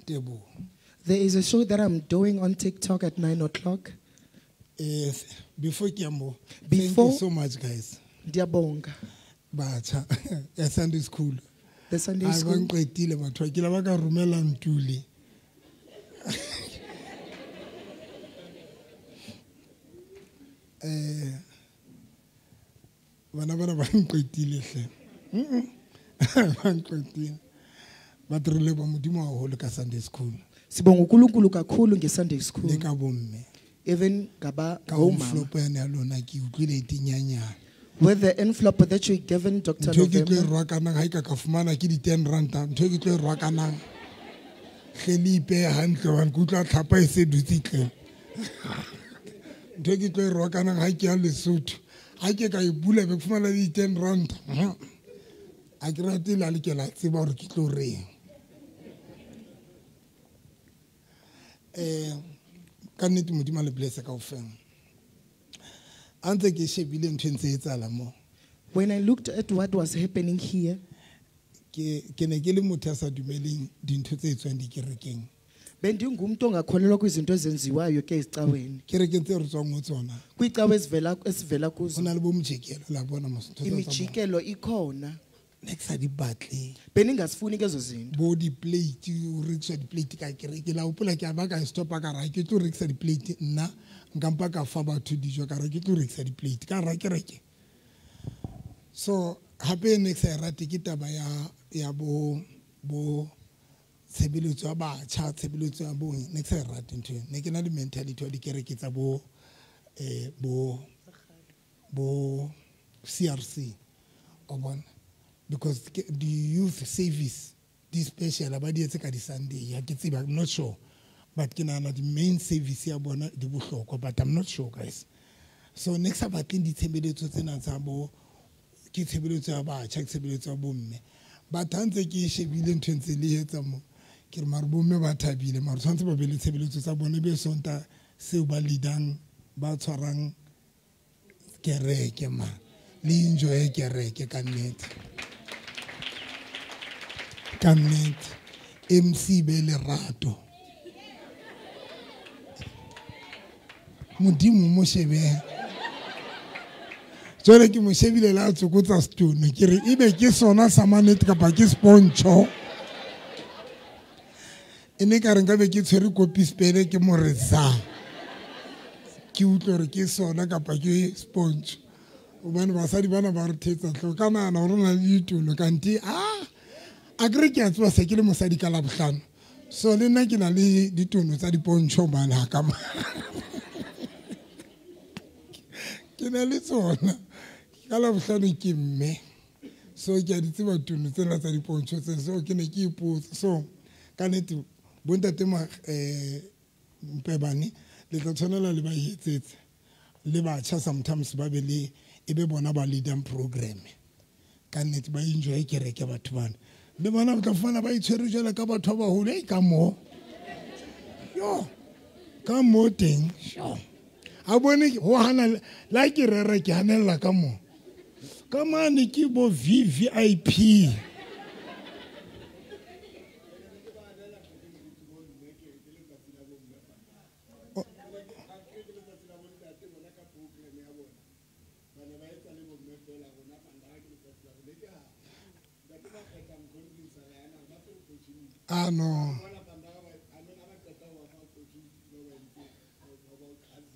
Teboho. There is a show that I'm doing on TikTok at 9 o'clock. Yes, before ke ya moo, thank you so much, guys. Ndiyabonga. Batjha ya Sunday school. The Sunday A ba school. Nqetile batho ke la ba ka romela Ntuli. Bana bana ba nqetile hle. Ba nqetile. Ba re leboha Modimo haholo ka Sunday school. Sibonga uNkulunkulu kakhulu ngeSunday school. Le ka bomme. Even ngaba Ka ngomama. Envelope yane ya lona ke utlwile e tinyanyana. With the envelope that you given Dr. Ntho e ke tlo e November. rwakanang ha e ka ka fumana ke di-10 ranta, ntho e ke tlo e rwakanang hle le ipehe hantle hobane ke utlwa tlhapa e se dutse tle. Ntho e ke tlo e rwakanang ha ke ya Lesotho, ha ke ka e bula be ke fumana le di-10 ranta. Ha ke rate le ha le ke la tseba hore ke tlo reng. Ka nnete Modimo a le bless kaofela. A ntse ke shebile ntho e ntse e etsahala mo. When I looked at what was happening here, Ke ne ke le motho ya sa dumeleng dintho tse etswang dikerekeng. Bendingumntu ongakholelwa kwizinto ezenziwayo ke ezicaweni. Kerekeng tse re tswang ho tsona. Kwiicawe esivela kuzo. Ho na le bo mojikelo la bona mos, ntho tsa bona. Imijikelo ikhona. Ne ke sa di batle. Bendingazifuni ke ezo zinto. Bo di-plate, o rekiswa di-plate ka kereke. La hopola ke a ba ka stopa ka re ha ke tlo rekisa di-plate nna, nka mpa ka fa batho dijo ka re ke tlo rekisa di-plate ka hara kereke. So hape ne ke sa e rate ke taba ya bo tshebeletso ya batjha, tshebeletso ya bo, ne ke sa e rate ntho eo. Ne ke na le mentality ya dikereke tsa bo CRC, o bona? Because the youth service di special ba di etse ka di Sunday, ha ke tsebe, I'm not sure, but ke nahana the main service ya bona di bohlokwa, but I'm not sure, guys. So ne ke sa batleng ditshebeletso tsena tsa bo, ke tshebeletso ya batjha, ke tshebeletso ya bomme. But ha ntse ke shebile ntho e ntse le etsa mo, ke re mare bomme ba thabile, mare tshwanetse ba be le tshebeletso tsa bone, be Sonta seo ba leadang, ba tshwarang kereke ma, le enjoy kereke ka nnete. Ka nnete, MC be lerato. Modimo mo shebe. Jwale ke mo shebile la tsokotsa stone, ke re ebe ke sona sa mannete kapa ke spontsho. E ne ka re nka be ke tshwere kopi spele ke mo re sa. Ke utlwe hore ke sona kapa ke spontsho. Hobane basadi bana ba re thetsa hle, o ka nahana hore o na le ditulo kante, a ke re ke a tseba se ke le mosadi ka Labohlano. So le nna ke na le ditono tsa dipontsho mane ha ka ma. Ke na le tsona. Ka Labohlano ke mme. So ke a di tseba tono tsena tsa dipontsho tse, so ke ne ke ipotsa. So ka nnete bontate ma, Mpebane le tla tshwanela le ba etsetse. Le batjha sometimes ba be le e be bona ba leadang program. Ka nnete ba enjoy kereke batho bana. Le bona ba tla fumana ba itshwere jwalo ka batho ba baholo, ei, ka moo. Yo, ka moo teng. Sure. A bone ho hana le ha ke rera ke hanella ka moo. Ka mane ke bo VVIP. Ah, no.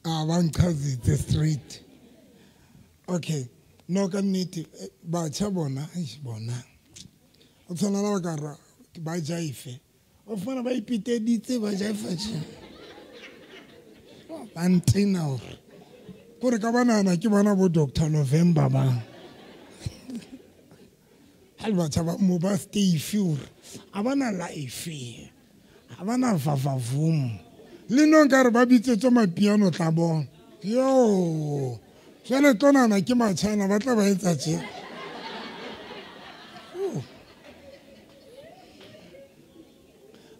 Ah, ba nchazitse straight. Okay. No, ka nnete, batjha bona, eish, bona. O tshwana le ba ka ra, ba jaife. O fumana ba ipiteditse, ba jaifa tje. Ba ntena hore. Kore ka ba nahana ke bona bo Doctor November ba. Ha le batjha ba mo ba stay hore. Ha ba na life. Ha ba na vavavoom. Le no nkare ba bitsetswe mapiano tla bona. Yo. Jwale tlo nahana ke matjhana ba tla ba etsa tje.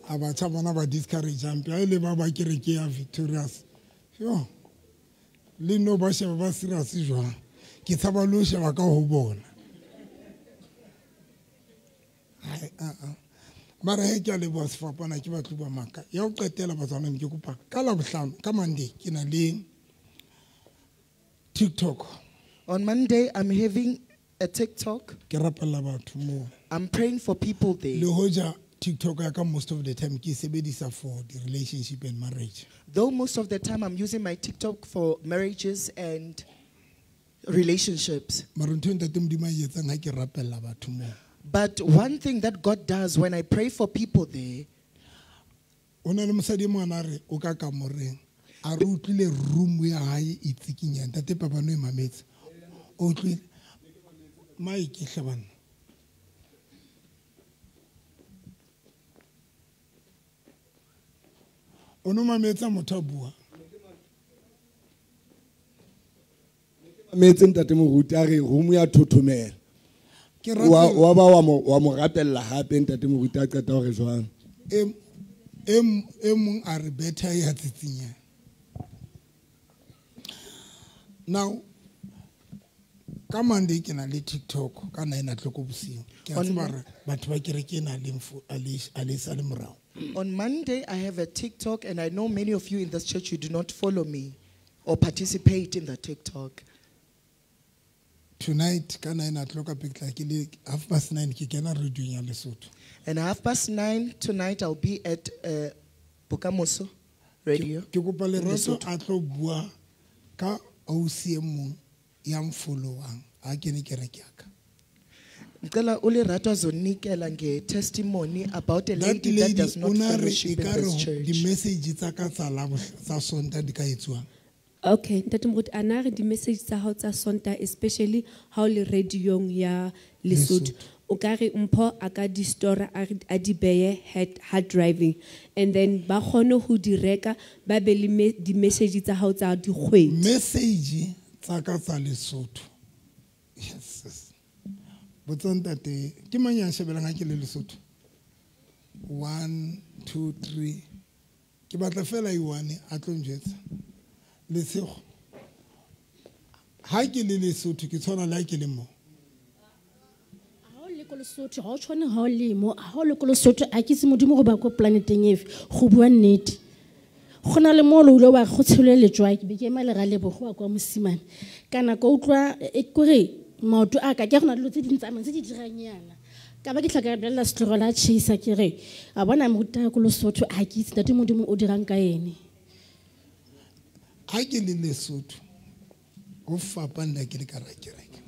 A batjha bona ba discourage hampe. Ha e le ba ba kereke ya Victorious. Yo. Le no ba sheba ba serious jwang. Ke tshaba le ho sheba ka ho bona. Hai, a, a. Mara he ke a leboha sefapana ke batlo bua maka. Ya ho qetela batswana ke kopa ka Labohlano ka Monday ke na le TikTok. On Monday, I'm having a TikTok. Ke rapella batho moo. I'm praying for people there. Le hoja TikTok ya ka most of the time ke sebedisa for the relationship and marriage. Though most of the time I'm using my TikTok for marriages and relationships. Mara ntho e ntate Modimo a e etsang ha ke rapella batho moo. But one thing that God does when I pray for people there, Ho na le mosadi e mong a re o ka kamoreng, a re utlwile room ya hae e tsikinya. Ntate Pabano e mametse. O utlwile Mike hle banna. O no mametsa motho a bua. Mametse ntate Moruti a re room ya thothomela. Ke Wa rapela. wa ba wa mo wa mo rapella hape ntate Moruti a qeta hore jwang. E mong a re better ya tsitsinya. Now ka Monday ke na le TikTok ka 9 o'clock bosiu. Ke a On tseba hore batho ba kereke ena le mfo a le a le sa le morao. On Monday, I have a TikTok, and I know many of you in this church, you do not follow me or participate in the TikTok. Tonight, ka 9 o'clock, ke tla ke le 9:30 ke kena radio ya Lesotho. And 9:30 tonight, I'll be at Bokamoso Radio. Ke kopa in Lerato Lesotho. a tlo bua ka ausi e mong ya mfollowang ha ke ne kereke ya ka. Ngicela uLerato azonikela nge-testimony about a That lady that lady does not o na re fellowship in ekare this church. di-message tsa ka tsa tsa Sontaha di ka etsuwang. Okay, Ntate Moruti, a na re di-message tsa hao tsa Sontaha, especially ha o le radio-ong ya Lesotho. Lesotho. O ka re Mpho a ka di store a re a di beye hard driving, and then ba kgone ho di reka, ba be le di-message tsa hao tsa dikgwedi. Message tsa ka tsa Lesotho. Yes, yes. Botsa ntate, ke mang ya shebelang ha ke le Lesotho? 1, 2, 3. Ke batla fela e one a tlo njwetsa. Lesego. Ha ke le Lesotho ke tshwana le ha ke le mo. Ha o le ko Lesotho, ha o tshwane ha o le mo, ha o le ko Lesotho a ke itse Modimo go ba ko planeteng efe, go bua nnete. Go na le mo le ile wa go tshelwe letswai, ke be ke ema lera lebogo wa kwa mosimane. Ka nako utlwa e kore maoto a ka ke go na dilo tse di ntsamayang tse di dirang yana. Ka ba ke tlhoka bolela setlogolo a chesa ke re a bona moruta ko Lesotho a ke itse ntate Modimo o dirang ka ene. Ha ke le Lesotho go fapana le ke le ka rakereke.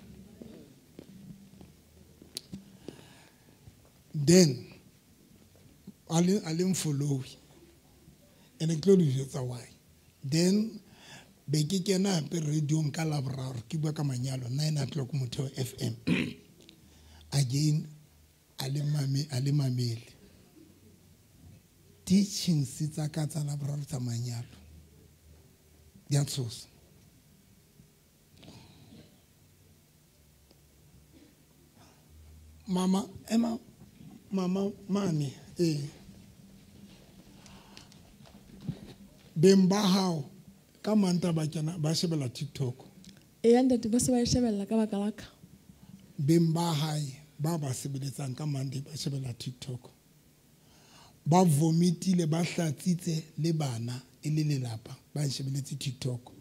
Then a le mfollow and ke tlo le jwetsa why. Then be ke kena hape radio-ong ka Laboraro ke bua ka manyalo 9 o'clock Motheo FM. Again a le mame a le mamele. Teachings tsa ka tsa Laboraro tsa manyalo di a tshosa. Mama ema mama mane beng ba hao ka Manta ba kena ba shebella TikTok. Eya ntate ba se ba e shebella ka baka la ka. Beng ba hae ba ba sebeletsang ka Monday ba shebella TikTok. Ba vomitile ba hlatsitse le bana e le lelapa ba shebeletse TikTok.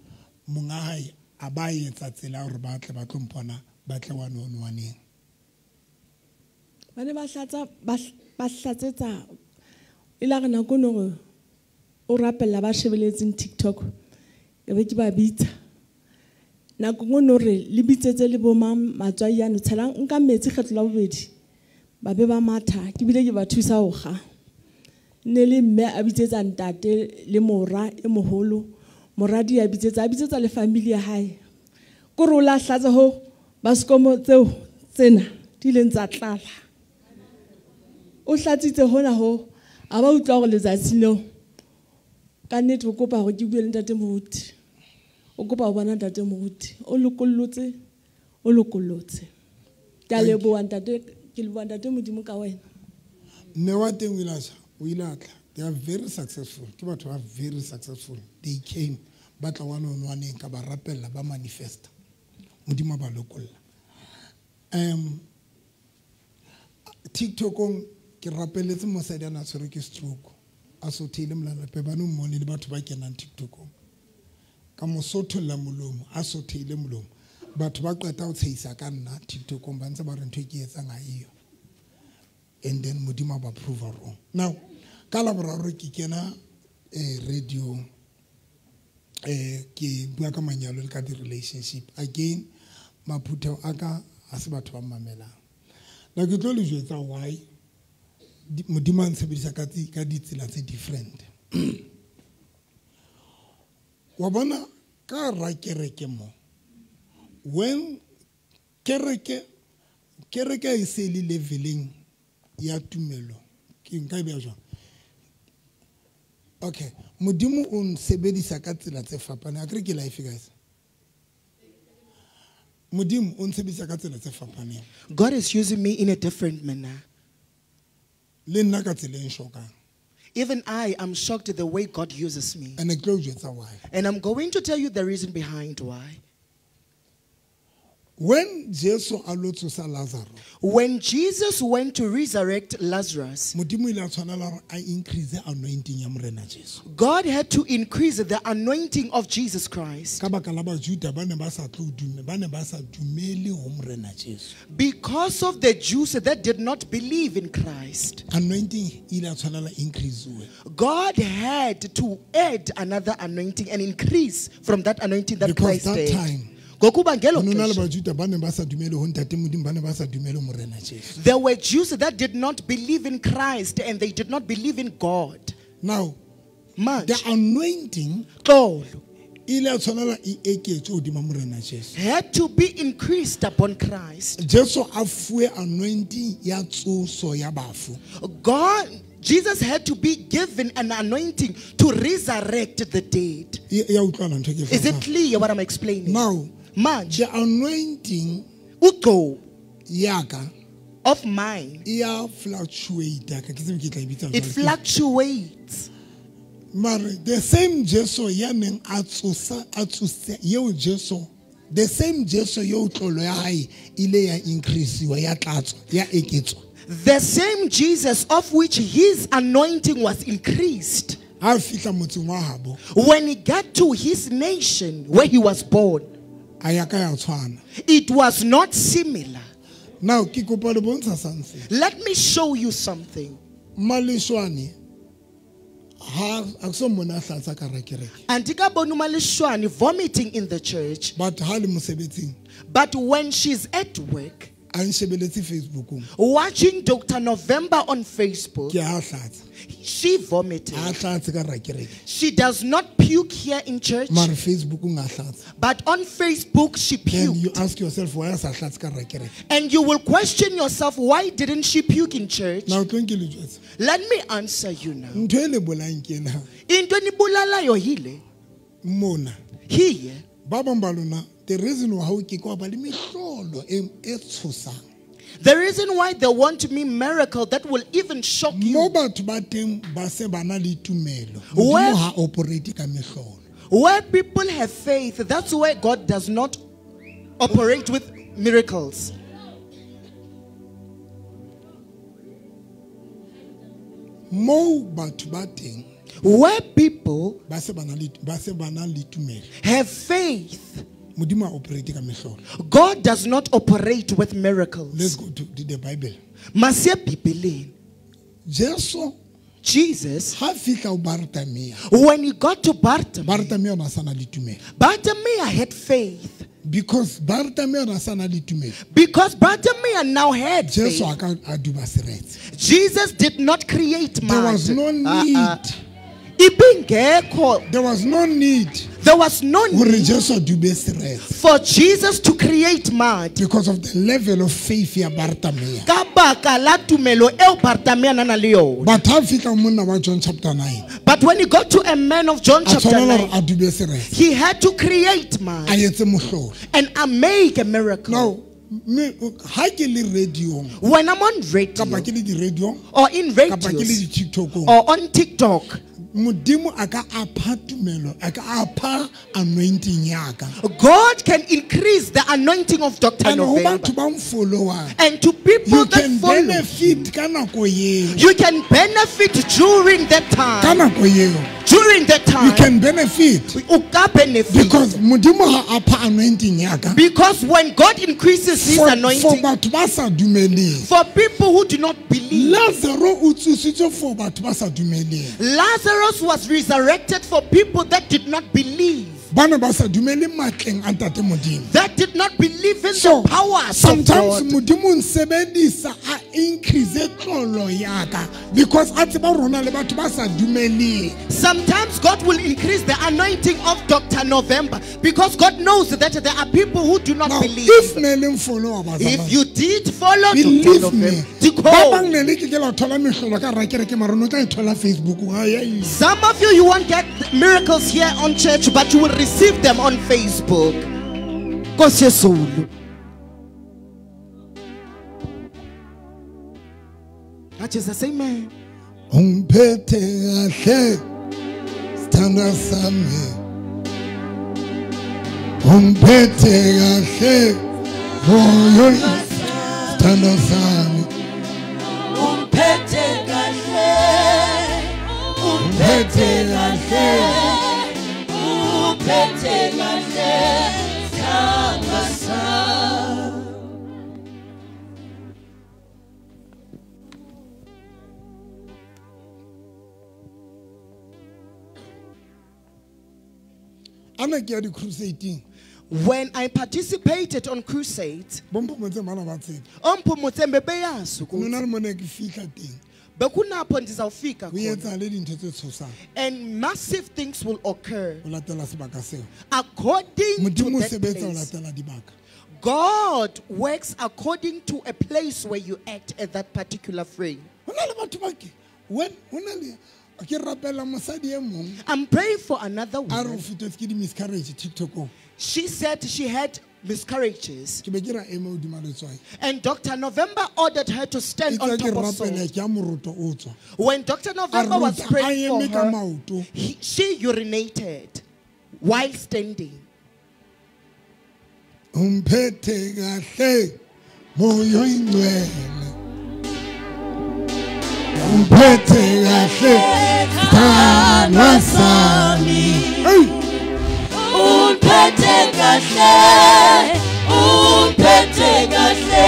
Monga hae a ba etsa tsela hore ba tle ba tlo mpona ba tle one on one-eng. Ba ne ba hlatsa ba hlatsetsa e la re nako no re o rapella ba shebeletseng TikTok. Ke be ke ba bitsa. Nako nngwe no re le bitsetse le bo mang matswai ano tshelang nka metsi kgetlo la bobedi. Ba be ba matha ke bile ke ba thusa ho kga. Ne le mme a bitsetsa ntate le mora e moholo, moradi a bitsetsa le family ya hae. Ko re o la hlatsa ho basikomo tseo tsena di ileng tsa tlala. O hlatsitse hona ho a ba utlwa hore letsatsi leo ka nnete o kopa hore ke bue le ntate Moruti. O kopa ho bona ntate Moruti. O lokollotse, o lokollotse. Ke a leboha ntate, ke leboha ntate Modimo ka wena. Mme wa teng o ile a tjha, o ile a tla. They are very successful. Ke batho ba very successful. They came ba tla one on one ka ba rapella ba manifesta. Modimo ba lokolla. TikTokong Ke rapeletse mosadi a na tshwerwe ke stroke. A sotheile molalape ba no mmone le batho ba kenang TikTokong. Ka mo sotholla molomo, a sotheile molomo. Batho ba qeta ho tshehisa ka nna TikTokong ba ntse ba re ntho e ke etsang ha eyo. And then Modimo a ba prove wrong. Now, ka Laboraro ke kena radio, ke bua ka manyalo le ka di-relationship. Again, maphutheo a ka ha se batho ba mamelang. Now ke tlo le jwetsa why Modimo a ntshebedisa ka ditsela tse different. Wa bona ka ra kereke mo. When kereke e se le leveleng ya tumelo, ke nka e beha jwang? Okay, Modimo o nsebedisa ka tsela tse fapaneng. Akere ke life guys. Modimo o nsebedisa ka tsela tse fapaneng. God is using me in a different manner. Le nna ka tsela e nshokang. Even I am shocked at the way God uses me. And ke tlo o jwetsa why. And I'm going to tell you the reason behind why. When Jesu a lo tsosa Lazaro, when Jesus went to resurrect Lazarus, Modimo ile a tshwanela hore a increase anointing ya Morena Jesu. God had to increase the anointing of Jesus Christ. Ka baka la Bajuda ba ne ba sa tlo dume, ba ne ba sa dumele ho Morena Jesu. Because of the Jews that did not believe in Christ. Anointing ile a tshwanela increase. God had to add another anointing and increase from that anointing that Because Christ that did. time, Ngokuba ngelo ho no na le xesha, Bajuda ba ne ba sa dumele ho Ntate Modimo, ba ne ba sa dumele ho Morena Jesu. there were Jews that did not believe in Christ and they did not believe in God. Now, Manje, the anointing xolo, ile ya tshwanela e eketswe hodima Morena Jesu. had to be increased upon Christ. Jesu a fuwe anointing ya tsoso ya bafu. Jesus had to be given an anointing to resurrect the dead. Ya utlwana ntho e ke e Is it hlokang? clear what I'm explaining? Now, Manje, the anointing ugcobo ya ka of mine, e ya fluctuate ka ke tsebe ke tla e bitsa it jwang. fluctuates. Mare the same Jesu ya neng a tsosa, a tsose, eo Jesu, the same Jesu eo tlolo ya hae ile ya increase-iwa, ya tlatswa, ya eketswa. The same Jesus of which his anointing was increased. Ha fihla motseng wa habo, When he got to his nation where he was born, a ya ka ya tshwana. it was not similar. Now ke kopa le bontsha something. Let me show you something. Maleshwane ha a so mona a hlatsa ka ra kereke. Andikaboni uMaleshwane vomiting in the church, But ha le mosebetsing, but when she's at work, a nshebeletse Facebookong. watching Dr. November on Facebook, Ke ha hlatsa. she vomited. Ha hlatse ka ra kereke. She does not puke here in church, Mare Facebookong a hlatsa. but on Facebook she Then you puked. ask yourself why a sa hlatse ka ra kereke. And you will question yourself, why didn't she puke in church? Now tlo nke le jwetse. Let me answer you now. Ntho e le bolayang ke ena. Into enibulalayo yile, Mona. here, Ba bang ba lona, the reason why o ke kwa ba le mehlolo e tshosang. the reason why they want me miracle that will even shock Mo you. batho ba teng ba se ba na le tumelo. Where Modimo ha operate ka mehlolo. Where people have faith, that's where God does not operate with miracles. Mo batho ba teng Where people ba se ba na le, ba se ba na le tumelo. have faith, Modimo ha operate ka mehlolo. God does not operate with miracles. Let's go to the Bible. Masiye eBhayibhelini. Jesu Jesus, ha fihla ho Bartimea, when he got to Bartimaeus, Bartimea o na sa na le tumelo. Bartimaeus had faith. Because Bartimea o na sa na le tumelo. Because Bartimaeus now had Jesu faith. a ka a duba seretse. Jesus did not create There was no need. Ibingekho. There was no need There was no hore need Jesu a dube seretse. for Jesus to create mud. Because of the level of faith ya Bartimea. Ka baka la tumelo eo Bartimaeus a nang le yona. But ha fihla ho monna wa John chapter 9, But when he got to a man of John a chapter tshwanela 9, hore a dube seretse. he had to create mud A etse mohlolo. and make a miracle. Now, me ha ke le radio-ong, When I'm on radio kapa ke le di-radio-ong, or in kapa ke le radios di-TikTok-ong, or on TikTok, Modimo a ka apha tumelo, a ka apha anointing ya ka. God can increase the anointing of Dr. And ho November. batho ba mfollowang, And to people you that can follow, benefit ka nako eo. you can benefit during that Ka time. nako eo. During that You time, can benefit. o ka benefit. Because Modimo ha apha anointing ya ka. Because when God increases his For anointing, batho ba sa dumeleng. for people who do not believe, Lazaro o tsositswe for batho ba sa dumeleng. Lazarus was resurrected for people that did not believe. Ba ne ba sa dumele matleng a Ntate Modimo. That did not believe in So the powers of sometimes God. Modimo o nsebedisa a increase tlolo ya ka because a tseba rona le batho ba sa dumeleng. Sometimes God will increase the anointing of Dr. November because God knows that there are people who do not Now, believe. if ne le mfollower bazalwane, If you did follow Dr. believe me, November, ba bang ne le ke ke la thola mehlolo ka hara kereke mara o no tla e thola Facebook. Ha ya e- Some of you, you won't get miracles here on church, but you will receive them on Facebook. Nkosi yezulu. Jesus, amen. Ungiphethe kahle sithandwa sami, ungiphethe kahle moyo sithandwa sami, Umphethe kahle, ungiphethe kahle, umphethe kahle, sithandwa sami. Ana ke ya di-crusading. When I participated on crusades, Bo Mphomotse bana ba tseba. oMphomotse beyazi Ho na ukuthi le mo ne ke fihla teng, bekunapho ndizawufika ho khona. etsahale dintho tse tshosang And massive things will occur ho latela sebaka seo. according to Modimo o that sebetsa ho place. latela dibaka. God works according to a place where you act at that particular frame. Ho na le batho ba ke when ho na le ke rapela mosadi e mong I'm praying for another a re o woman. fetetse ke di-miscarriage TikTokong. She said she had miscarriages. Ke be ke ra ema hodima letswai. And Dr. November ordered her to stand Itse on ke top of rapela salt. ke ya moroto o tswa. When Dr. A November was rota a praying for eme ka her, maoto. she urinated while standing. Umphethe kahle moyo ingcwele. Umphethe kahle sithandwa sami. Hey! Umphethe kahle, umphethe kahle,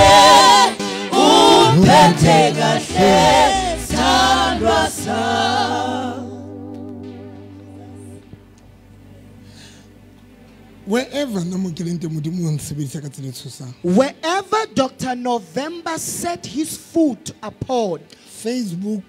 umphethe kahle, sithandwa sami. Wherever nna mo ke leng teng, Modimo o nsebedisa ka tsela e tshosang. Wherever Dr. November set his foot upon, Facebook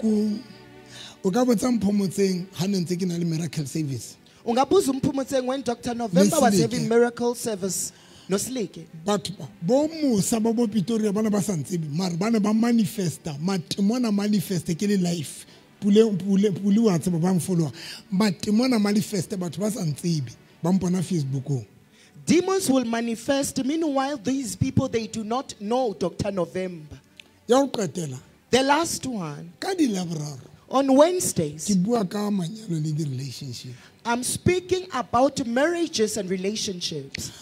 o ka botsa Mphomotseng ha ne ntse ke na le miracle service. Ungabuza uMphumotseng when Dr. November was Nosilike. having miracle service, Nosilike. Batho ba bo Musa ba bo Pretoria ba ne ba sa ntsebe mara ba ne ba manifesta matemona manifeste ke le life. Pule pule pule wa tseba ba mfollowa. Matemona manifeste batho ba sa ntsebe ba mpona Facebookong. Demons will manifest. Meanwhile, these people, they do not know Dr. November. Ya ho qetela The last one, ka di Laboraro on Wednesdays, ke bua ka manyalo le di-relationship. I'm speaking about marriages and relationships.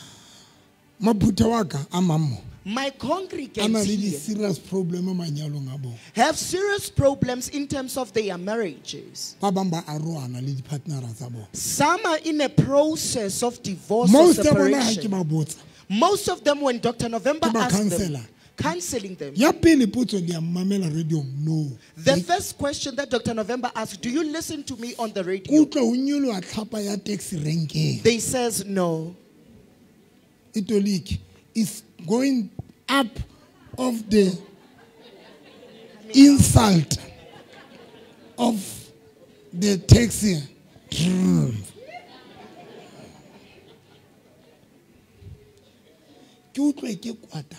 Maphutha wa ka a mang mo My a na congregants le here di-serious problem manyalong a bona. have serious problems in terms of their marriages. Ba bang ba arohana le di-partnera tsa bona. Some are in a process of divorce or Most ya bona ha ke separation. ba botsa Most of them, when Dr. November Ke ba asked them, counselor. counseling them, Ya pele potso le ya mmamela radio no. the first question that Dr. November asked, do you listen to me on the radio? Utlwa ho nyoloha tlhapa ya taxi renkeng. They says no. Itoliki is going up of the insult of the taxi. Ke utlwe ke kwata.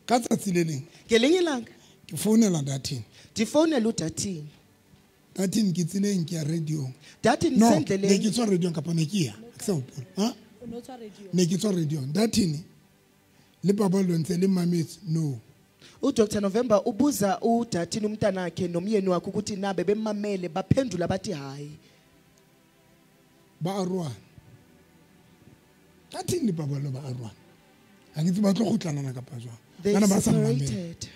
Ka tsatsi le leng Ngelinye ilanga ke founela Datin. ndifonela uDathini. Datin ke tseleng ke ya radio. Dathini No, ne ke sendleleni. tswa radio kapa ne ke ya. Ha ke sa hopola. Ha? Ne ke tswa radio. Datin le Paballo ntse le mametse no. UDr November ubuza uDathini umntanakhe nomyeni wakhe ukuthi nabe bemamele, baphendula bathi hayi. Ba arohana. Dathini le Paballo ba arohana. Ha ke tsebe ba tlo kgutlanana kapa jwang. They Bana ba sa mmamele. separated.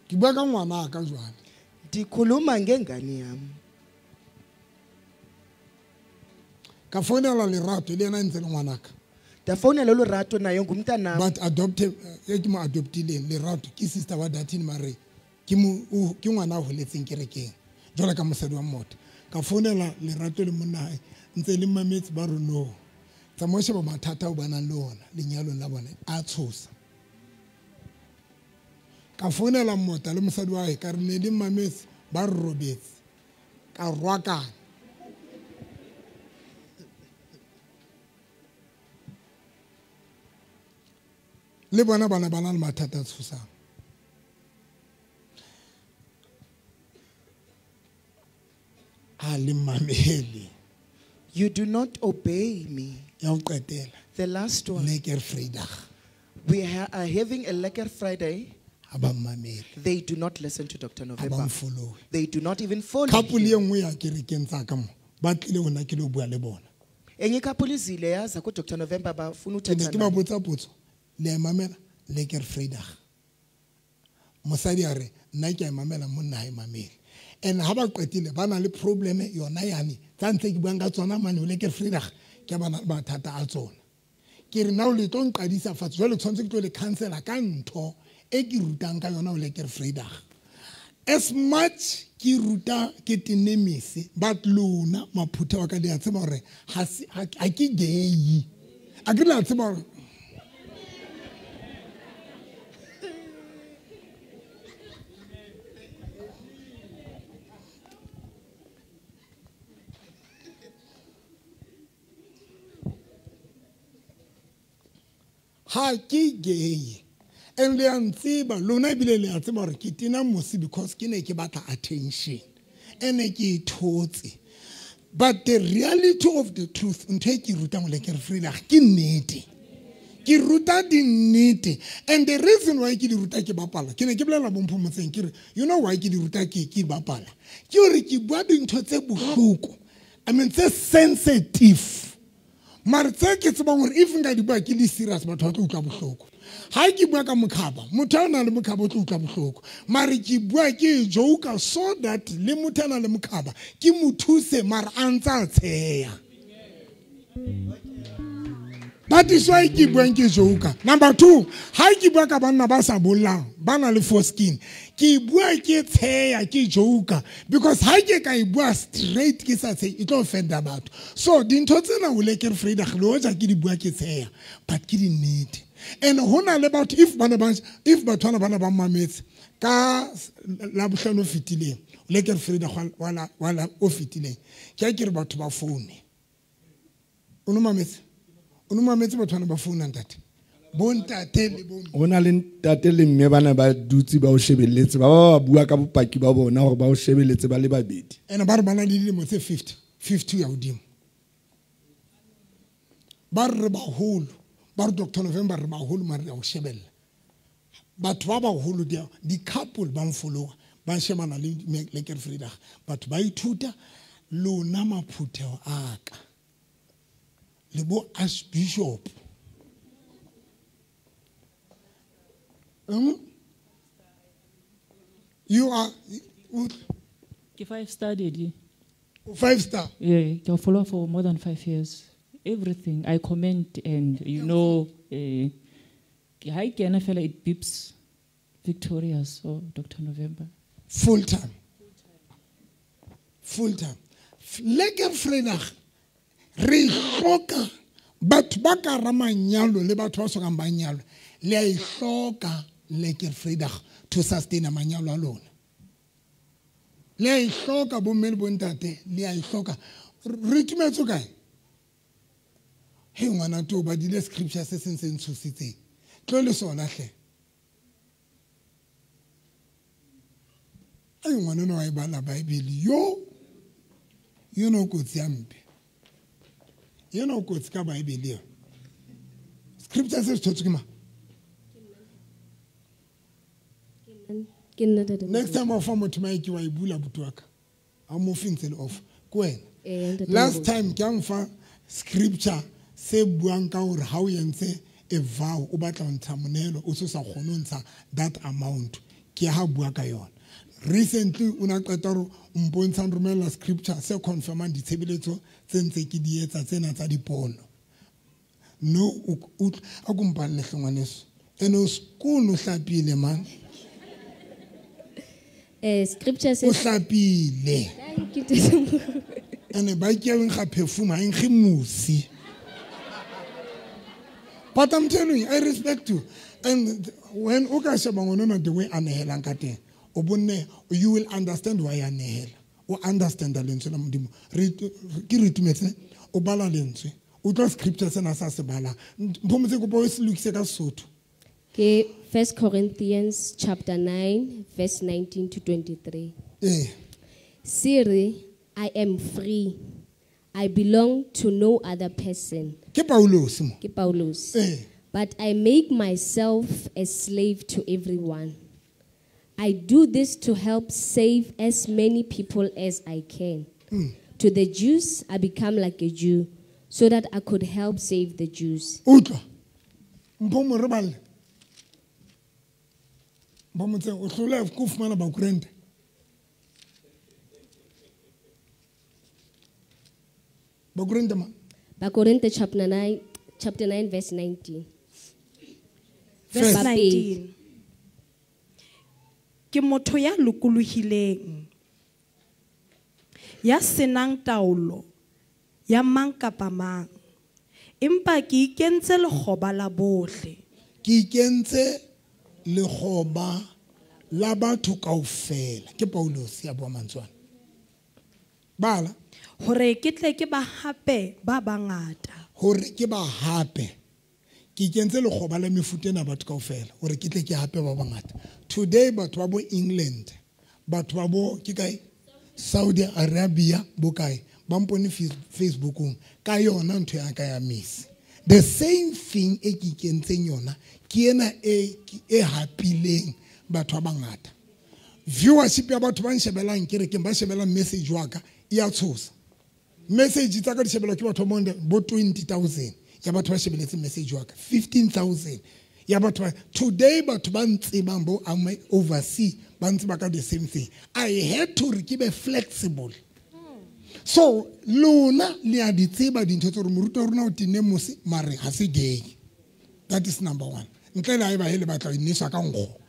Ke bua ka ngwana ka jwale. Ndikhuluma ngengane yami. Ka founela Lerato le yena ntse le ngwanaka. Ndafonela uLerato naye ngumntanami. But adopted, e ke mo adoptileng Lerato ke sister wa Dathini mare ke mo ke ngwana a holetseng kerekeng. Jwale ka mosadi wa motho. Ka founela Lerato le monna hae ntse le mametse ba re no. Tsamaya o sheba mathata ao ba nang le ona lenyalong la bona a tshosa. Ka founela mota le mosadi wa hae ka re ne le mametse ba re robetse. Ka rwakana. Le bona bana ba na le mathata a tshosang. A le mamele. You do not obey me. Ya ho qetela. The last one. Lekker Vrydag. We are having a Lekker Friday. Ha ba mmamele. They do not listen to Dr. Ha ba November. mfollowe. They do not even follow Couple him. e nngwe ya kerekeng tsa ka mo, ba tlile ho nna ke lo bua le bona. Enye couple izile yaza ku Dr. November bafuna Ke ne uthetha ke ba naye. botsa potso, le a e mamela Lekker Vrydag. Mosadi a re, nna ke a e mamela, monna ha e mamele. And ha ba qetile ba na le problem yona yane tsa ntse ke buang ka tsona mane ho Lekker Vrydag, ke ba na le mathata a tsona. Ke re nna o le tlo nqadisa fatshe, jwale tshwanetse ke tlo le cancela ka ntho e ke rutang ka yona ho Lekker Vrydag. As much ke ruta ke tenemese, but lona maphutha wa ka le a tseba hore ha se, ha ke gay. A ke le a tseba hore ha ke gay. And le a ntseba, lona ebile le a tseba hore ke tena mosi because ke ne ke batla attention. Ene ke e thotse. But the reality of the truth, ntho e ke rutang ho Lekker Vrydag ke nnete. Ke ruta dinnete. And the reason why ke di ruta ke bapala, ke ne ke bolela bo Mpho Motseng ke re, you know why ke di ruta ke bapala? Ke hore ke bua dintho tse bohloko. I mean tse sensitive. Mare tse ke tsebang hore if nka di bua ke le serious batho ba tlo utlwa bohloko. Ha ke bua ka mokhaba, motho a nang le mokhaba o tlo utlwa bohloko. Mare ke bua ke joke so that le motho a nang le mokhaba ke mo thuse mare a ntse a tsheya. That is why ke buang ke joke. Number 2, ha ke bua ka banna ba sa bollang, ba na le foreskin, ke bua ke tsheya ke joke because ha ke ka e bua straight ke sa tsheya e tlo offenda batho. So dintho tsena ho Lekker Vrydag le hoja ke di bua ke tsheya, but ke di nnete. And hona le batho if bana ba, if batho bana bana ba mametse ka la bohlano o fetileng, Lekker Vrydag wala o fetileng, ke a ke re batho ba foune. O no mametse? O no mametse batho bana ba founa ntate? Bo ntate le bo mme. Ho na le ntate le mme bana ba dutse ba o shebelletse, ba ba bua ka bopaki ba bona hore ba o shebelletse ba le babedi. Ene ba re ba na le dilemo tse 50, 50 ya hodimo. Ba re baholo, ba re Doctor November re baholo mare re a o shebella. Batho ba baholo di couple ba mfollowa, ba shebana le Lekker Vrydag. Batho ba ithuta lona maphutheo a ka. Le bo Archbishop. You are Ke 5 star daddy. 5 star. Yeah, I follow for more than 5 years. Everything I comment and you know, hi kena fela it beeps victorious or Dr. November. Full time. Full time. Lekker Vrydag re hloka batho ba ka ra manyalo le batho ba sokang ba nyalwa, le a e hloka Lekker Vrydag to sustain manyalo a lona. Le a e hloka bomme le bontate, le a e hloka. Re itumetse kae? He ngwana to ba dile scripture se seng se ntshositseng. Tlo le sona hle. Ai ngwana no wa e bala Bible yo. Yo no kotsi ya mpe. Yena o kotsi ka Bible eo. Scripture se se thotswe ke mang? Ke nna ntate. Next time o fa motho mic wa e bula buti wa ka. Ha mo fe ntse le off. Ke wena. Ee, ntate Last Moruti. time ke a mfa scripture se buang ka hore ha o entse a vow o batla ho ntsha monehelo o se sa kgone ho ntsha that amount. Ke ha bua ka yona. Recently o na qeta hore o mpontsha romella scripture se confirmang ditshebeletso tse ntse ke di etsa tsena tsa dipono. No o a ko mpalle hle ngwaneso. Ene o skoon o hlapile man. Scripture O says hlapile. Thank you, Ntate Moruti. Ene ba ke eng ga perfume ha nkge musi. But I'm telling you, I respect you. And when o ka sheba ngwana the way a nehelang ka teng, o bonne you will understand why a nehela. O understand lentswe la Modimo. Re ke re itumetse, o bala lentswe. O tla scripture sena sa se bala. Mphomotse kopo o se lokise ka Sesotho. Ke 1 Corinthians chapter 9 verse 19 to 23. Eh. Siri, I am free. I belong to no other person. Ke Paulos mo. Ke Paulos. Eh. But I make myself a slave to everyone. I do this to help save as many people as I can. To the Jews, I become like a Jew so that I could help save the Jews. Utlwa. Mpho re balle. Mpho o hlola ko fumana Bakorinte. Bakorinte ma. Bakorinte chapter 9, chapter 9 verse 19. Verse First. 19. Ke motho ya lokolohileng, ya senang taolo ya mang kapa mang, empa ke ikentse lekgoba la bohle. Ke ikentse lekgoba la batho kaofela. Ke Paulos ya bua mantswe ana. Bala. Hore ke tle ke ba hape ba bangata. Hore ke ba hape. Ke ikentse lekgoba la mefuta ena batho kaofela hore ke tle ke hape ba bangata. Today batho ba bo England, batho ba bo ke kae? Saudi Arabia bo kae? Ba mpone Facebookong ka yona ntho ya ka ya Messi. The same thing e ke ikentseng yona ke ena e e hapileng batho ba bangata. Viewership ya batho ba nshebelang kerekeng ba shebelang message wa ka e a tshosa. Message tsa ka di shebelwa ke batho ba bo 20,000 ya batho ba shebeletse message wa ka, 15,000 ya batho ba today batho ba ntsebang bo overseas ba ntseba ka the same thing. I had to re ke be flexible. So lona le a di tseba dintho tse re moruti wa rona o tenne mose mare ha se gay. That is number one. Ntle le ha eba hele batla ho inneswa ka nkgo.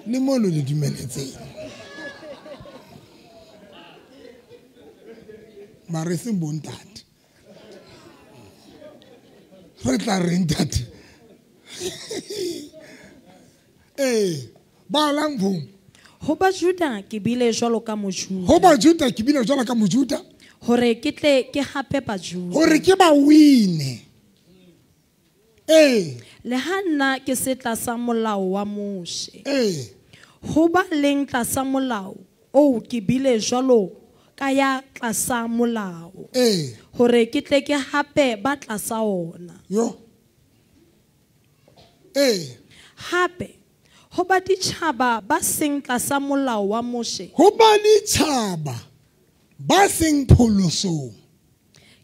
Le mo lo le dumeletseng. Mare seng bo ntate. Re tla reng ntate? Eh, balang bong. Ho Bajuda ke bile jwalo ka Mojuda. Ho Bajuda ke bile jwalo ka Mojuda. Hore ke tle ke hape Bajuda. Hore ke ba wine. Eh. Le ha nna ke se tlasa molao wa Moshe. Eh. Ho ba leng tlasa molao oo ke bile jwalo ka ya tlasa molao. Eh. Hore ke tle ke hape ba tlasa ona. Yo. Eh. Hape ho ba ditjhaba ba seng tlasa molao wa Moshe. Ho ba ditjhaba ba seng pholosong.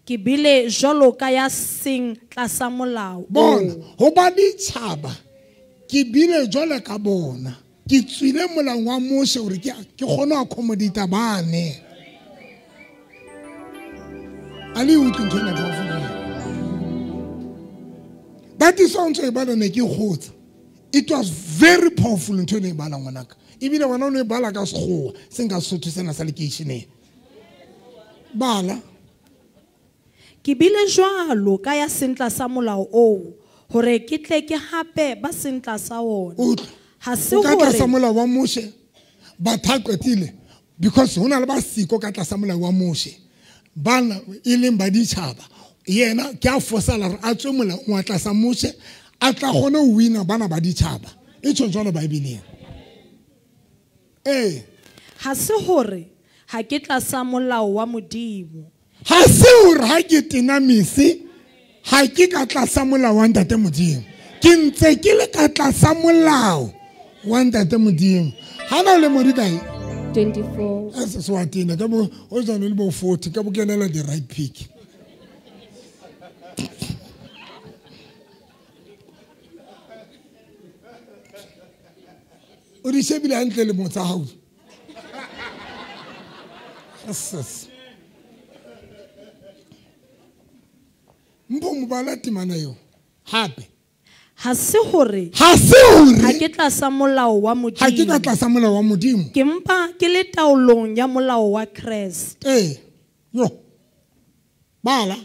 Ke bile jwalo ka ya seng tlasa molao. Bona, ho ba ditjhaba ke bile jwalo ka bona. Ke tswile molaong wa Moshe hore ke kgone ho accommodate bane. A le utlwe ntho ena kaofela. That is why ntho e bala ne ke kgotsa. It was very powerful ntho ena e bala ngwanaka. Ebile wena o ne e bala ka Sekgowa, seng ka Sesotho sena sa lekeisheneng. Bala. Ke bile jwalo ka ya seng tlasa molao oo hore ke tle ke hape ba seng tlasa ona. Utlwa. Ha se O ka hore tlasa molao wa Moshe, batho ba qetile because ho na le ba siko ka tlasa molao wa Moshe. Bana e leng ba ditjhaba. Yena ke a fosala hore a tswe molaong wa tlasa Moshe, a tla kgone ho wina bana ba ditjhaba. E tjho jwalo Bibeleng. Eh. Ha se hore ha ke tlasa molao wa Modimo. Ha se hore ha ke tena mese ha ke ka tlasa molao wa Ntate Modimo. Ke ntse ke le ka tlasa molao wa Ntate Modimo. Ha na le modi kae? 24. Se se wa tena ka bo o jano le bo 40 ka bo kenela the right pick. O di shebile hantle le motsa hao. Yes. Mpo mobala temana eo hape. Ha se hore ha ke tlasa molao wa Modimo. Ha ke ka tlasa molao wa Modimo. Ke mpa ke le taolong ya molao wa Kreste. Yo. Bala.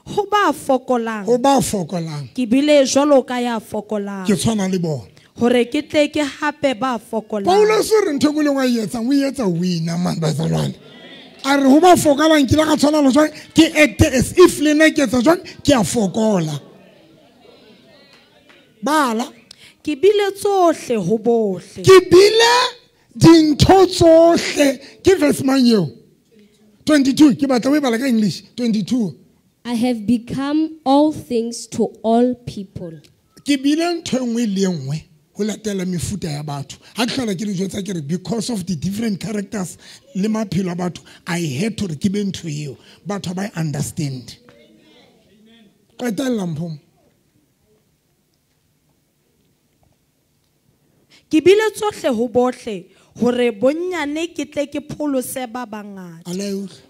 Ho ba fokolang. Ho ba fokolang. Ke bile jwalo ka ya fokolang. Ke tshwana le bona. Hore ke tle ke hape ba fokolang. Paulus o re ntho e leng wa e etsang, o etsa wina man bazalwane. A re ho ba fokolang ke la ka tshwana le jwang, ke act as if le nna ke etsa jwang, ke a fokola. Bala. Ke bile tsohle ho bohle. Ke bile dintho tsohle. Ke verse mang eo? 22. Ke batla o e bala ka English. 22. I have become all things to all people. Ke bile ntho e nngwe le e nngwe ho latela mefuta ya batho. Ha ke hlola ke le jwetsa ke re because of the different characters le maphelo a batho, I had to re ke be ntho eo. Batho ba understand. Qetella mpho. Ke bile tsohle ho bohle hore bonnyane ke tle ke pholose ba bangata. Ala e utlwe.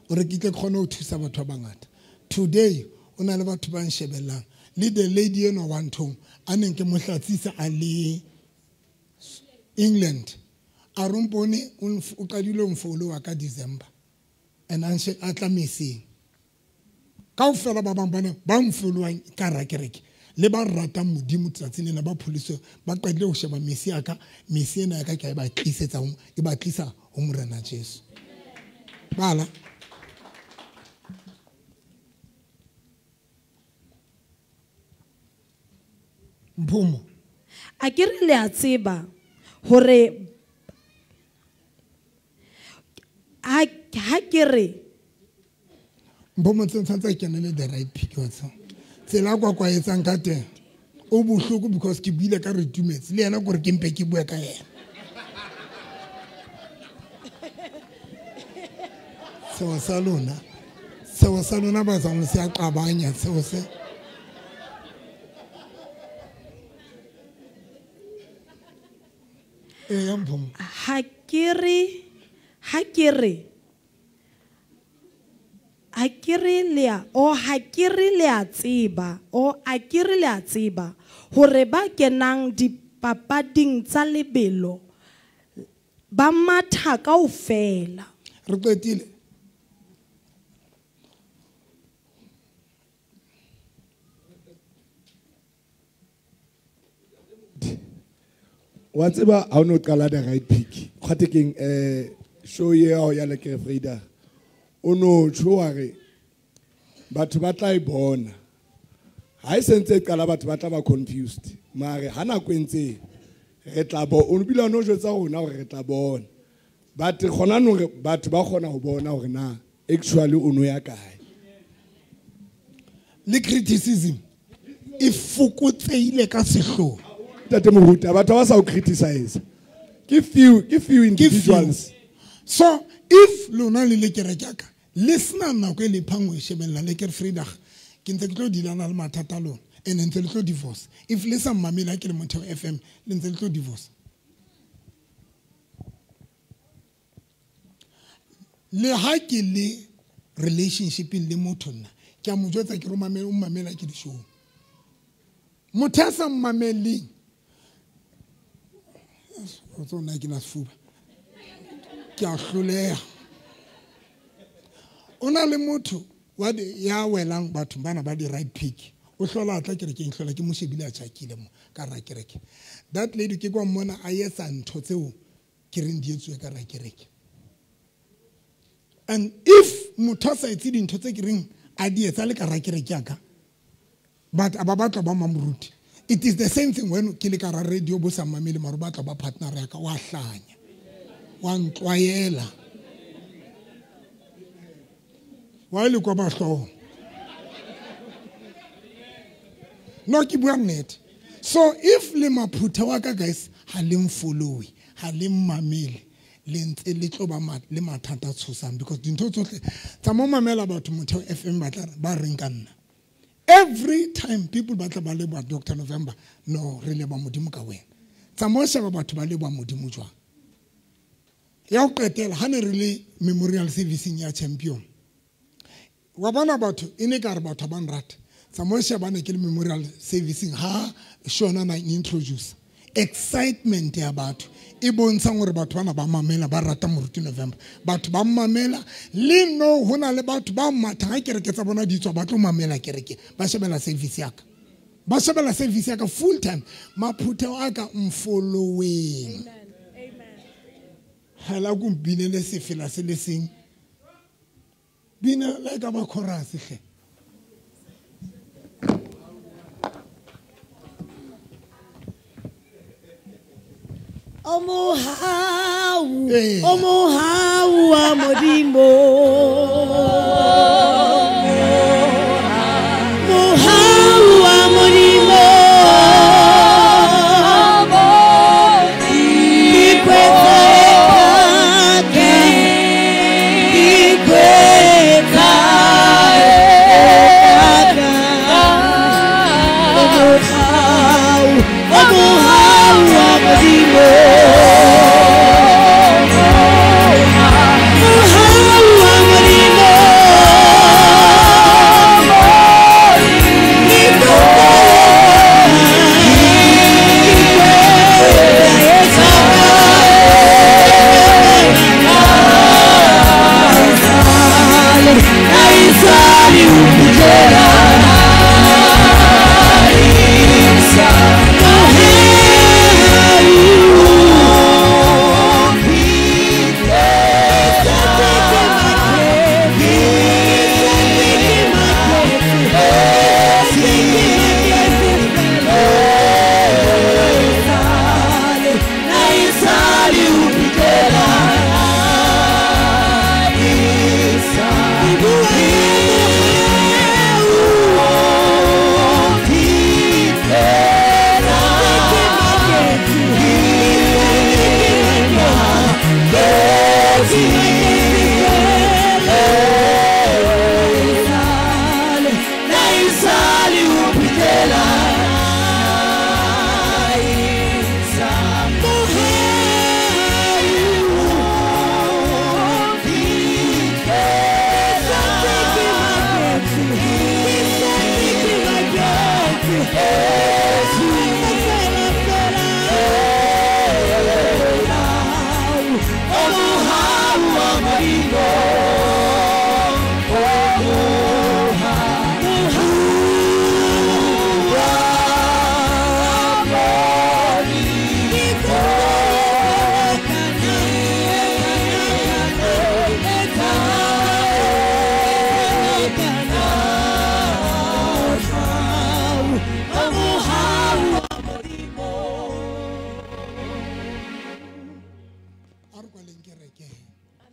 O re ke tle kgone ho thusa batho ba bangata. Today o na le batho ba nshebellang. Le the lady eno wa nthong a neng ke mo hlatsisa a le England. A rompone o qadile ho mfollowa ka December. And a tla meseng. Kaofela ba bang bana ba mfollowang ka rakereke. Le ba ratang Modimo tsatsing lena ba pholoswe ba qadile ho sheba mesi ya ka, mesi ena ya ka ke a e ba tlisetsa ho e ba tlisa ho Morena Jesu. Bala. Mphumo. A ke re le a tseba hore ha ke re Mphumo tshwanetse a kenele the right pick wa tseba. Tsela kwa kwa etsang ka teng o bohloko because ke buile ka re tumetse le yena gore ke mpe ke bue ka yena. Seo sa lona ba tsang se a qabanya seo se. Ya mphomo. Ha ke re le a tseba a ke re le a tseba hore ba kenang dipapading tsa lebelo ba matha kaofela. Re qetile. Wa tseba ha o no qala the right pick. Kgwate keng show eo ya Lekker Vrydag. O no tjho wa re batho ba tla e bona. Ha e sentse e qala batho ba tla ba confused. Mare ha nako e ntse re tla bo o bile no jwetsa rona hore re tla bona. But gona no re batho ba kgona ho bona hore na actually o no ya kae. Le criticism e fokotseile ka sehloho. Ntate Moruti, batho ba sa o criticize. Ke few individuals. So if lona le le kereke ya ka le sena nako e le phang ho e shebella Lekker Vrydag, ke ntse ke tlo dilana le mathata a lona and ntse le tlo divorce. If le sa mmamele ha ke le Motheo FM le ntse le tlo divorce. Le ha ke le relationshipeng le motho nna ke a mo jwetsa ke re o mamela ke di-show. Motho a sa mmameleng o tsona ke na sefuba ke a hloleha. O na le motho wa ya welang batho bana ba di right pick. O hlola tla kerekeng hlola ke mo shebile a tjhakile mo ka ra kereke. That lady ke kwa mmona a etsa ntho tseo ke reng di etsuwe ka ra kereke. And if motho a sa etse dintho tse ke reng a di etsa le ka ra kereke ya ka, but a ba batla ba mamoruti. It is the same thing when ke le ka ra radio bo sa mamele maro batla ba partner ya ka wa hlanya. Wa ntlwaela. Wa le kwa bahlooho. No ke bua nnete. So if le maphutha wa ka guys ha le mfollowe, ha le mmamele, le ntse le tlo ba le mathata tshosang because dintho tsohle tsa mo mamela batho Motheo FM ba tla ba reng ka nna. Every time people ba tla ba leboha Dr. November, no re leboha Modimo ka wena. Tsa mo sheba batho ba leboha Modimo jwang. Ya ho qetela ha ne re le memorial servicing ya champion. Wa bona batho e ne ka re batho ba nrata. Tsa mo sheba ne ke le memorial servicing ha shona na introduce excitement ya batho e bontshang hore batho bana ba mamela ba rata Moruti November. Batho ba mamela le no hona le batho ba matha ha kereke tsa bona di tswa ba tlo mamela kereke ba shebela service ya ka. Ba shebela service ya ka full time. Maphutheo a ka mfollowing. Amen. Amen. Hala ku binele sefela se le seng. Bina la ka ba chorus hle. Omohau, omohau wa Modimo. Mohau wa Modimo. Omohau wa Modimo.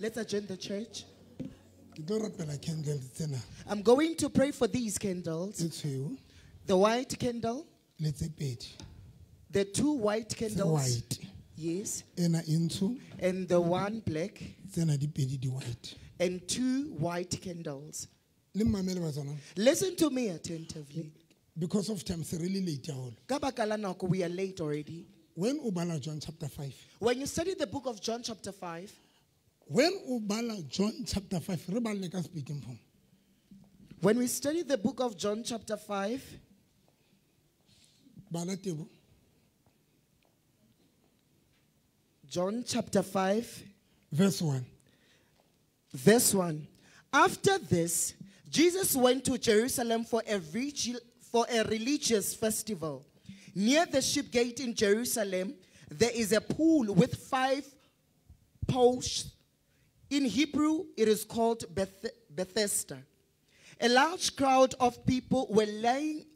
Let's adjourn the church. I'm going to pray for these candles. The white candle. The two white candles. Yes. And the one black. And two white candles. Listen to me attentively. Because of time, it's really late. We are late already. When Ubala John chapter 5. When you study the book of John chapter 5. When Ubala John chapter 5, speaking from. When we study the book of John chapter 5, John chapter 5, verse 1. Verse 1. After this, Jesus went to Jerusalem for a religious festival. Near the sheep gate in Jerusalem, there is a pool with 5 posts. In Hebrew, it is called Bethesda. A large crowd of people were lying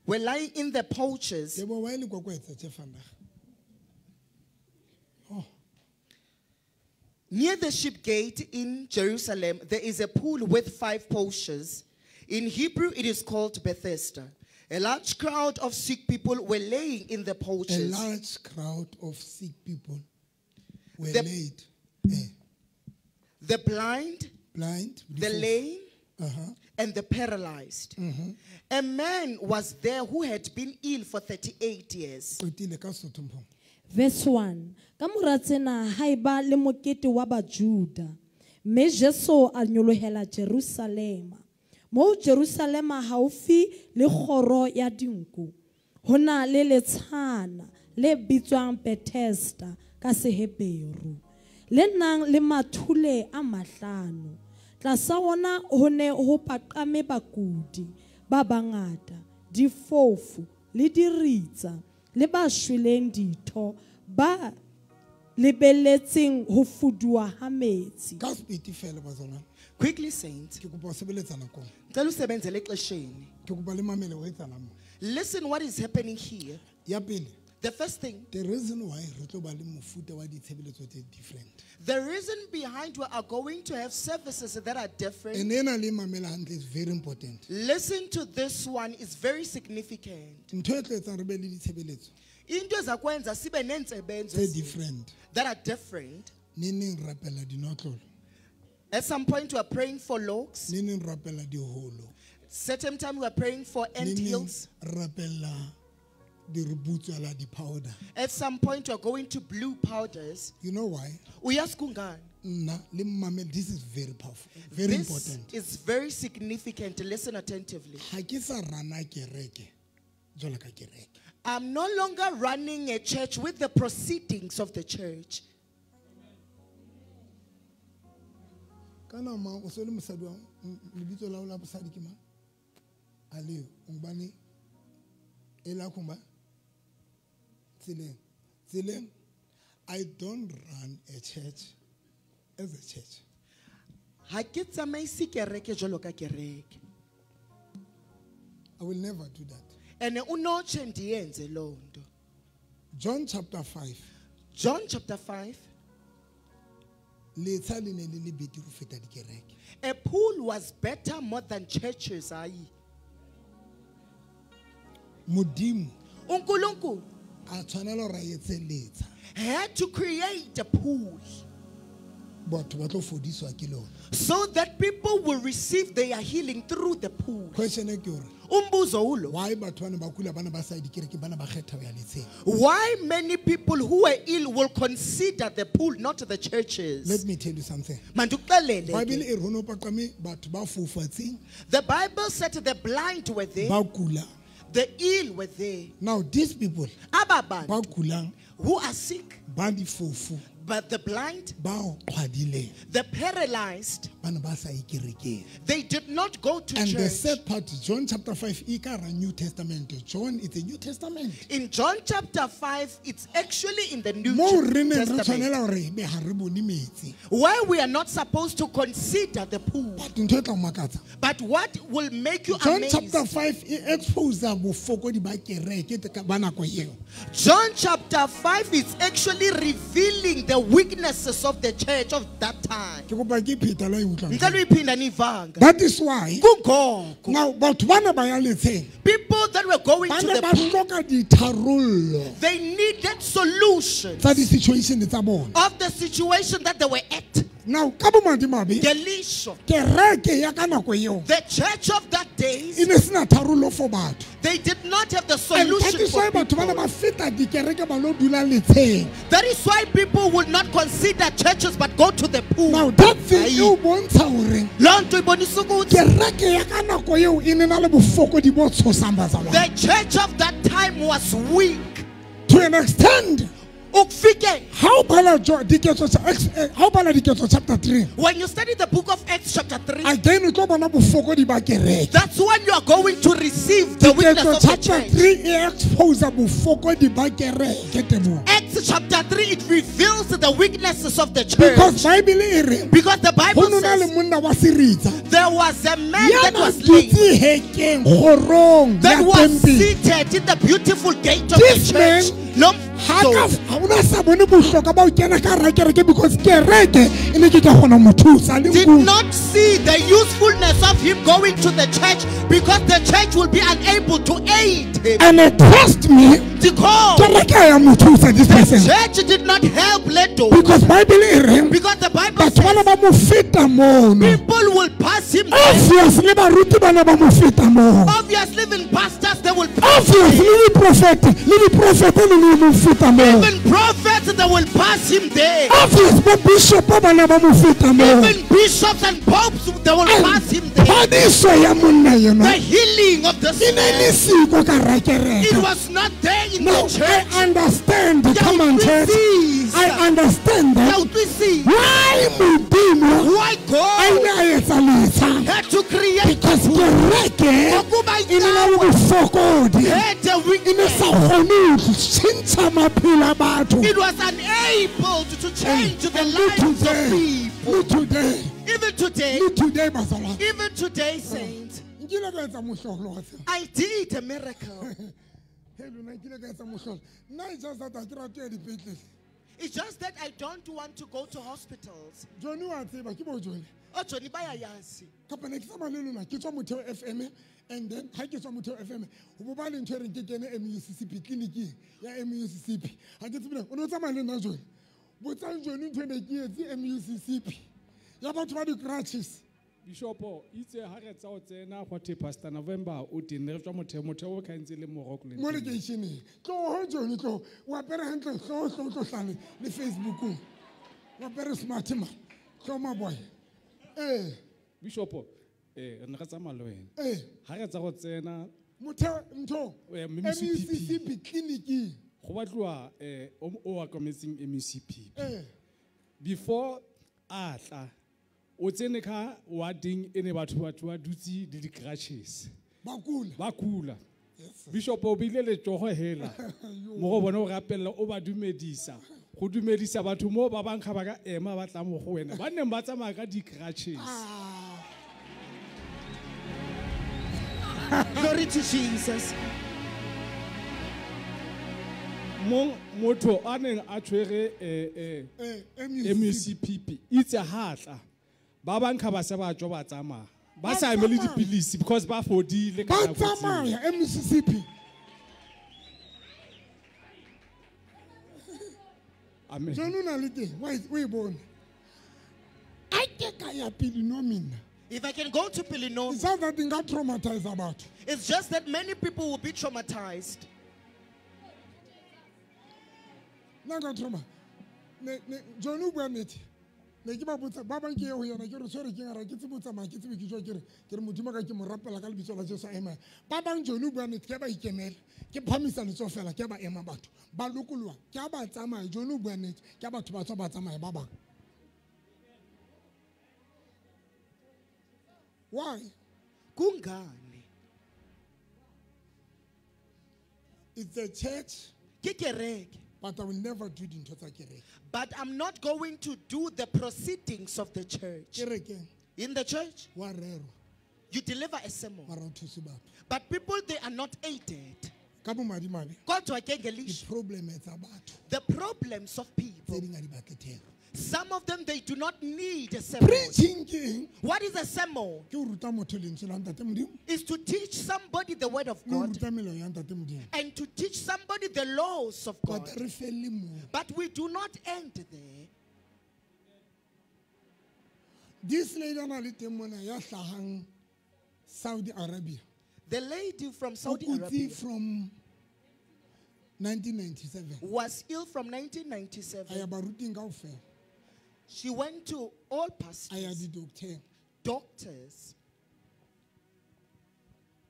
in the porches. Near the sheep gate in Jerusalem, there is a pool with 5 porches. In Hebrew, it is called Bethesda. A large crowd of sick people were laying in the porches. A large crowd of sick people were laid. The blind, the lame, and the paralyzed. Mm-hmm. A man was there who had been ill for 38 years. Verse 1. Ka mora tsena ha eba le mokete wa Bajuda, mme Jesu a nyolohela Jerusalema. Mo Jerusalema haufi le kgoro ya dinku, ho na le letshana le bitswang Bethesda ka Seheberu, le nang le mathule a mahlano. Tlasa wona ho ne ho paqame bakudi ba bangata, difofu le diritsa le ba shweleng ditho, ba lebeletseng ho fuduwa ha metsi. Ka sepiti fela bazalwane. Quickly, saints. Ke kopa ho sebeletsa nakong. Ngicela usebenzele exesheni. Ke kopa le mamele ho etsahalang mo. Listen what is happening here. Ya pele. The first thing, the reason why re tlo ba le mofuta wa ditshebeletso tse different. The reason behind we are going to have services that are different. And ena le mamela hantle is very important. Listen to this one, it's very significant. Ntho e tlo etsang re be le ditshebeletso Into ezakwenza sibe nentsebenzo tse different. that are different. Neneng rapela dinotlolo. At some point we are praying for locks. Neneng rapela diholo. Certain time we are praying for ant hills. Rapela powder. At some point we are going to blue powders. You know why? Uyazi kungani? Nna le mmamele, this is very powerful, very This important. is very significant. Listen attentively. Ha ke sa rana kereke jwalo ka kereke. I'm no longer running a church with the proceedings of the church. Kana ma o se le mosadi wa lebitso la ho la bosadi ke mang? A leo, ngubani? E la kumba? Tseleng. Tseleng, I don't run a church as a church. Ha ke tsamaise kereke jwalo ka kereke. I will never do that. Ene unotshe ndiyenze loo nto. John chapter 5. John chapter 5. Letsha le ne le le betere ho feta dikereke. A pool was better more than churches. Ayi. Modimo uNkulunkulu a tshwanela hore a etse letsha. had to create a pool Batho ba tlo fodiswa ke lona. so that people will receive their healing through the pool. Question e ke hore, Umbuzo ulo. why batho ba ne ba kula, ba ne ba sa ye dikerekeng, ba ne ba kgetha ho ya letsheng? Why many people who are ill will consider the pool, not the churches? Let me tell you something. Mandikuxelele ke. Bible e re ho no paqame batho ba foufetseng, The Bible said the blind were there, ba kula. the ill were there. Now these people Aba bantu ba kulang, who are sick, ba difofu, but the blind, ba qhwadileng, the paralyzed, ba ne ba sa ye kerekeng. they did not go to And the church. sad part, John chapter 5, e ka hara New Testament. John, it's a New Testament. In John chapter 5, it's actually in the New Mo re neng re Testament. tshwanela hore ebe ha re bone metsi. Where we are not supposed to consider the pool. But ntho e tla o makatsa. But what will make you John amazed? chapter 5 e expose bofokodi ba kereke ba nako eo. John chapter 5 is actually revealing the weaknesses of the church of that time. Ke kopa ke pheta la e utlwang. Ngicela uyiphinda nivanga. That is why Kungoko now batho bana ba ya letsheng, people that were going ba to ne the ba pool, hloka ditharollo they needed solutions tsa di-situation tsa bona. of the situation that they were at. Now ka bomadimabe, Ngelisho, kereke ya ka nako eo the church of that days, e ne sena tharollo for batho. they did not have the And that solution is for why batho bana people. ba feta dikereke ba lo dula letsheng. That is why people will not consider churches but go to the pool. Now that thing Ayi. e o bontsha hore Loo nto ibonisa ukuthi kereke ya ka nako eo e ne na le bofokodi bo tshosang bazalwane. the church of that time was weak. To an extent, Ukufike ha o bala Diketso ha o bala Diketso chapter 3, when you study the book of Acts chapter 3, again o tlo bona bofokodi ba kereke. that's when you are going to receive the weakness Diketso of the chapter church. 3 e expose bofokodi ba kereke, Teboho. Acts Acts chapter 3, it reveals the weaknesses of the church. Because Bible e re, Because the go Bible no na le says monna wa seritsa there was a man ya that na was lame, dutse hekeng kgorong that ya was tempele. seated in the beautiful gate of This the church. man Lo ha ka ha ona sa bone bohlokwa ba ho kena ka hara kereke because kereke e ne ke ka kgona ho mo thusa le did nku. not see the usefulness of him going to the church because the church will be unable to aid him. And trust me, Because kereke ya mo thusa this the person. church did not help Leto. Because Bible e reng Because the Bible batho bana says ba mo feta mono. people will pass him there. Obviously baruti bana ba mo feta moo. Obviously, even pastors, they will pass Obviously him. le diprofete le mo feta moo. Even prophets, they will pass him there. Obvious bo bishop bana ba mo feta moo. Even bishops and popes, they will pass him there. Phodiso ya monna The enwa healing of this e ne man, le siko ka hara it kereke. was not there in Now the church. I understand. Ke a Come on, church. utlwisisa. I understand Ke a that. utlwisisa. Why Modimo Why a God ile a etsa letsha? had to create Because kereke Ngokuba e ne na le bofokodi. had a E ne weakness. sa kgone ho tjhentjha maphelo a batho. It was unable to change the And lives of today, people. le today, Even today, le today, bazalwane. even today, saints, Nkile ka etsa mohlolo wa tseba. I did a miracle. Hey, lona nkile ka etsa mohlolo. Nna it's just that ha ke rate ho ya dipetlele. It's just that I don't want to go to hospitals. Johnny wa tseba, ke bo Johnny. Oh, Johnny, bayayazi. Kapa ne ke tsamaya le lona, ke tswa Motheo FM, and then ha ke tswa Motheo FM, ho bo ba le ntho e reng ke kene MUCCP, tleliniking ya MUCCP. Ha ke tsebe na, o ne o tsamaya le nna Johnny? Botsang Johnny ntho e ne ke etse MUCCP ya batho ba di-crutches. Bishopo itse ha re tsa o tsena gwa the Pastor November o teng ne re tswa Motheo, Motheo o kgantse le mo Rockland. Mo lekeisheneng. Tloho Johnny, tloho. O apere hantle, tloho, tloho, tlo hlale le Facebookong. O apere smart man. Tloho maboy. Bishopo, re ne re tsamaya le wena. Ha re tsa go tsena Motheo, ntho, MUCCP. MUCCP tleliniking. Go batliwa o okametseng MUCP. Before a tla, o tsene ka warding e ne batho ba dutse le di-crutches. Ba kula. Ba kula. Yes. Bishop o bile letsogo hela. Mo go bone o rapella o ba dumedisa. Go dumedisa batho mo ba bang ga ba ka ema ba tla mo go wena. Ba neng ba tsamaya ka di-crutches. Glory to Jesus. Mo motho a neng a tshwere MUCPP itse ha tla. Ba bang ga ba se ba tswa ba tsamaya. Ba sa emele dipilisi because ba fodile ka Ba nako tseo. tsamaya MUCCP. Amen. Johnny o na le teng, wa o e bone. A ke ka ya Pele If I can go to Pelenomi, It's just that nka traumatize batho. it's just that many people will be traumatized. Nna nka trauma. Ne Johnny o bua nnete. Ne ke ba botsa ba bang ke ye ho yena ke re tshwere ke ngara ke tsebe ho tsamaya ke tsebe ke jwa ke re ke re Modimo ka ke mo rapela ka lebitso la Jesu a ema. Ba bang Johnny o bua nnete ke ba ikemela. Ke phamisa letsoho fela ke ba ema batho. Ba lokoloha ke ba tsamaya Johnny o bua nnete ke batho ba tswa ba tsamaya ba bang. Why? Kungani? It's a church. Ke kereke. But I will never do dintho tsa kereke. But I'm not going to do the proceedings of the church. Kerekeng. In the church, Wa rerwa. you deliver a sermon. Mara o thuse batho. But people, they are not aided. Ka bomadimabe. Kodwa ke ngelishwa. Di-problem tsa batho. The problems of people. Tse ding ha di batle thero. Some of them, they do not need a sermon. Preaching ke eng? What is a sermon? Ke ho ruta motho lentswe la Ntate Modimo. Is to teach somebody the word of Le ho God. ruta melao ya Ntate Modimo. And to teach somebody the laws of God. But re felle moo. But we do not end there. This lady a na le teng mona ya hlahang Saudi Arabia. The lady from Saudi O kutse Arabia from 1997. was ill from 1997. A ya baruting kaofela. She went to all A ya pastors, di-doctor. doctors.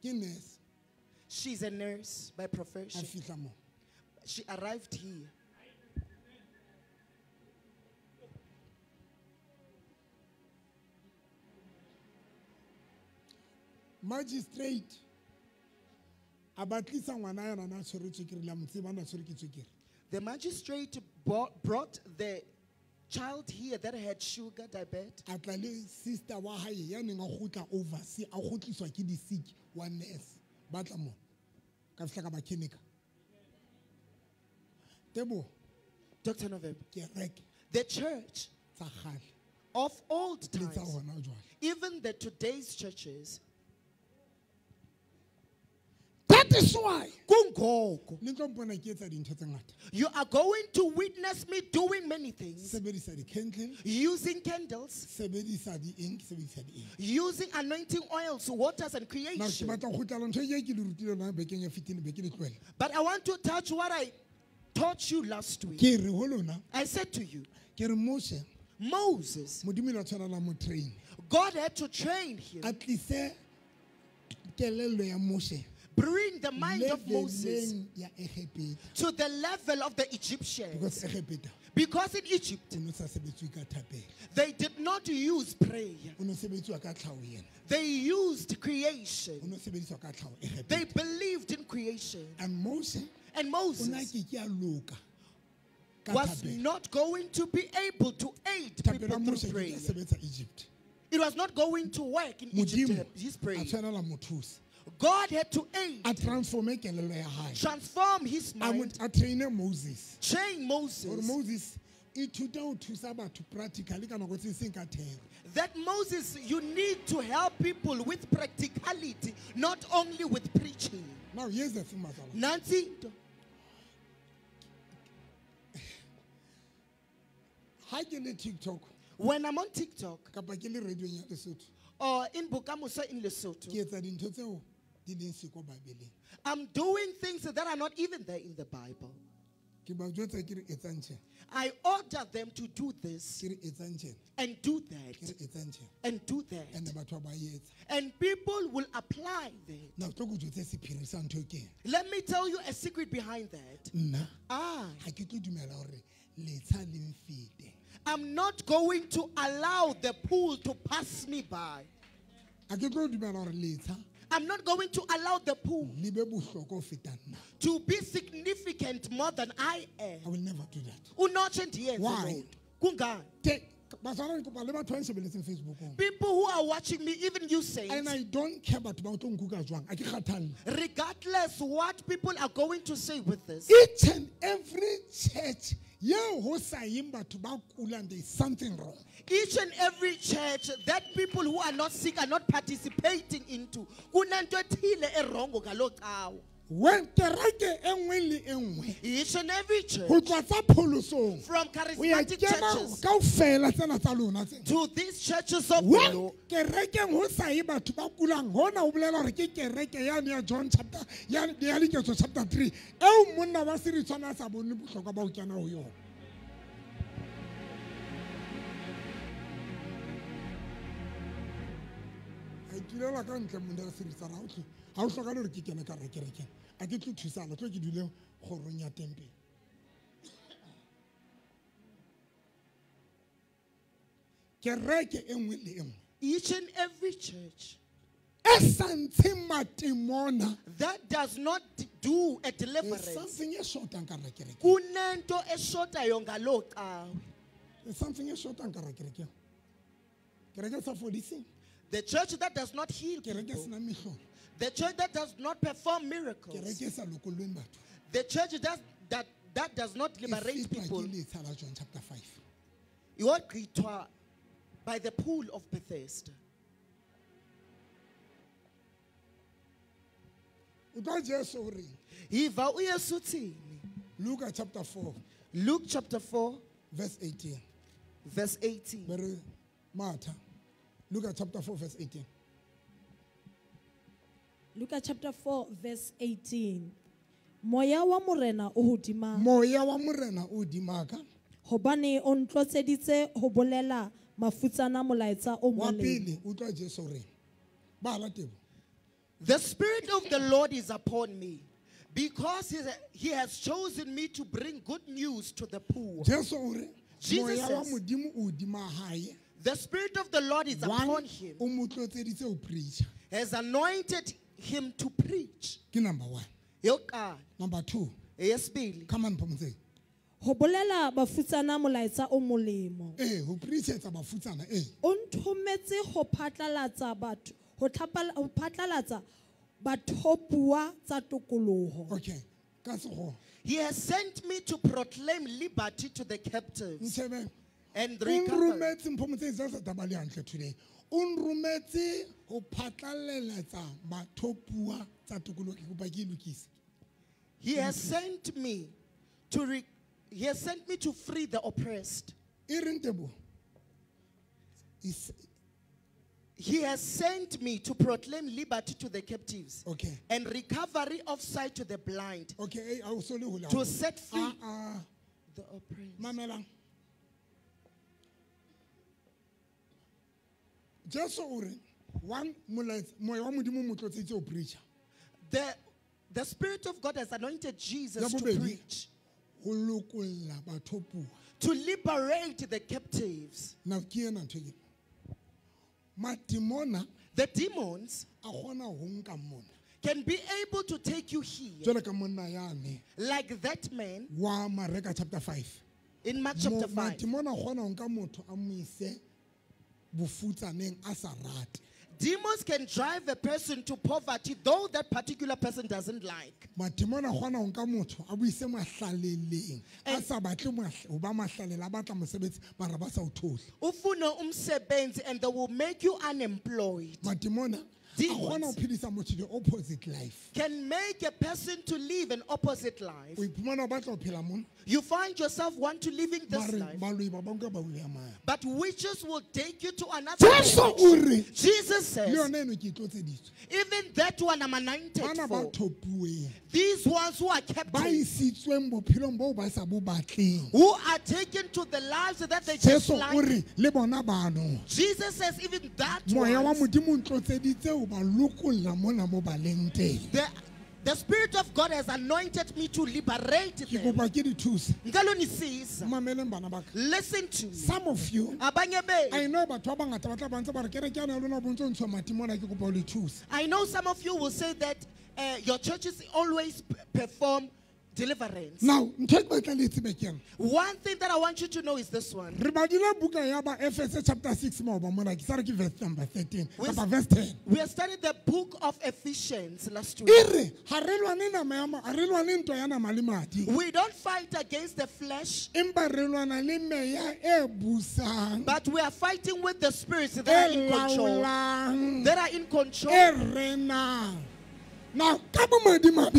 Ke nurse. She's a nurse by profession. A fihla mo. She arrived here. Magistrate a ba tlisa ngwana yena na tshwere tswekere, le a mo tseba na tshwere ke tswekere. The magistrate brought the child here that had sugar diabetes. A tla le sister wa hae ya neng a kgutla overseas, a kgutliswa ke di-sick wa nurse. Ba tla mona. Ka fihla ka ba clinic. Tebo. Dr. November. Kereke. The church Tsa kgale. of old Le tsa times, hona jwale. even the today's churches. That is why Kungoko. Le tlo mpona ke etsa dintho tse ngata. You are going to witness me doing many things. Sebedisa di-candle. Using candles. Sebedisa di-ink, sebedisa di-ink. Using anointing oils, waters and Now, ke creation. batla ho kgutlela ntho e ke le rutile yona bekeng e fetileng, be ke le tlohela. But I want to touch what I taught you last week. Ke re ho lona, I said to you, ke re Moshe, Moses, Modimo ile a tshwanela mo train. God had to train him. A tlise kelello ya Moshe Bring the mind of Moses leveleng ya Egepeta. to the level of the Egyptians. Because Egepeta, Because in Egypt, o no sa sebetswe ka thapelo. they did not use prayer. O no sebetswa ka tlhaho yena. They used creation. O no sebediswa ka tlhaho Egepeta. They believed in creation. And Moshe, And o na Moses ke ke a loka ka was thapelo. not going to be able to aid Thapelo people ya through Moshe ke prayer. ke a sebetsa Egypt. It was not going to work in Egypt, Modimo his prayer. a tshwanela mo thusa. God had to aid, A transforme kelello ya hae. transform his A mo- mind, a traine Moses. train Moses. Hore Moses ithute ho thusa batho practically ka nako tse seng ka thero. That Moses, you need to help people with practicality, not only with preaching. Now here's the thing, Matsala. Nancy, Ha ke le TikTok, when I'm on TikTok kapa ke le radio ya Lesotho, or in Bokamoso in Lesotho, ke etsa dintho tseo di leng siko Bibeleng. I'm doing things that are not even there in the Bible. Ke ba jwetsa ke re etsang tjena. I order them to do this Ke re etsang tjena. and do Ke that re etsang tjena. and do that. And batho ba etsa. And people will apply that. Now tlo go jwetse sephiri sa ntho e ke eng. Let me tell you a secret behind that. Nna I ha ke tlo dumela hore letsha le mfete. am not going to allow the pool to pass me by. Ha ke tlo dumela hore letsha I'm not going to allow the pool le be bohlokwa ho feta nna. to be significant more than I am. I will never do that. Unotshe ndiyenze Why? loo nto. Kungani? Te batswana ke kopa le batho ba nshebeletseng Facebookong. People who are watching me, even you saints, And I don't care batho ba o tlo nkuka jwang. Ha ke kgathalle. regardless what people are going to say with this, Each and every church yeo ho sa yeng batho ba kulang, there is something wrong. Each and every church that people who are not sick are not participating into, kunento ethile erongo ngaloo cawa. When kereke e nngwe le e nngwe, Each and every church, ho tloha tsa pholosong, from ho ya charismatic kena churches kaofela tsena tsa lona tsena. to these churches of the When Lord, kerekeng ho sa ye batho ba kulang, hona ho bolela hore ke kereke yane ya John chapter, ya Diketso chapter 3, eo monna wa Seritshwana a sa bone bohlokwa ba ho kena ho yona. A itulela ka ntle monna wa Seritshwana, ha o tlo, ha o hlokahale hore ke kene ka hara kerekeng. A ke tlo thusana, tlo ke dule kgorong ya tempele. Kereke e nngwe le e nngwe. Each and every church E sa ntsheng matemona, that does not do a there's deliverance, something e shotang ka hara kerekeng. kunento eshotayo ngaloo cawe. There's something e shotang ka hara kerekeng. Kereke e sa fodiseng. The church that does not heal Kereke e people, senang mehlolo. the church that does not perform miracles, Kereke e sa lokollweng batho. the church that does not E liberate fetwa people, ke letsha la John chapter 5. iwagqithwa by the pool of Bethesda. Utlwa Jesu o reng? Yiva uYesu uthini? Luka chapter 4, Luke chapter 4, verse 18. verse 18. Be re Martha. Luka chapter 4, verse 18. Luka chapter 4 verse 18. Moya wa Morena o hodima. Moya wa Morena o hodima ka. Hobane o ntlotseditse ho bolela mafutsana molaetsa o Wa molemo. pele, utlwa Jesu o reng? Bala tebo. The Spirit of the Lord is upon me, because he has chosen me to bring good news to the poor. Jesu o re, Jesus Moya wa says, Modimo o hodima hae. The Spirit of the Lord is One, upon him. o mo tlotseditse ho preacher. Has anointed him to preach. Ke number 1. Yokuqala. Number 2. Eyesibili. Come on, Phomotse. Ho bolela bafutsana molaetsa o molemo. Ho preachetsa bafutsana. O nthometse ho phatlalatsa batho, ho phatlalatsa bathopuwa tsa tokoloho. Okay. Ka sekgowa. He has sent me to proclaim liberty to the captives. Ntshebe. And O recover. nrometse mpho motse tsa taba le hantle today. O nrometse ho phatlalaletsa bathopuwa tsa tokoloho, ke kopa ke e lokise. He has sent me to He has sent me to free the oppressed. E reng Teboho? He has sent me to proclaim liberty to the captives. Okay. And recovery of sight to the blind. Okay, I also To set free the oppressed. Mamela. Jesu o re, one molaetsa, moya wa Modimo o mo tlotsitse ho preacher. The Spirit of God has anointed Jesus Ya to bobedi, preach. ho lokolla bathopuwa. To liberate the captives. Now, ke ena ntho e ke. Madimona, the demons, a kgona ho nka mona. can be able to take you here. Jwalo ka monna yane. Like that man. Wa Mareka chapter 5. In Mark chapter 5. Madimona a kgona ho nka motho a mo ise bofutsaneng a sa rate. Demons can drive a person to poverty, though that particular person doesn't like. Madimona a kgona ho nka motho a bo ise mahlaleleng. A sa batle ho ba mahlalela, a batla mosebetsi, mara ba sa o thole. Ufuna umsebenzi and they will make you unemployed. Madimona a kgona ho phedisa motho the opposite life. Can make a person to live an opposite life. O iphumana o batla ho phela mona. You find yourself want to living this Mare life. baloi ba banka ba o ya mane. But witches will take you to another Jesu o direction. re, Jesus says, le yona eno ke e tlotseditswe. even that one I'm anointed Bana ba for. thopuweng. These ones who are Ba captive, isitsweng bophelong boo ba sa bo batleng. who are taken to the lives that they Jesu just o like. re, le bona bano. Jesus says even that Moya wa ones, Modimo o ntlotseditse ho ba lokolla mona mo ba leng teng. the Spirit of God has anointed me to liberate Ke them. kopa ke di thuse. Ngicela unisiza. Mameleng bana ba ka. Listen to me. Some of you, Abanye benu. I know batho ba bangata ba tla ba ntse ba re kereke yana ya lona bo ntso ntshuwa matimona, ke kopa ho le thusa. I know some of you will say that your churches always perform deliverance. Now, ntho e ke batlang le e tsebe ke ena. One thing that I want you to know is this one. Re badile buka ya ba Efese chapter 6 maoba mona, ke sa re ke verse number 13, We kapa verse 10. We have studied the book of Ephesians last week. E re, ha re lwane nama ya ma, ha re lwane ntwa ya nama le madi. We don't fight against the flesh, Empa re lwana le meya e busang. but we are fighting with the spirits that are E in control. laolang. That are in control. E renang. Now, ka bomadimabe,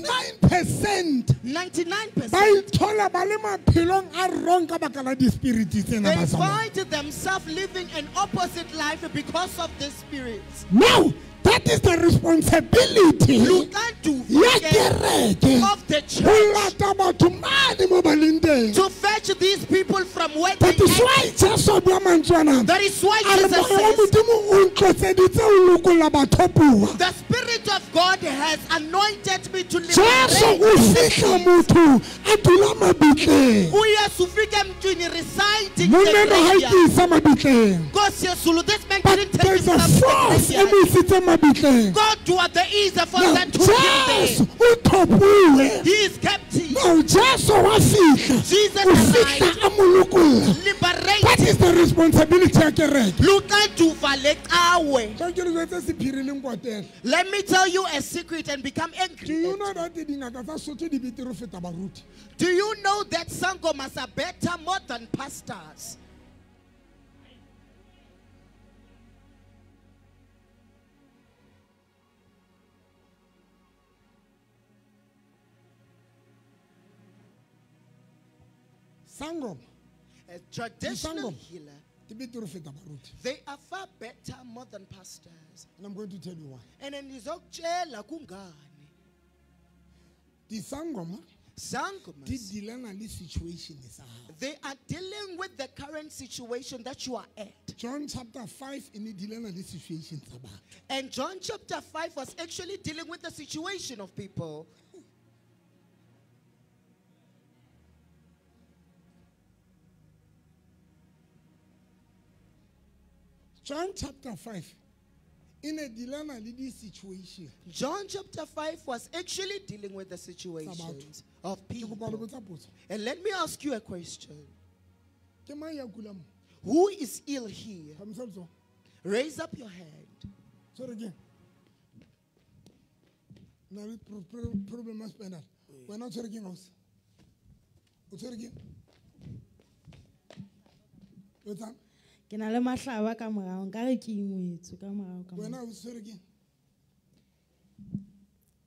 99% 99% ba ithola ba le maphelong a wrong ka baka la di-spirit tsena They ba sa bona. find themselves living an opposite life because of the spirits. Now, that is the responsibility ya kereke of the church ho lata batho mane mo ba leng teng. to fetch these people from where they That is are. why Jesu a bua mantswe ana. That is why A re Jesus moya wa says, Modimo o ntlotseditse ho lokolla bathopuwa. the Spirit of God has anointed me to Jesu liberate. o fihla motho a dula mabitleng. uYesu ufike emntwini residing in the Monna ha graveyard. e isa mabitleng. Nkosi yeZulu, this man But didn't take there's a himself to the force e graveyard. mo isitseng mabitleng. Kodwa there is a force Now, that took him there. Jesu o thopuwe. He is captive. Now Jesu wa fihla. Jesus O fihla arrived. a mo lokolla. Liberate. That is the responsibility ya kereke. Luxanduva lecawe. Tla ke le jwetse sephiri le nkwatele. Let me tell you a secret and become angry. Do you know that dingaka tsa Sotho di betere ho feta baruti? Do you know that sangomas are better more than pastors? Sangoma. A traditional Disangoma. healer, Di betere ho feta baruti. they are far better more than pastors. And I'm going to tell you why. And then ngizokutshela kungani. Disangoma Sangomas, di dealana le situation sa hao. they are dealing with the current situation that you are at. John chapter 5 e ne dealana le situation tsa batho. And John chapter 5 was actually dealing with the situation of people. John chapter 5 E ne dilana le di-situation. John chapter 5 was actually dealing with the situations of Ke kopa le people. botsa potso. And let me ask you a question. Ke mang ya kulang mo? Who is ill here? Phamisa letsoho. Raise up your hand. Tshwere keng? Na le problem ya spinal. Wena o tshwere keng ausi? O tshwere keng? O etsang? Ke na le mahlaba ka morao, nkare ke ingwetswe ka morao ka Wena mo. o tshwere keng?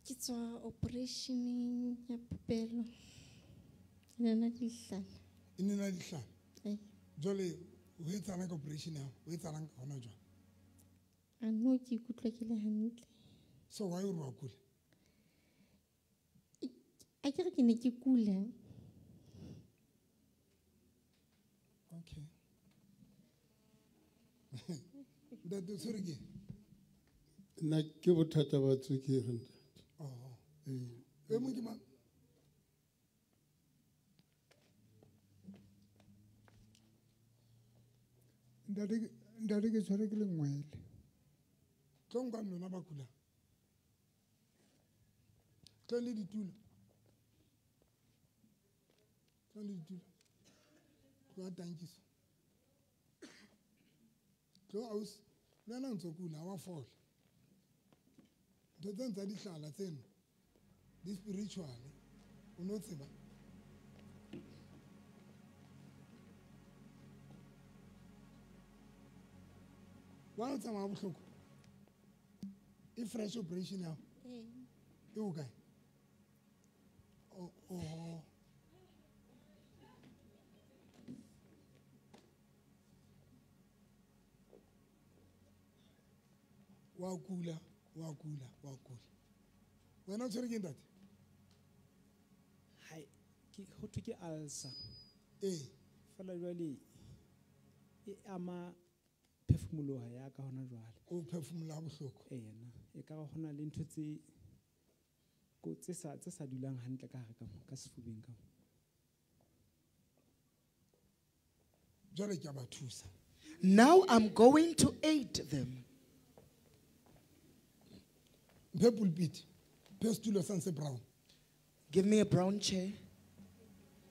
Ke tswa operation ya popelo. E ne na dihlala. E ne na dihlala. Ee. Jwale o etsahalang ka operation ya hao? O etsahalang ka hona jwale? A no, ke ikutlwa ke le hantle. So why o re wa kula? A ke re ke ne ke kula. Okay. Ntate o tshwere keng? Nna ke bothata ba tswekere, ntate. Oh. Ee. E mong ke mang? Ntate ke tshwere ke lengwele. Tlo nkang lona ba kulang. Tlo le ditulo. Tlo le ditulo. Tlo a tankiso. Tlo ausi, le wena o ntso kula, ha wa fola. Ntho tsena tsa dihlala tseno, di spiritual, o no tseba. Wa o tsamaya bohloko? E fresh operation ya hao? Ee. E o kae? Oh, oh. Wa kula, wa kula, wa kula. Wena o tshwere ke ntate? Hai, ke ho thwe ke ulcer. Ee. Fela jwale e ama phefumoloho ya ka hona jwale. O phefumoloha bohloko? Ee, na. E ka re hona le ntho tse ko tse sa dulang hantle ka hare ka mo, ka sefubeng ka mo. Jwale ke a ba thusa. Now I'm going to aid them. Mphe pulpit. Mphe setulo sa se brown. Give me a brown chair.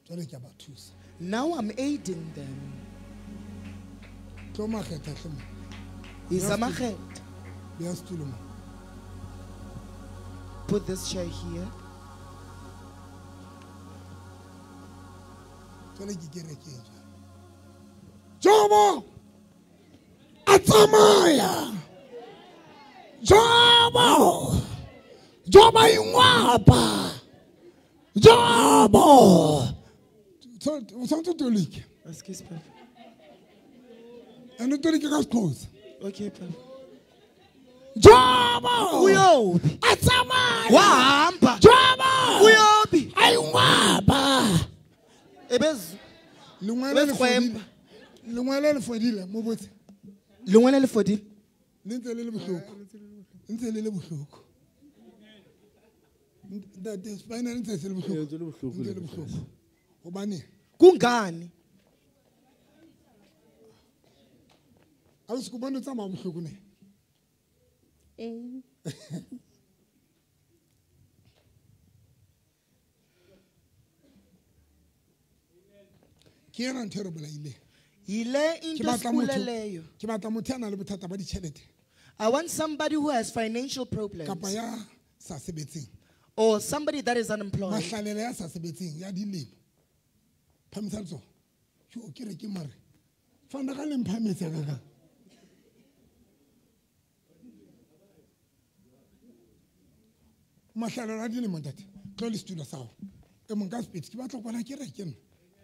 Jwale ke a ba thusa. Now I'm aiding them. Tlo makgetha hle mo. Isa makgetha. Beya setulo mo. Put this chair here. Jwale ke kerekeng jwale. Jobo a tsamaya. Jobo. Jobo ingwapa. Jobo. O tshwanetse o tolike. Excuse me. And o tolike ka Sexhosa. Okay, papa. Jobo. Uyobi. A tsamaya. Wahamba. Jobo. Uyobi. Ayingwapa. Ebez. Lengwele le fodile. Lengwele le fodile mo botse. Lengwele le fodile. Le ntse le le bohloko. Ntse le le bohloko. Ntate spinal ntse se le bohloko. Ntse le bohloko. Ntse le bohloko. Hobane kungani? Ausi ko bona o tsamaya bohloko ne? Ee. Ke yena ntho e re bolaileng. Yile into Ke batla motho- esikuleleyo. Ke batla motho ya nang le bothata ba ditjhelete. I want somebody who has financial problems. Kapa ya sa sebetseng. Or somebody that is unemployed. Mahlalela ya sa sebetseng ya dilemo. Phamisa letsoho. Yo, ke re ke mare. Fana ka le mphametsa ka ka. Mahlalela a dilemo ntate. Tlo le setulo sa hao. E mong ka sepedi ke batla ho bona ke re ke nna.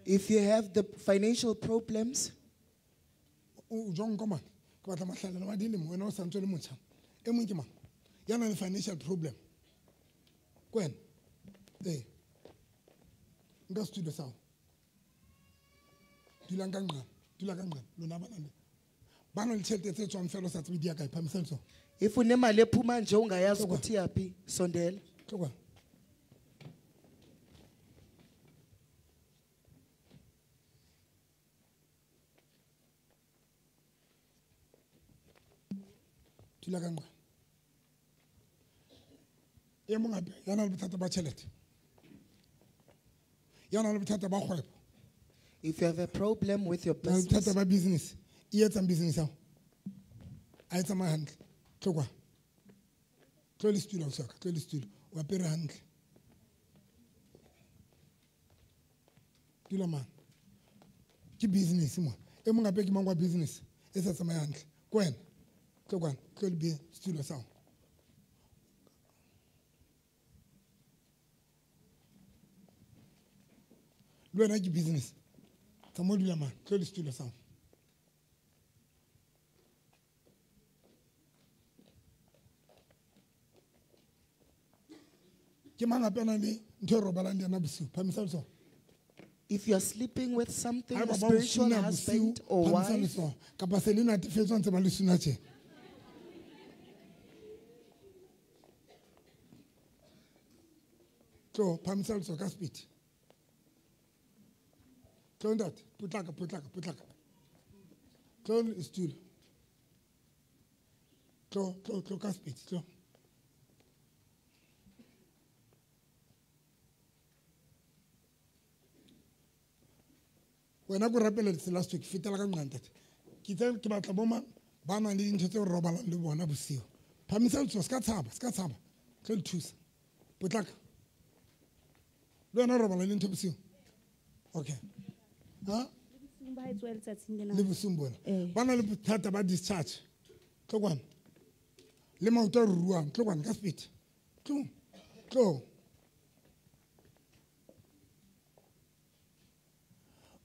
If you have the financial problems, O jwang ka mang? Ke batla mahlalela wa dilemo wena o sa ntse o le motjha. E mong ke mang? Ya nang le financial problem. Ke wena? Ee. Nka setulo sa hao. Dulang ka nqane, dula ka nqane. Lona ba nang le ba nang le tjhelete tse tswang fela o sa tsebe di ya kae, phamisa letsoho. If unemali ephuma nje ungayazi ukuthi iyaphi, sondela. Tloka. Dula ka nqane. E mong hape ya nang le bothata ba tjhelete. Ya nang le bothata ba kgwebo. If you have a problem with your Na le business, bothata ba business. E etsang business ya hao? A e tsamaye hantle. Tlo kwa. Tlo le setulo ausi wa ka, tlo le setulo. O apere hantle. Dula mane. Ke business mo. E mong hape ke mang wa business e sa tsamaye hantle. Ke wena. Tlo kwana, tlo le setulo sa hao. Le wena ke business. Tsamaya o dula mane, tlo le setulo sa hao. Ke mang hape a nang le ntho e robalang le yena bosiu? Phamisa letsoho. If you are sleeping with something, Haeba a ba o spiritual suna husband bosiu, or phamisa wife, letsoho. Kapa se le natefetswe ntse ba le suna tje. Tlo, phamisa letsoho ka speed. Tlo ntate, potlaka, potlaka, potlaka. Tlo setulo. Tlo, tlo, tlo ka speed, tlo. Wena ko rapeletse last week, fetela ka nqa ntate. Ke itse ke batla bo mang ba nang le dintho tse re robalang le bona bosiu. Phamisa letsoho, se ka tshaba, se ka tshaba. Tlo le thusa. Potlaka. Le wena o robala le ntho bosiu? Okay. Ha? Le bosiung bona. Ba na le bothata ba discharge. Tlo kwana. Le maoto a ruruang, tlo kwana ka speed. Tlo. Tlo.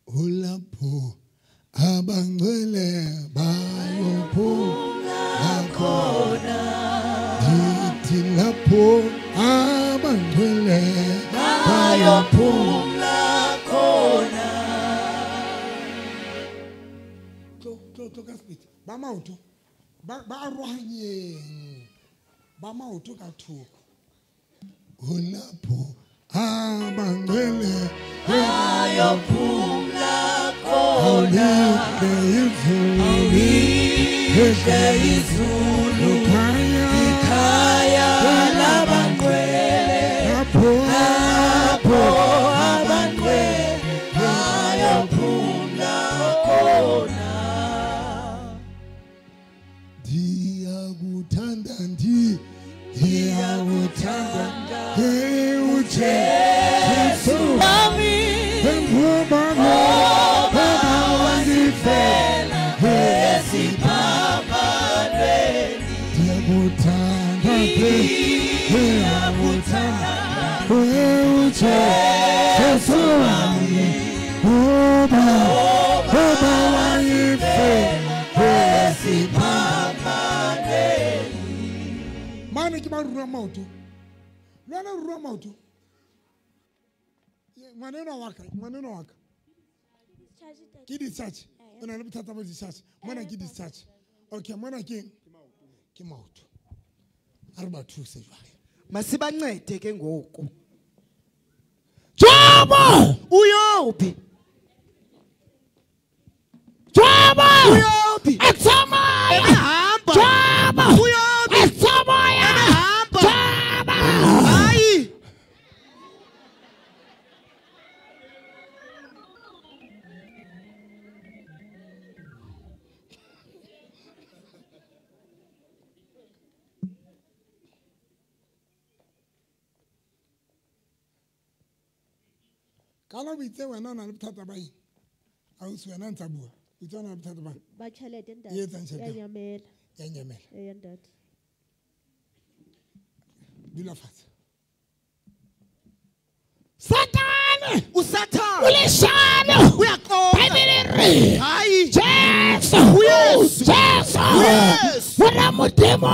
Ulapho abangcwele bayophumla khona. Ndithi lapho abangcwele bayophumla khona. Tlo, tlo, tlo ka speed. Ba maoto. Ba arohanyeng. Ba maoto ka thoko. Ulapho abangcwele bayophumla khona. Awulihle izulu, ikhaya labangcwele. Lapho abangcwele bayophumla khona. Ndiyakuthanda, ndiyakuthanda, hey uJesu wami, ngoba wandifela esiphambanweni. Ndiyakuthanda, ndiyakuthanda, hey uJesu wami, ngoba wandifela esiphambanweni. Mane ke ba rua maoto. Le wena o rua maoto. Ngwana enwa wa ka, ngwana enwa wa ka. Ke discharge. O na le bothata ba discharge. Mona ke discharge. Okay, mona ke eng? Ke maoto. A re ba thuse jwale. Masibancede ke ngoku. Jobo! Uyophi? Jobo! Uyophi? Etsamaya! Ebehamba. Jobo! Uyophi? Etsamaya! Ebehamba. Jobo! Hayi! Ka la o itse wena o na le bothata ba eng? Ausi wena ntsa bua. O itse o na le bothata ba eng? Ba tjhelete ntate. E etsang tjhelete? Ya nyamela. Ya nyamela. Eya ntate. Dula fatshe. Satane! Usathane! O leshano! Uyaxoka! Bibele e re! Hayi! Jesu! Uyesu! Jesu! Uyesu! Mora Modimo!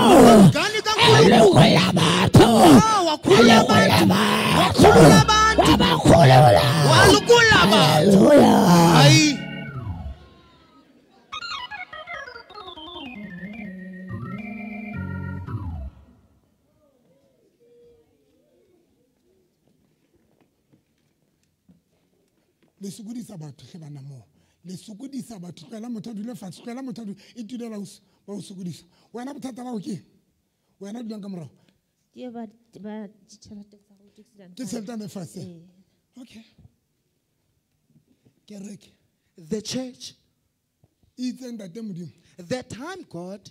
Ngane kaNkulunkulu! A lokolla batho! Ah, wakhulula A lokolla abantu! batho! Wakhulula abantu! Wa ba kholola! Walokolla batho! Hallelujah! Hayi! Le sokodisa batho hle bana moo. Le sokodisa batho, tlohela motho a dule fatshe, tlohela motho a dule, e tulela o ba o sokodisa. Wena bothata ba hao ke eng? Wena o dulang ka morao. Ke ba ba tjhelete tsa go Ke tjhelete ne fatshe. Okay. Kereke. The church. Itse ntate Modimo. The time God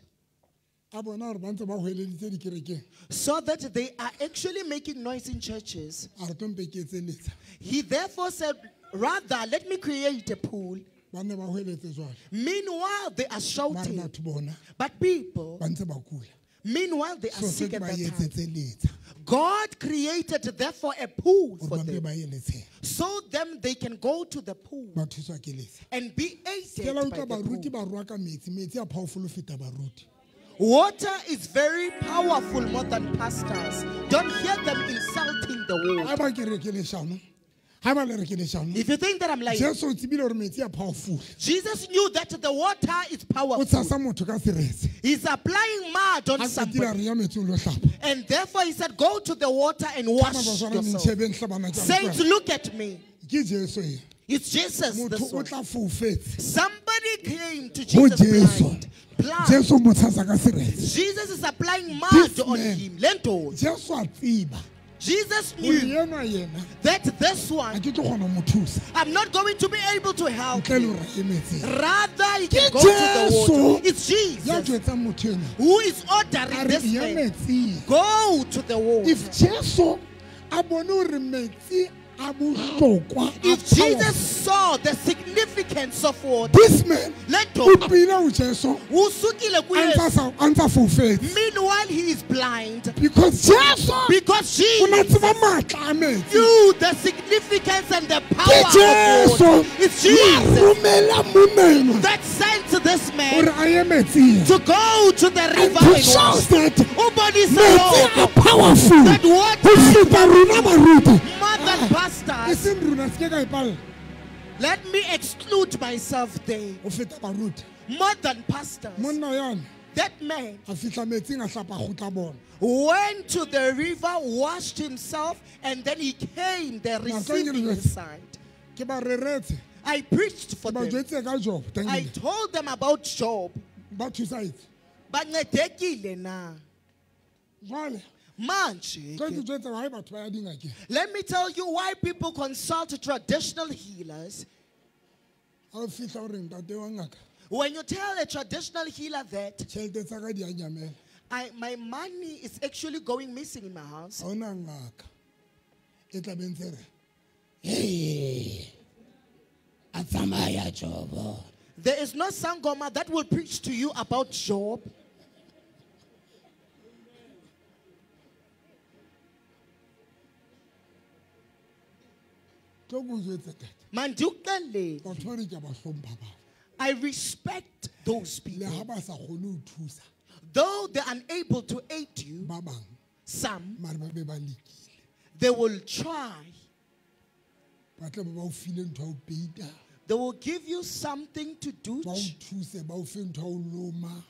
a bona hore ba ntse ba hweleditse dikerekeng. saw that they are actually making noise in churches. A re tlo mpe ke etse letsha. He therefore said, rather, let me create a pool. Ba ne ba hweletse jwale. Meanwhile, they are Mare shouting. batho bona But people, ba ntse ba kula. meanwhile, they are So sick se at ba that time. etsetse letsha. God created therefore a pool Hore for ba mpe them. ba ye letsheng. So them they can go to the pool Ba thuswa ke letsha. and be Ke aided la by utlwa the baruti pool. ba rwaka metsi. Metsi a powerful ho feta baruti. Water is very powerful more than pastors. Don't hear them insulting the water. Haeba ke re ke leshano. Haeba le re ke leshano. If you think that I'm lying, Jesu o tsebile hore metsi a powerful. Jesus knew that the water is O powerful. tshasa motho ka seretse. He's applying mud on Ha qetile a somebody. re ya metsi o lo hlapa. And therefore he said, go to the water and Ka wash mabaka a yourself. ntjhebeng hle bana ke a Saints, utlwa. look at me. Ke Jesu e. It's Jesus. Motho This o one. tla foufetse. Somebody came to Ho Jesus Jesu. blind. Blind. Jesu o mo tshasa ka seretse. Jesus is applying mud This on man, him. Lento. Jesu a tseba. Jesus Hore knew enwa yena that this ha one, ke tlo kgona ho mo thusa. I'm not going to be able to help Ntle le him. hore a ye metsing. Rather, he can Ke go to the Jesu water. It's ya Jesus jwetsang motho enwa. who is A ordering re this ya man. metsing. Go to the water. If Jesu a bone hore metsi a bohlokwa, a If Jesus powerful, saw the significance of water, this man Lento, o pila ho Jesu usukile a kuye. ntsa sa- a ntsa foufetse. Meanwhile, he is blind. Because Jesu Because o na Jesus tseba matla a metsi. knew the significance and the Ke power of Jesu water. It's ya Jesus romela monna enwa that sent this hore man a ye metsing. to go to the And river to and show wash. that Ubonisa metsi a lokho powerful that water ho feta rona baruti. more than E pastors. seng rona se ke ka e palla Let me exclude myself there. ho feta baruti. More than pastors. Monna yane That man a fihla metsing a hlapa kgutla bona. went to the river, washed himself, and then he came there Now, thank you, receiving Lord. his sight. Ke ba reretse. I preached for Ke ba them. jwetse ka Job. Thank I you. told them about Job. Ba thusa etse. Bancedekile na. Jwale Manje tlo ke ke, jwetse why batho ba ya dingakeng. let me tell you why people consult traditional healers. Ha o fihla o re ntate wa ngaka, When you tell a traditional healer that tjhelete tsa ka di a nyamela. My money is actually going missing in my house, Ha hona ngaka e tla be ntse re, "Hey, a tsamaya Jobo." there is no sangoma that will preach to you about Job. Tlo ke o jwetse tate. Mandukuxelele. Batho ba re ke a ba hlompha bao. I respect those Le ha people. ba sa kgone ho thusa Though they're unable to aid you, ba bang, some, mare ba be ba lekile. they will try. Ba tla be ba o file ntho ya ho peita. They will give you something to do, Ba o thuse, ba o fe ntho ya ho loma.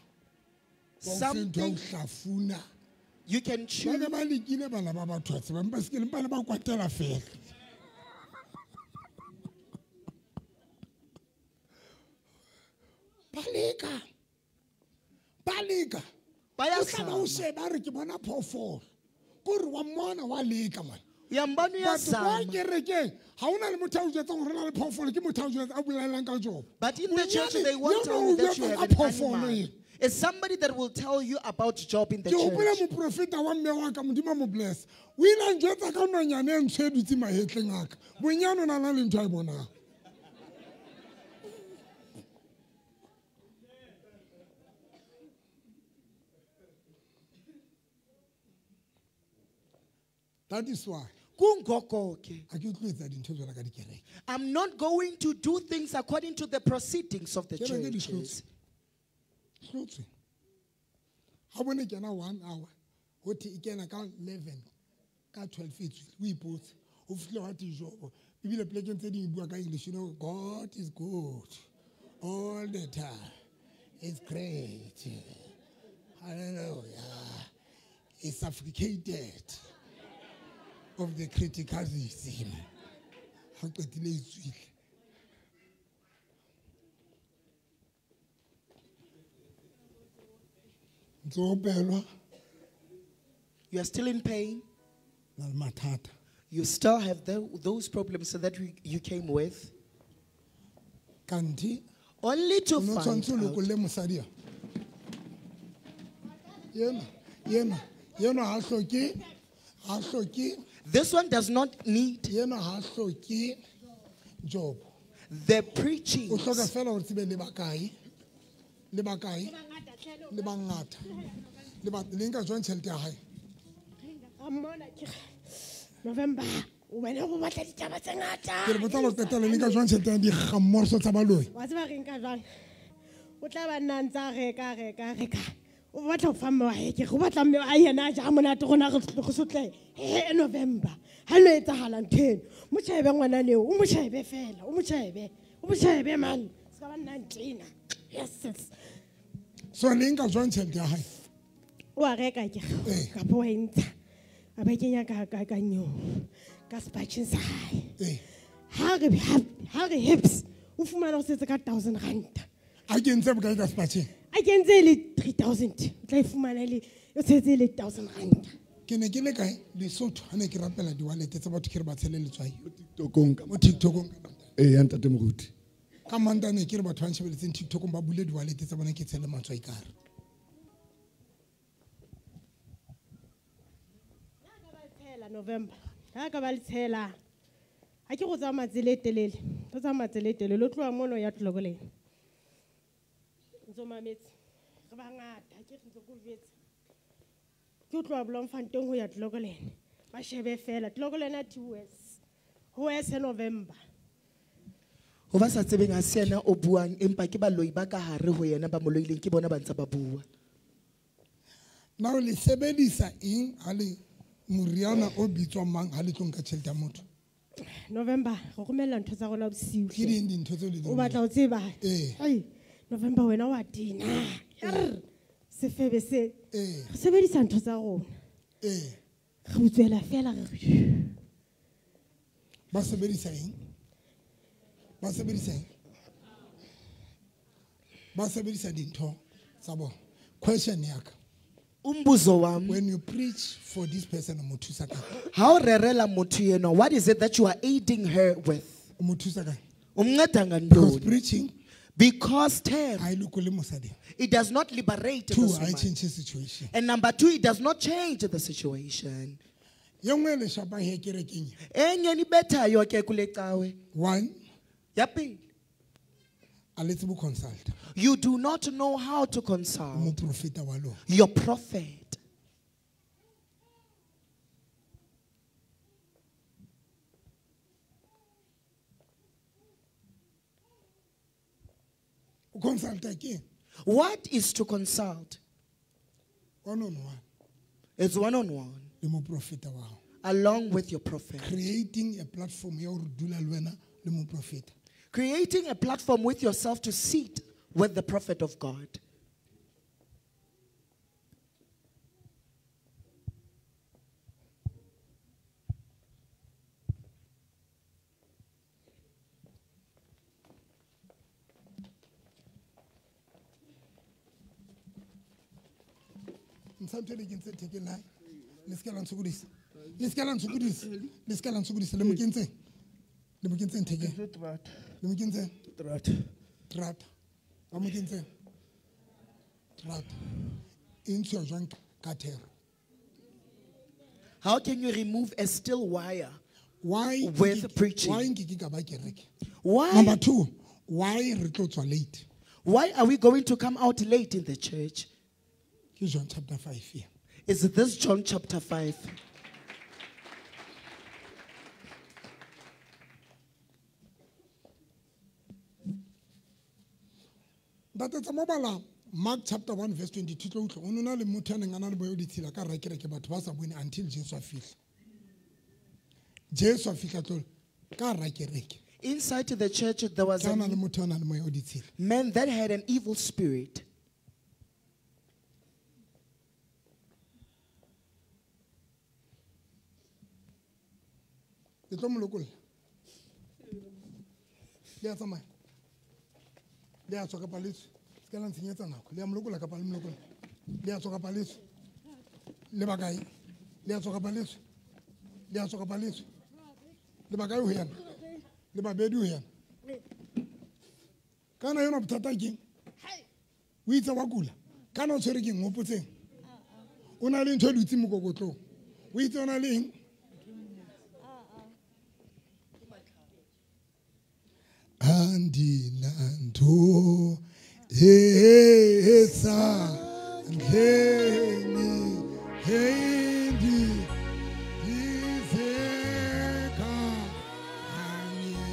Ba o fe ntho ya ho something hlafuna. you can Ba chew. ne ba lekile bana ba batho wa tseba, empa se ke le ba ne ba kwatela fela. Ba leka. Ba leka. O tla ba o Bayazama. sheba a re ke bona phoofolo. Ke hore wa mmona wa leka man. Uyambona Batho ba uyazama. kerekeng ha hona le motho a o jwetsang hore ho na le phoofolo, ke motho a o jwetsang a bolelang ka Job. But in the church, Bonyane they won't yena tell o you that you jwetsa have ka an phoofolo animal. ena. It's somebody that will tell you about Job in the Ke hopola church. moprofeta wa mme wa ka, Modimo a mo bless. O ile a njwetsa ka nonyane e ntsho e dutse mahetleng a ka. Bonyane o na na le ntho a e bonang. That is why Kungoko ke. ha ke tlo etsa dintho jwalo ka dikereke. I'm not going to do things according to the proceedings of the Kereke di churches. hlotswe. Hlotswe. Ha bone kena 1 hour, ho thwe e kena ka 11, ka 12 e tswile, o ipotse. O fihlile wa te Jobo. Ebile plekeng tse ding e bua ka English, you know, God is good all the time. It's great. Hallelujah. It's suffocated of the criticism. Ha qetile e tswile. Ntse o opelwa. You are still in pain. Na le mathata. You still have those problems that you came with. Kanti only to o no find tshwanetse o out. lokolle mosadi a. Yena, yena, yena ha hloke, ha hloke. This one does not need. Yena ha hloke job. The preaching. O hloka fela hore tsebe le bakae. Le bakae. Le bangata. Le ba le nka jwang tjhelete ya hae? November, o wena o batla ditaba tse ngata. Ke re botsa lo qetela le nka jwang tjhelete ya dikgamorso tsa baloi? Wa tseba re nka jwang? O tla ba nna ntse a reka, reka, reka. O batla ho fa mme wa hae, ke re o batla mme wa hae yena a ja monate rona re sotle. He, November. Ha no etsahala ntho eno. Mo shebe ngwana leo, o mo shebe fela, o mo shebe. O mo shebe man. Se ka ba nna ntena. Yes, yes. So le nka jwang tjhelete ya hae? O a reka ke re. Kapa wa e ntsha. A ba kenya ka nyo. Ka sepatjheng sa hae. Ha re hips, o fumana o setse ka 1000 rand. A kentse bokae ka sepatjheng? A kentse e le 3000. O tla e fumana le o setse e le 1000 rand. Ke ne ke le kae? Lesotho ha ne ke rapela di-wallet tsa batho ke re ba tshele letswai. Mo TikTokong ka Mo TikTokong. Ee, ya ntate Moruti. Ka Mantaha ne ke re batho ba nshebeletseng TikTokong ba bule di-wallet tsa bona ke tshele matswai ka hare. November. Ha ka ba le tshela. Ha ke go tsamaya tsela e telele. Go tsamaya tsela e telele, o tloha mono ya Tlokoleng. Ntso mametse. Re bangata, ha ke re ntse ke o jwetsa. Ke o tloha Bloemfontein ho ya Tlokoleng. Ba shebe fela, Tlokoleng a 2 years. Ho yes November. Ho ba sa tsebeng ha se yena o buang empa ke baloi ba ka hare ho yena ba mo loileng ke bona ba ntse ba bua. Na o le sebedisa eng ha le moriana o bitswang mang ha le tlo nka tjhelete ya motho? November, re romella ntho tsa rona bosiu. Ke ding dintho tseo le di O batla ho tseba? Ee. Ai, November wena wa tena. Err, sefebe se. Ee. Re sebedisa ntho tsa rona. Ee. Re utswela fela re re. Ba sebedisa eng? Ba sebedisa eng? Ba sebedisa dintho tsa bona. Question ya ka. Umbuzo wami. When you preach for this person, o mo thusa ka? Ha o rerela motho enwa, what is it that you are aiding her with? O mo thusa ka? O mnceda ngantoni? Because preaching, Because term, ha e lokole mosadi. it does not liberate Two, this ha e woman. change situation. And number two, it does not change the situation. Ye nngwe e le shapang he kerekeng e. Enye nibethayo ke kule cawe. One, Ya pele. a le tsebe ho consult. You do not know how to consult. Moprofeta wa lona. Your prophet. O consulta ke? What is to consult? One on one. It's one on one. Le moprofeta wa hao. Along with your prophet. Creating a platform ya hore dula le wena le moprofeta. Creating a platform with yourself to sit with the prophet of God. Ntshang ntho e le kentseng thekeng la hae. Le se ke la ntshokodisa. Le se ke la ntshokodisa. Le se ke la ntshokodisa. Le mo kentseng. Le mo kentseng thekeng. Le mo kentseng? Terata. Terata. Ba mo kentseng? Terata. E ntshuwa jwang ka thero? How can you remove a steel wire Why with preaching? Why nke ke ka ba kereke? Why? Number two, why re tlo tswa late? Why are we going to come out late in the church? Ke John chapter 5 here. Is this John chapter 5? Ntate tsa mobala Mark chapter 1 verse 22 tlo utlwa o nona le motho a neng a na le boya o ditshila ka hara kereke batho ba sa bone until Jesu a fihla. Jesu a fihla tlo ka hara kereke. Inside the church there was Ke a a na le motho a nang le moya o ditshila. man that had an evil spirit. Le tlo mo lokolla. Le a tsamaya. Le a tswa kapa le tswe. Se ka la ntshenyetsa nako. Le a mo lokolla kapa le mo lokolla. Le a tswa kapa le tswe. Le bakae? Le a tswa kapa le tswe? Le a tswa kapa le tswe? Le bakae ho yena? Le babedi ho yena? Kana yona bothata keng? O itse wa kula. Kana o tshwere keng? Hopotseng. O na le ntho e dutseng mokokotlong. O itse o na le eng? Andinanto esa ndleni hendi izeka kanye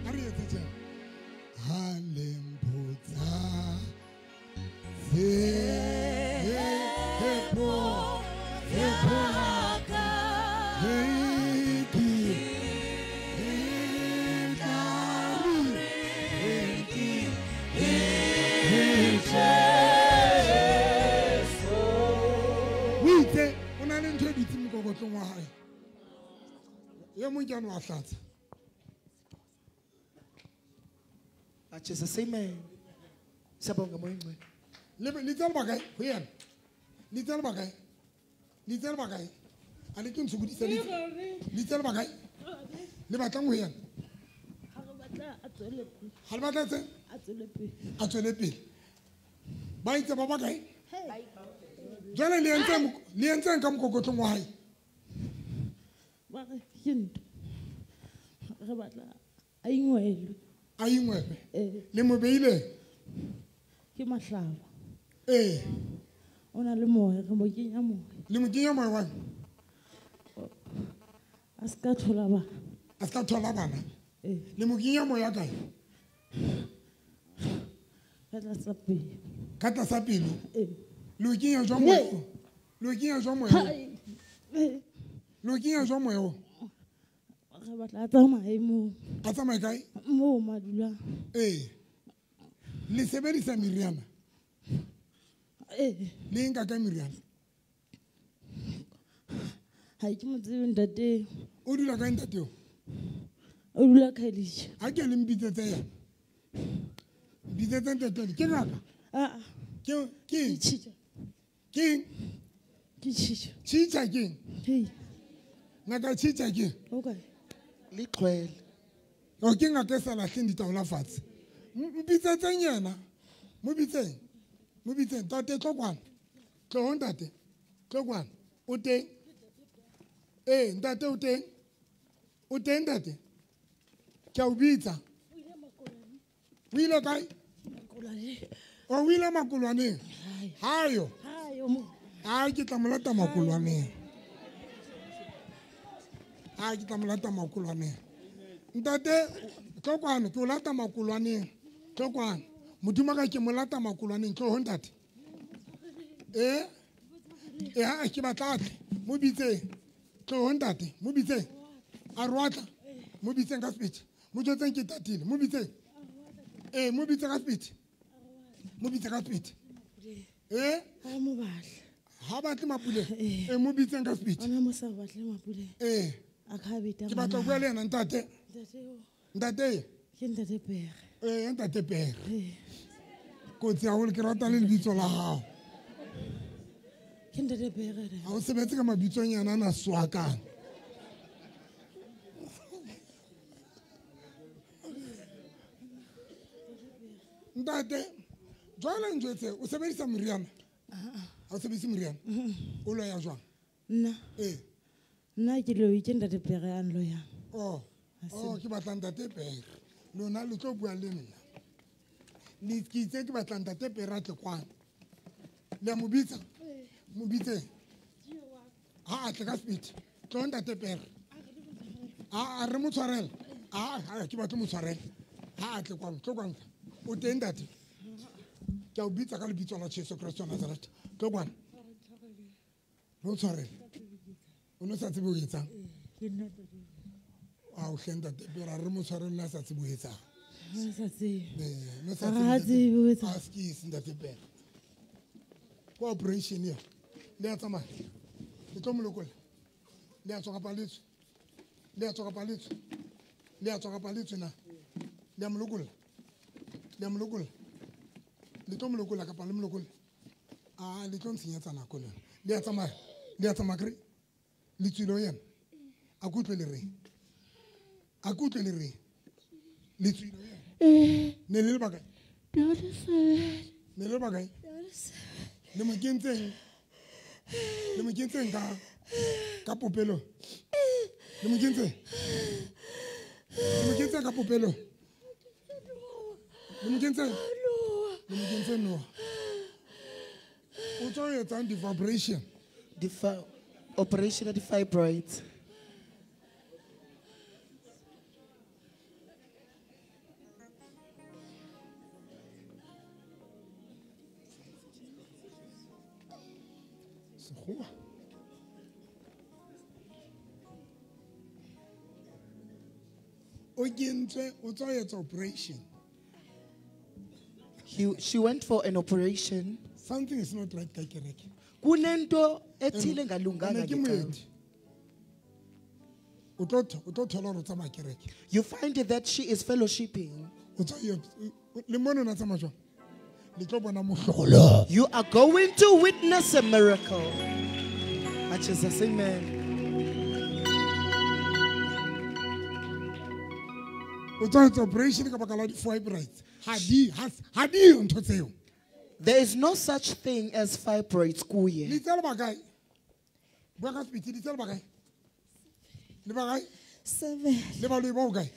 kanye halemputsa zepo zepo Jesus, amen. Siyabonga moya ongcwele. Le tsela bakae ho yena? Le tsela bakae? Le tsela bakae? A le ke ntshokodisa le. Le tsela bakae? Le batlang ho yena? Ha re batla a tswele pele. Ha le batla tse? A tswele pele. A tswele pele. Ba itse ba bakae? Jwale le entseng ka mokokotlong wa hae? Ba re ke ntho. Re batla a ingwelwe. A ingwelwe? Le mo beile? Ke mahlaba. Eh. O na le moya, re mo kenya moya. Le mo kenya moya wa? A ska thola bana. A ska thola bana? Eh. Le mo kenya moya kae? Ka tlasa pelo. Ka tlasa pelo? Eh. Le o kenya jwang moya o? Le o kenya jwang moya o? Le o kenya jwang moya o? Re batla a tsamaye moo. A tsamaye kae? Moo madulang. Eh. Le sebedisa meriana? Eh. Le nka ka meriana? Ha ke mo tsebe ntate. O dula kae ntate o? O dula Khayelitsha. Ha ke le mpitsetse yena. Mpitsetse ntate ke ngaka? Ah. Ke ke tshitja. Ke ke tshitja. Tshitja ke? Hey. Ngaka tshitja ke? Okay. Leqhwele. O ke ngaka e sa lahleng ditaola fatshe. Mpitsetseng yena. Mo bitseng. Mo bitseng ntate tlo kwana. Tlo ntate. Tlo kwana. O teng? Eh, ntate o teng? O teng ntate? Ke a o bitsa. O ile kae? O ile makolwaneng. Hayo. Hayo mo. Ai ke tla mo lata makolwaneng. Ai ke tla mo lata makolwaneng. Ntate tlo kwana ke o lata makolwaneng. Tlo kwana. Modimo ka ke mo lata makolwaneng tlo ho ntate. Eh? Eh ha ke batla tle. Mo bitseng. Tlo ho ntate, mo bitseng. A rwatla. Mo bitseng ka speech. Mo jotseng ke tatile, mo bitseng. Eh, mo bitse ka speech. Mo bitse ka speech. Eh? Ha mo batle. Ha batle Mapule. Eh, mo bitseng ka speech. Ona mo sa batle Mapule. Eh. A ka beta. Ke batla go bua le yena ntate. Ntate o. Ntate. Ke ntate Pere. Eh, ntate Pere. Eh. Kotsi haholo ke rata le lebitso la hao. Ke ntate Pere. Ha o sebetse ka mabitsonyana ana swakang. Ntate, jwale njwetse o sebedisa moriana? Ha o sebedise moriana? O loya jwang? Nna. Eh. Nna ke loyi ke ntate Pere a nloyang. Oh. Oh, ke batla ntate Pere. Lona le tlo bua le nna. Le ke itse ke batla ntate Pere a tle kwana. Le a mo bitsa? Mo bitse. Ha a tle ka speed. Tlo ntate Pere. A re mo tshwarele. A ke batla mo tshwarele. Ha a tle kwana, tlo kwana. O teng ntate? Ke a o bitsa ka lebitso la Jesu Kristo wa Nazareth. Tlo kwana. Re o tshwarele. O no sa tsebe ho etsang? A o hle ntate Pere, a re mo tshwarele a sa tsebe ho etsang. A sa tsebe. Eh, no sa tsebe ho etsang. A skis ntate Pere. Ko operation eo. Le a tsamaya. Le tlo mo lokolla. Le a tswa kapa le tswe? Le a tswa kapa le tswe? Le a tswa kapa le tswe na? Le a mo lokolla. Le a mo lokolla. Le tlo mo lokolla kapa le mo lokolla? A le tlo ntshenyetsa nako lona. Le a tsamaya. Le a tsamaya kere? Le tswile ho yena. A ke utlwe le reng? A ke utlwe le reng? Le tswile ho yena. Ne le le bakae? Ne le le bakae? Le mo kentseng? Le mo kentseng ka popelo? Le mo kentseng? Le mo kentseng ka popelo? Le mo kentseng? Le mo kentseng noha? O tswa etsang di-vibration? Operation of the fibroids. Sekgowa. O kentswe, o tswa etsa operation. She went for an operation. Something is not right ka kereke. Kunento ethile engalunganga Ene ke ngecawa. moeti. O tlo thola hore o tsamaya kereke. You find that she is fellowshipping. O tswa le mona o na tsamaya jwang? Le tlo bona mohlolo. You are going to witness a miracle. Jesus, amen. O tswa etsa operation ka baka la di-fibroids. Ha di yo ntho tseo. There is no such thing as fibroids kuye. Le tsela bakae? Bua ka sepiti, le tsela bakae? Le bakae? 7. Le baloi ba hokae?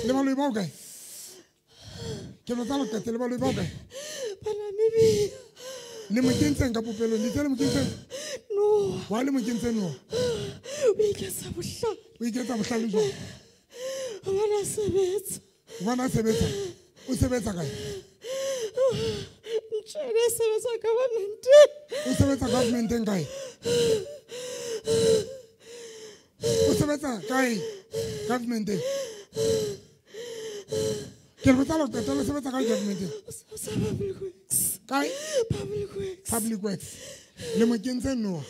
Le baloi ba hokae? Ke lo tsala qete, le baloi ba hokae? Ba Namibia. Le mo kentseng ka popelong, le tsela mo kentseng? No. Wa le mo kentseng no? O iketsa bohlale. O iketsa bohlale jwang? Hobane a sebetsa. Hobane a sebetsa? O sebetsa kae? Ntjhebe sebetsa government-eng. O sebetsa government-eng kae? O sebetsa kae? Government-eng. Ke re botsa lo qeta, le sebetsa kae government-eng? O sebetsa Public Works. Kae? Public Works. Public Works. Le mo kentse noha.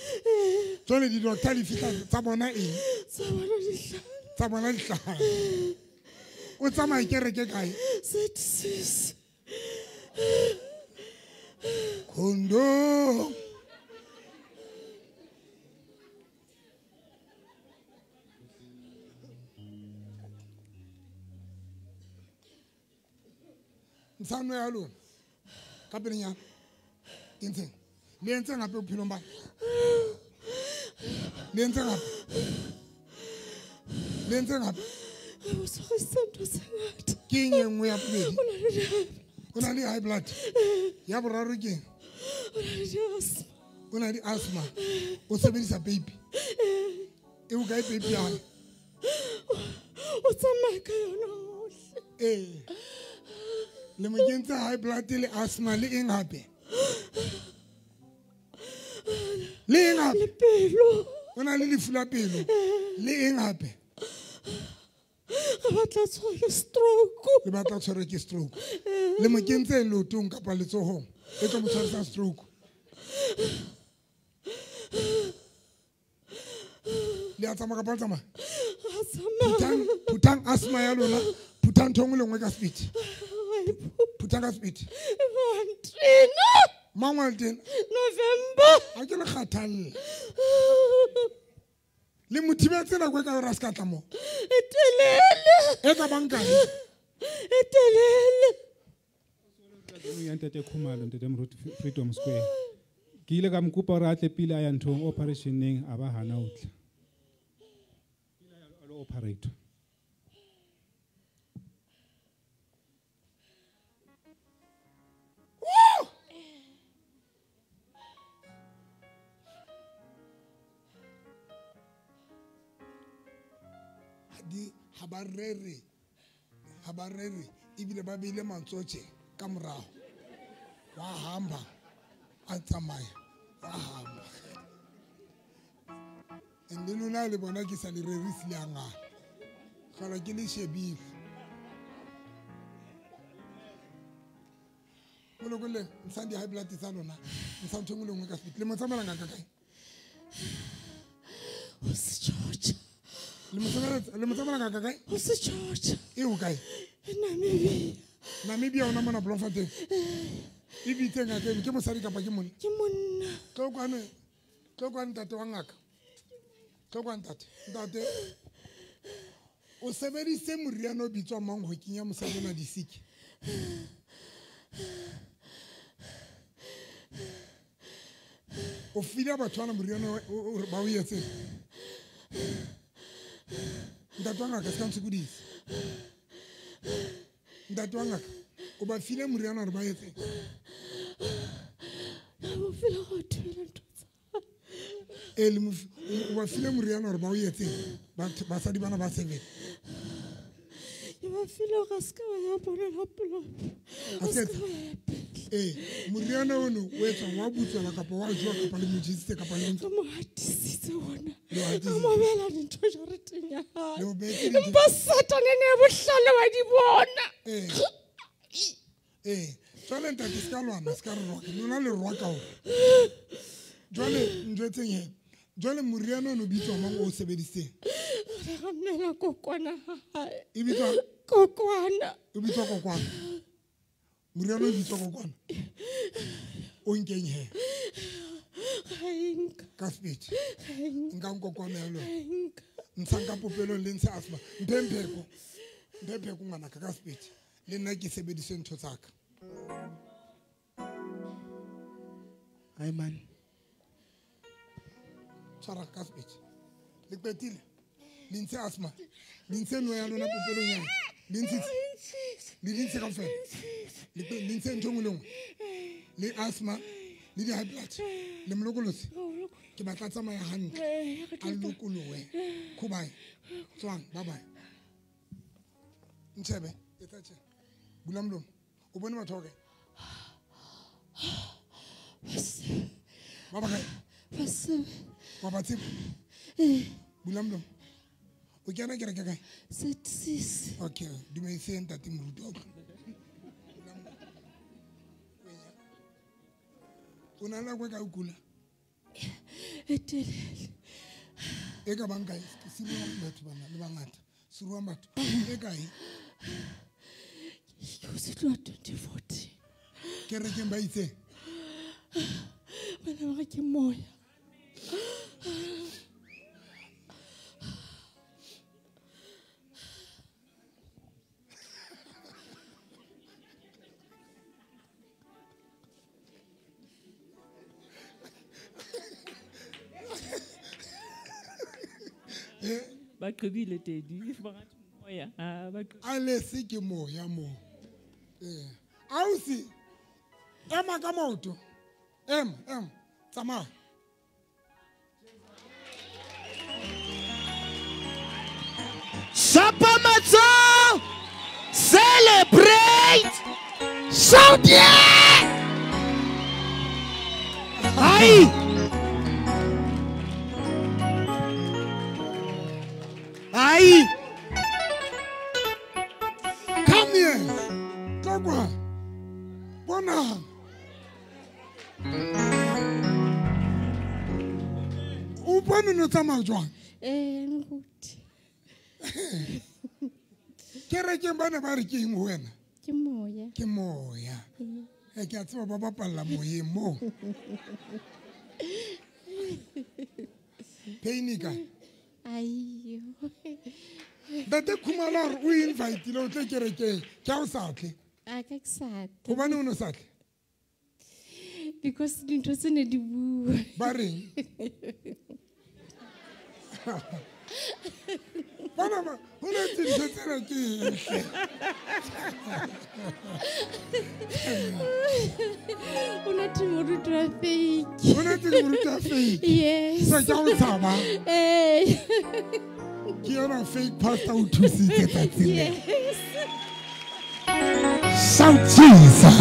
Jwale di-doctor di fihla tsa bona eng? Tsa bona dihlahla. Tsa bona dihlahla. O tsamaya kereke kae? ZCC. Khondo. Ntshano ya lona. Ka pelenyana. Kentseng. Le entseng hape bophelong ba? Le entseng hape? Le entseng hape? O tshwarisitse ntho tse ngata. Ke eng e nngwe ya bobedi? O na le di-high blood. O na le high blood. Ya boraro ke eng? O na le di-asthma. O na le asthma. O sebedisa peipi. E bokae peipi ya hae? O tsamaya ka yona hohle. Ee. Le mo kentse high blood le asthma le eng hape? Le eng hape? Le pelo. O na le lefu la pelo. Le eng hape? Re batla tshwarwe ke stroke. Le batla tshwarwe ke stroke. Le mo kentse leotong kapa letsohong e tlo mo tshwarisa stroke. Le a tsamaya kapa le tsamaya? Ra tsamaya. Phutang asthma ya lona, phutang ntho e nngwe le nngwe ka sepiti. Phutang ka sepiti. Mantena. Mang wa tena? November. Ha ke le kgathalle. Le mo thibetse nako e ka hore a se ka tla mo. E telele. E ka bang kae? E telele. Ya Ntate Khumalo, Ntate Moruti, Freedom Square. Ke ile ka mo kopa hore a tle pele a ya nthong operationeng, a ba hana ho tla. Pele a lo operate. Ha ba rere ebile ba beile mantswe ka morao. Wa hamba a tsamaya, wa hamba. And le lona le bona ke sa le rerise le a ngala. Hlola ke le shebile. Molokole, ntshang di-high blood tsa lona, ntshang ntho e nngwe le nngwe ka sepiti. Le mo tsamaela ngaka kae? O se George. Le mo tsamaela ngaka kae? O se George. E ho kae? Namibia. Namibia ona mona Bloemfontein. E bitse ngaka eno, ke mosadi kapa ke monna? Ke monna. Tlo kwano, tlo kwano ntate wa ngaka. Tlo kwano ntate. Ntate, o sebedisitse moriana o bitswang mang ho kenya mosadi ona disiki? O file batho bana moriana o ba o etseng? Ntate wa ngaka, se ka ntshokodisa. Ntate wa ngaka, o ba file moriana hore ba etseng? Ba file go thwela ntho tsa. O ba file moriana hore ba o etseng? Batho basadi bana ba seven. Ke ba file hore a se ka ba ya bonela pelo. A se ka ba ya pele. Moriana ono o etswang wa butswela kapa wa jowa kapa le mo jesitse kapa le Re mo hatisitse ona. Le o hatisitse. Re mo beela dintho jareteng ya hae. Le o beetse dintho. Empa Satane ne bohlale wa di bona. Jwale ntate se ka lwana, se ka re roka. Lona le roka hore. Jwale njwetseng he. Jwale moriana ono o bitswa mang o sebedisitseng? Re ramela kokwana ha hae. E bitswa kokwana. E bitswa kokwana. Moriana o bitswa kokwana. O nkeng he? Ga e nka. Ka speech. Ga e nka. Nka kokwana ya lona. Ga e nka. Ntshang ka popelong le ntshe asthma. Mphe mpheko. Mphe mpheko ngwanaka ka speech. Le nna ke sebedise ntho tsa ka. Ai man. Tshwara ka speech. Le qetile. Le ntshe asthma. Le ntshe no ya lona popelong ya. Le ntshe. Le ntshe kaofela. Le ntshe ntho nngwe le nngwe. Le asthma, le di-high blood, le molokolotsi. Ke batla tsamaya hantle. A lokolohe. Khubae. Tswang, bye bye. Ntshebe, etsa tjena. Bula molomo. O bone batho ba kae? Ba ba kae? Wa ba tseba? Bula molomo. O kena kereke kae? 6. Okay, dumedise ntate moruti wa utlwa. O na le nako e kae o kula? E telele. E ka bang kae? Siruang batho bana le bangata. Siruang batho. E kae? Ke o se tloha 2014. Kerekeng ba itseng? Bana ba re ke moya. Ba qebile tedi ba ngathi moya ba a lese ke moya mo. Ausi ema ka maoto. Ema tsamaya. Shapa matsoho. Celebrate. Shout yeah. Ai. Ai. Come here. Tloga. Bona. O bone no tsamaya jwang? Moruti. Kerekeng bana ba re ke eng ho wena? Ke moya. Ke moya. Ke a tseba ba bapalla moyeng mo. Pain e kae? Aiyo. Ntate Khumalo a re o invitile o tle kerekeng, ke ha o sa tle. A ka ke sa tle. Hobane o no sa tle? Because dintho tse ne di bua. Ba reng? Bana ba, ho na dintho tsena ke eng hle? O na te moruti wa fake. O na te moruti wa fake? Yes. So ke a o tshaba? Ee. Ke yona fake pastor o thusitse tsatsing lena. Yes. Shout Jesus.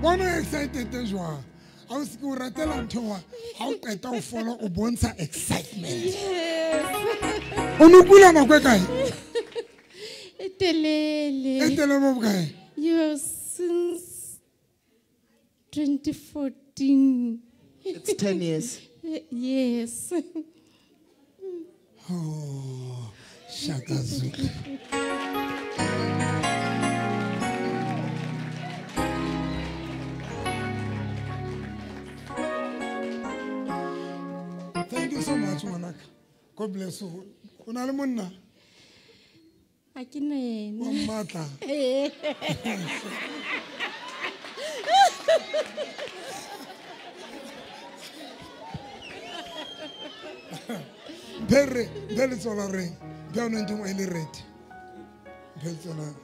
Bona excited jwang? Ha o se ke o ratela ntho wa ha o qeta ho fola o bontsha excitement. Yes. O no kula nako e kae? E telele. E telele bo bokae? Yo, since 2014. It's 10 years. Yes. Oh, Shaka Zulu. Thank you so much, ngwanaka. God bless you. O na le monna? Ha ke na yena. Wa mmatla? Ee. Mphe mphe letsoho la reng. Mphe anointing oil e red. Mphe letsoho la.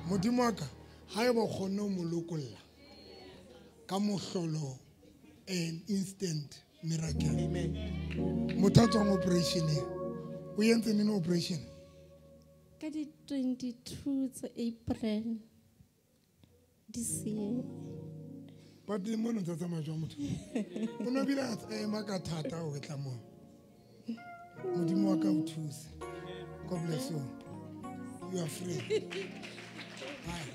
Modimo wa ka, haeba o kgonne ho mo lokolla ka mohlolo, an instant miracle. Amen. Motho a tswang operation-eng, o entse neng operation? Ka di 22 tsa April this year. But le mono ntse a tsamaya jwang motho? O no bile a ema ka thata ho tla moo. Modimo wa ka o thuse. God bless you. You are free. Bye.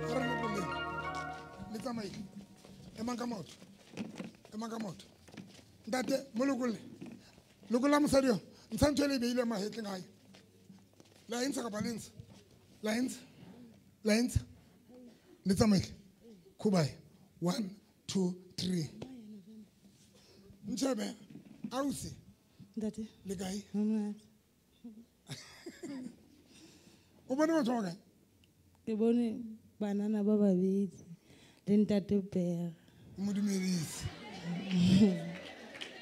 A re lokolleng. Le tsamaile. Emang ka maoto. Emang ka maoto. Ntate, mo lokolle. Lokolla mosadi yo. Ntsha ntho e le e beileng mahetleng a hae. La e ntsha kapa le ntsha? La e ntsha? La e ntsha? Le tsamaile. Khubae. 1, 2, 3. Ntshebe, ausi. Ntate. Le kae? Monate. O bone batho ba kae? Ke bone banana ba babedi le ntate Pere. Mo dumedise.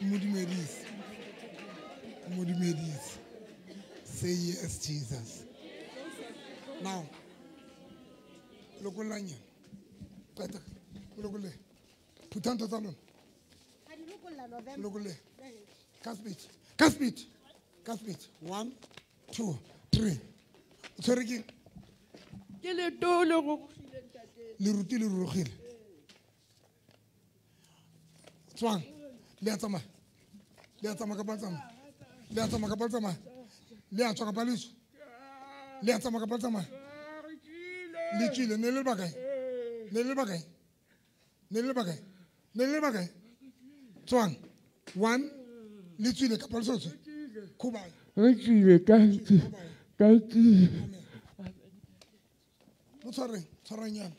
Mo dumedise. Mo dumedise. Say yes, Jesus. Now, lokollang yena. Qeta. Lokolle. Phutha ntho tsa lona. Lokolle. Ka speed. Ka speed. Ka speed. 1, 2, 3. O tshwere keng? Ke leto le rurugile ntate. Leruti le rurugile. Tswang. Le a tsamaya. Le a tsamaya kapa le tsamaya? Le a tsamaya kapa le tsamaya? Le a tswa kapa le tswe? Le a tsamaya kapa le tsamaya? Le tswile. Ne le le bakae? Ne le le bakae? Ne le le bakae? Ne le le bakae? Tswang. 1. Le tswile kapa le so tswe? Khubae. Re tswile, thank you. Thank you. Mo tshwareng, tshwarang yana.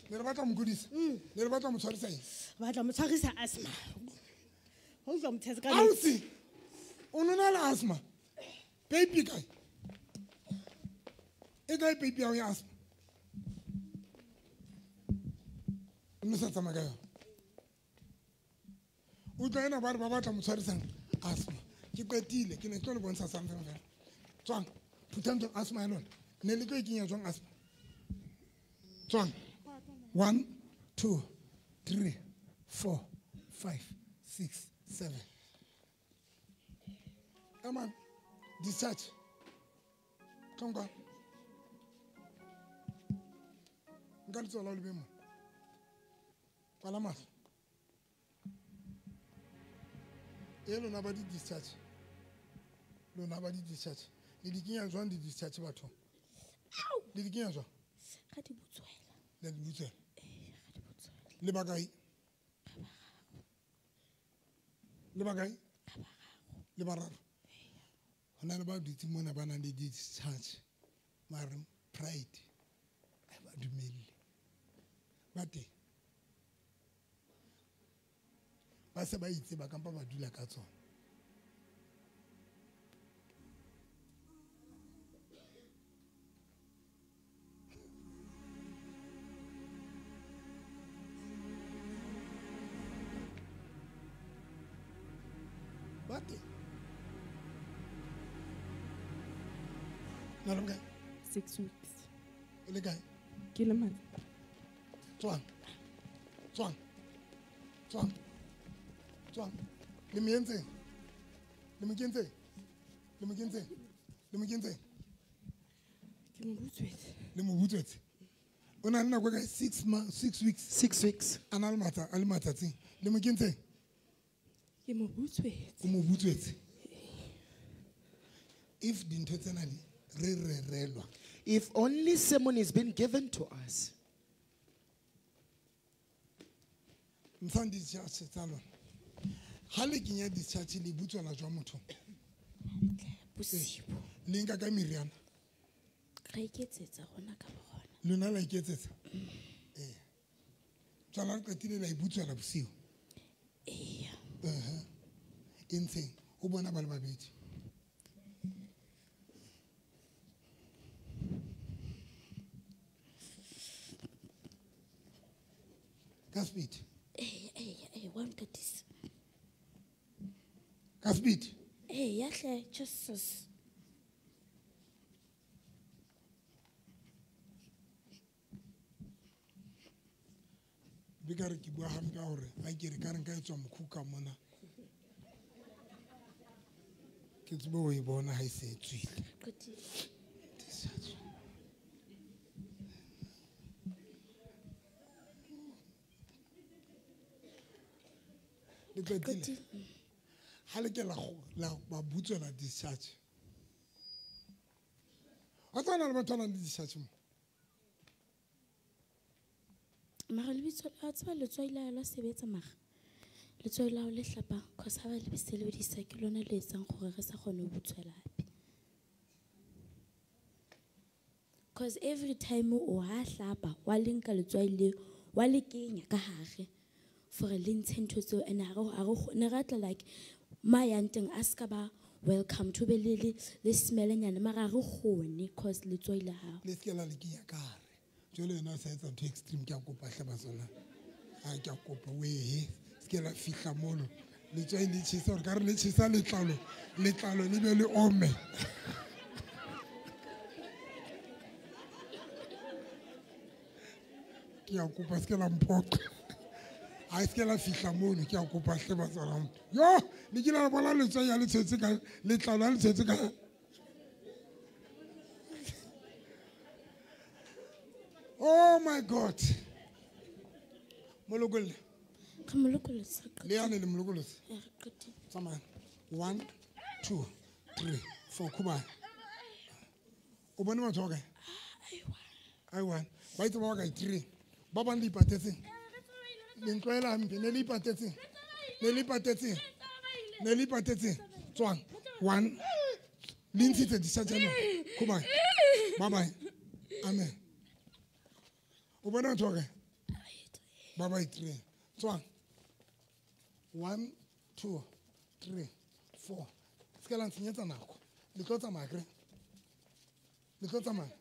Ne re batla mo kodisa? Ne re batla mo tshwarisa eng? Batla mo tshwarisa asthma. Ho utlwa mothetse ka Ausi, o no na le asthma? Peipi kae? E kae peipi ya hao ya asthma? O no sa tsamaya ka yona. Utlwa ena ba re ba batla mo tshwarisang asthma. Ke qetile, ke ne ke tlo le bontsha something fela. Tswang, phutha ntho asthma ya lona. Ne le tlo e kenya jwang asthma? Tswang. 1, 2, 3, 4, 5, 6, 7. Come on. Discharge. Tlonka. Nka letsoho la ho le be mona. Kwala mahlo. E lona ba di-discharge. Lona ba di-discharge. Le di kenya jwang di-discharge bathong? Le di kenya jwang? Ga di butswela. Le di butswela? Ee, ga di butswela. Le bakae? Le bakae? Le bararo. Ho na le ba dutseng mona ba nang le di-discharge. Mare pride ha ba dumelle. Ba teng. Ba se ba itse ba kampa ba dula ka tsona. Ba teng. Na le bokae? 6 weeks. O le kae? Ke le matla. Tswang. Tswang. Tswang. Tswang. Le mo entseng? Le mo kentseng? Le mo kentseng? Le mo kentseng? Ke mo butswetse. Le mo butswetse. O na le nako e kae? 6 months, 6 weeks. 6 weeks. A na le matla, a le matsatsing. Le mo kentseng? Ke mo butswetse. O mo butswetse. If dintho tsena di re rerelwa. If only sermon is been given to us. Ntshang discharge tsa lona. Ha le kenya discharge le butswela jwa motho? Bosibo. Le nka ka meriana? Re iketsetsa rona ka borona. Lona la iketsetsa? Eh. Tswala le qetile la ibutswela bosiu. Eya. E ntsheng o bona ba le babedi. Ka speed. Eh, wa ntatisa. Ka speed. Eh, ya hle, Jesus. Be ka re ke bua hampe hore a ke re ka re nka etswa mokhuka mona. Ke tsebe ho e bona ha e se e tswile. Qetile. Le qetile. Ha le ke la ba butswela discharge. Wa tsana le batho ba nang le discharge mo? Mara lebitso la tseba letswai la sebetsa mara. Letswai la le hlapang cause ha ba le sebedisa ke lona le etsang gore re sa kgone ho butswela hape. Cause every time o ha hlapa wa le nka letswai le wa le kenya ka hare for le ntshe ntho tseo and ha re ne ra tla like ma yang teng a ska ba welcome to be le smell nyana mara re kgone cause letswai la hao. Le se la le kenya ka hare. Jwale yena o sa etsa ntho extreme ke a kopa hle batswana. Ha ke a kopa wehe se ke la fihla mono. Letswai le tjhesa hore ka re le tjhesa letlalo, letlalo le be le ome. Ke a kopa se ke la mphoqa. Ha se ke la fihla mono ke a kopa hle batswana. Yo, le kile la bona letswai ya le tshetse ka letlalo le tshetse ka. Oh my God. Molokolle. Re molokolle. Le yane le molokolle. Re qetile. Tsamaya. 1 2 3 4 khubane. O bone batho ba kae? Ai one. Ba itse ba kae 3. Ba bang le ipatetseng. Le ntlwaela hampe ne le ipatetseng. Ne le ipatetseng. Ne le ipatetseng. Tswang. 1. Le ntshitse discharge ya lona. Khubane. Bye bye. Amen. O bona batho ba kae? Ba ba 3. Tswang. 1 2 3 4. Se ke la ntshenyetsa nako. Le tlo tsamaya kre. Le tlo tsamaya.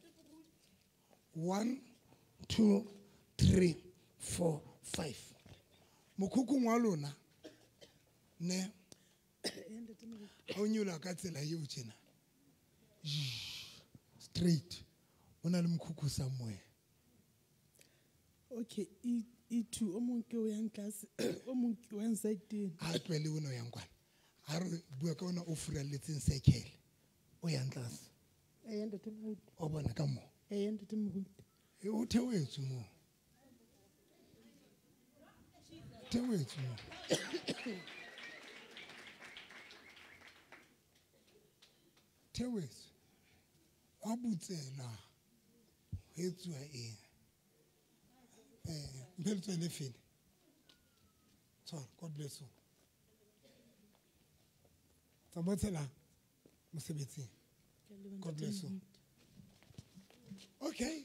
1 2 3 4 5. Mokhukhung wa lona ne ha o nyola ka tsela eo tjena. Straight. O na le mokhukhu somewhere. Okay, E2 o mong ke o yang tlase, o mong ke o yang side. Ha tlwele ona o yang kwana. Ha re bua ka ona o furalletseng circle. O yang tlase. Eh, ntate Moruti. O bona ka mo. Eh, ntate Moruti. E o theoetswe mo. Theoetswe mo. Theoetswe. Wa butsela. Ho etsuwa eng? Mphe letswai le fele. Tshwara, God bless you. Tsamaya tshela mosebetsing. God bless you. Okay.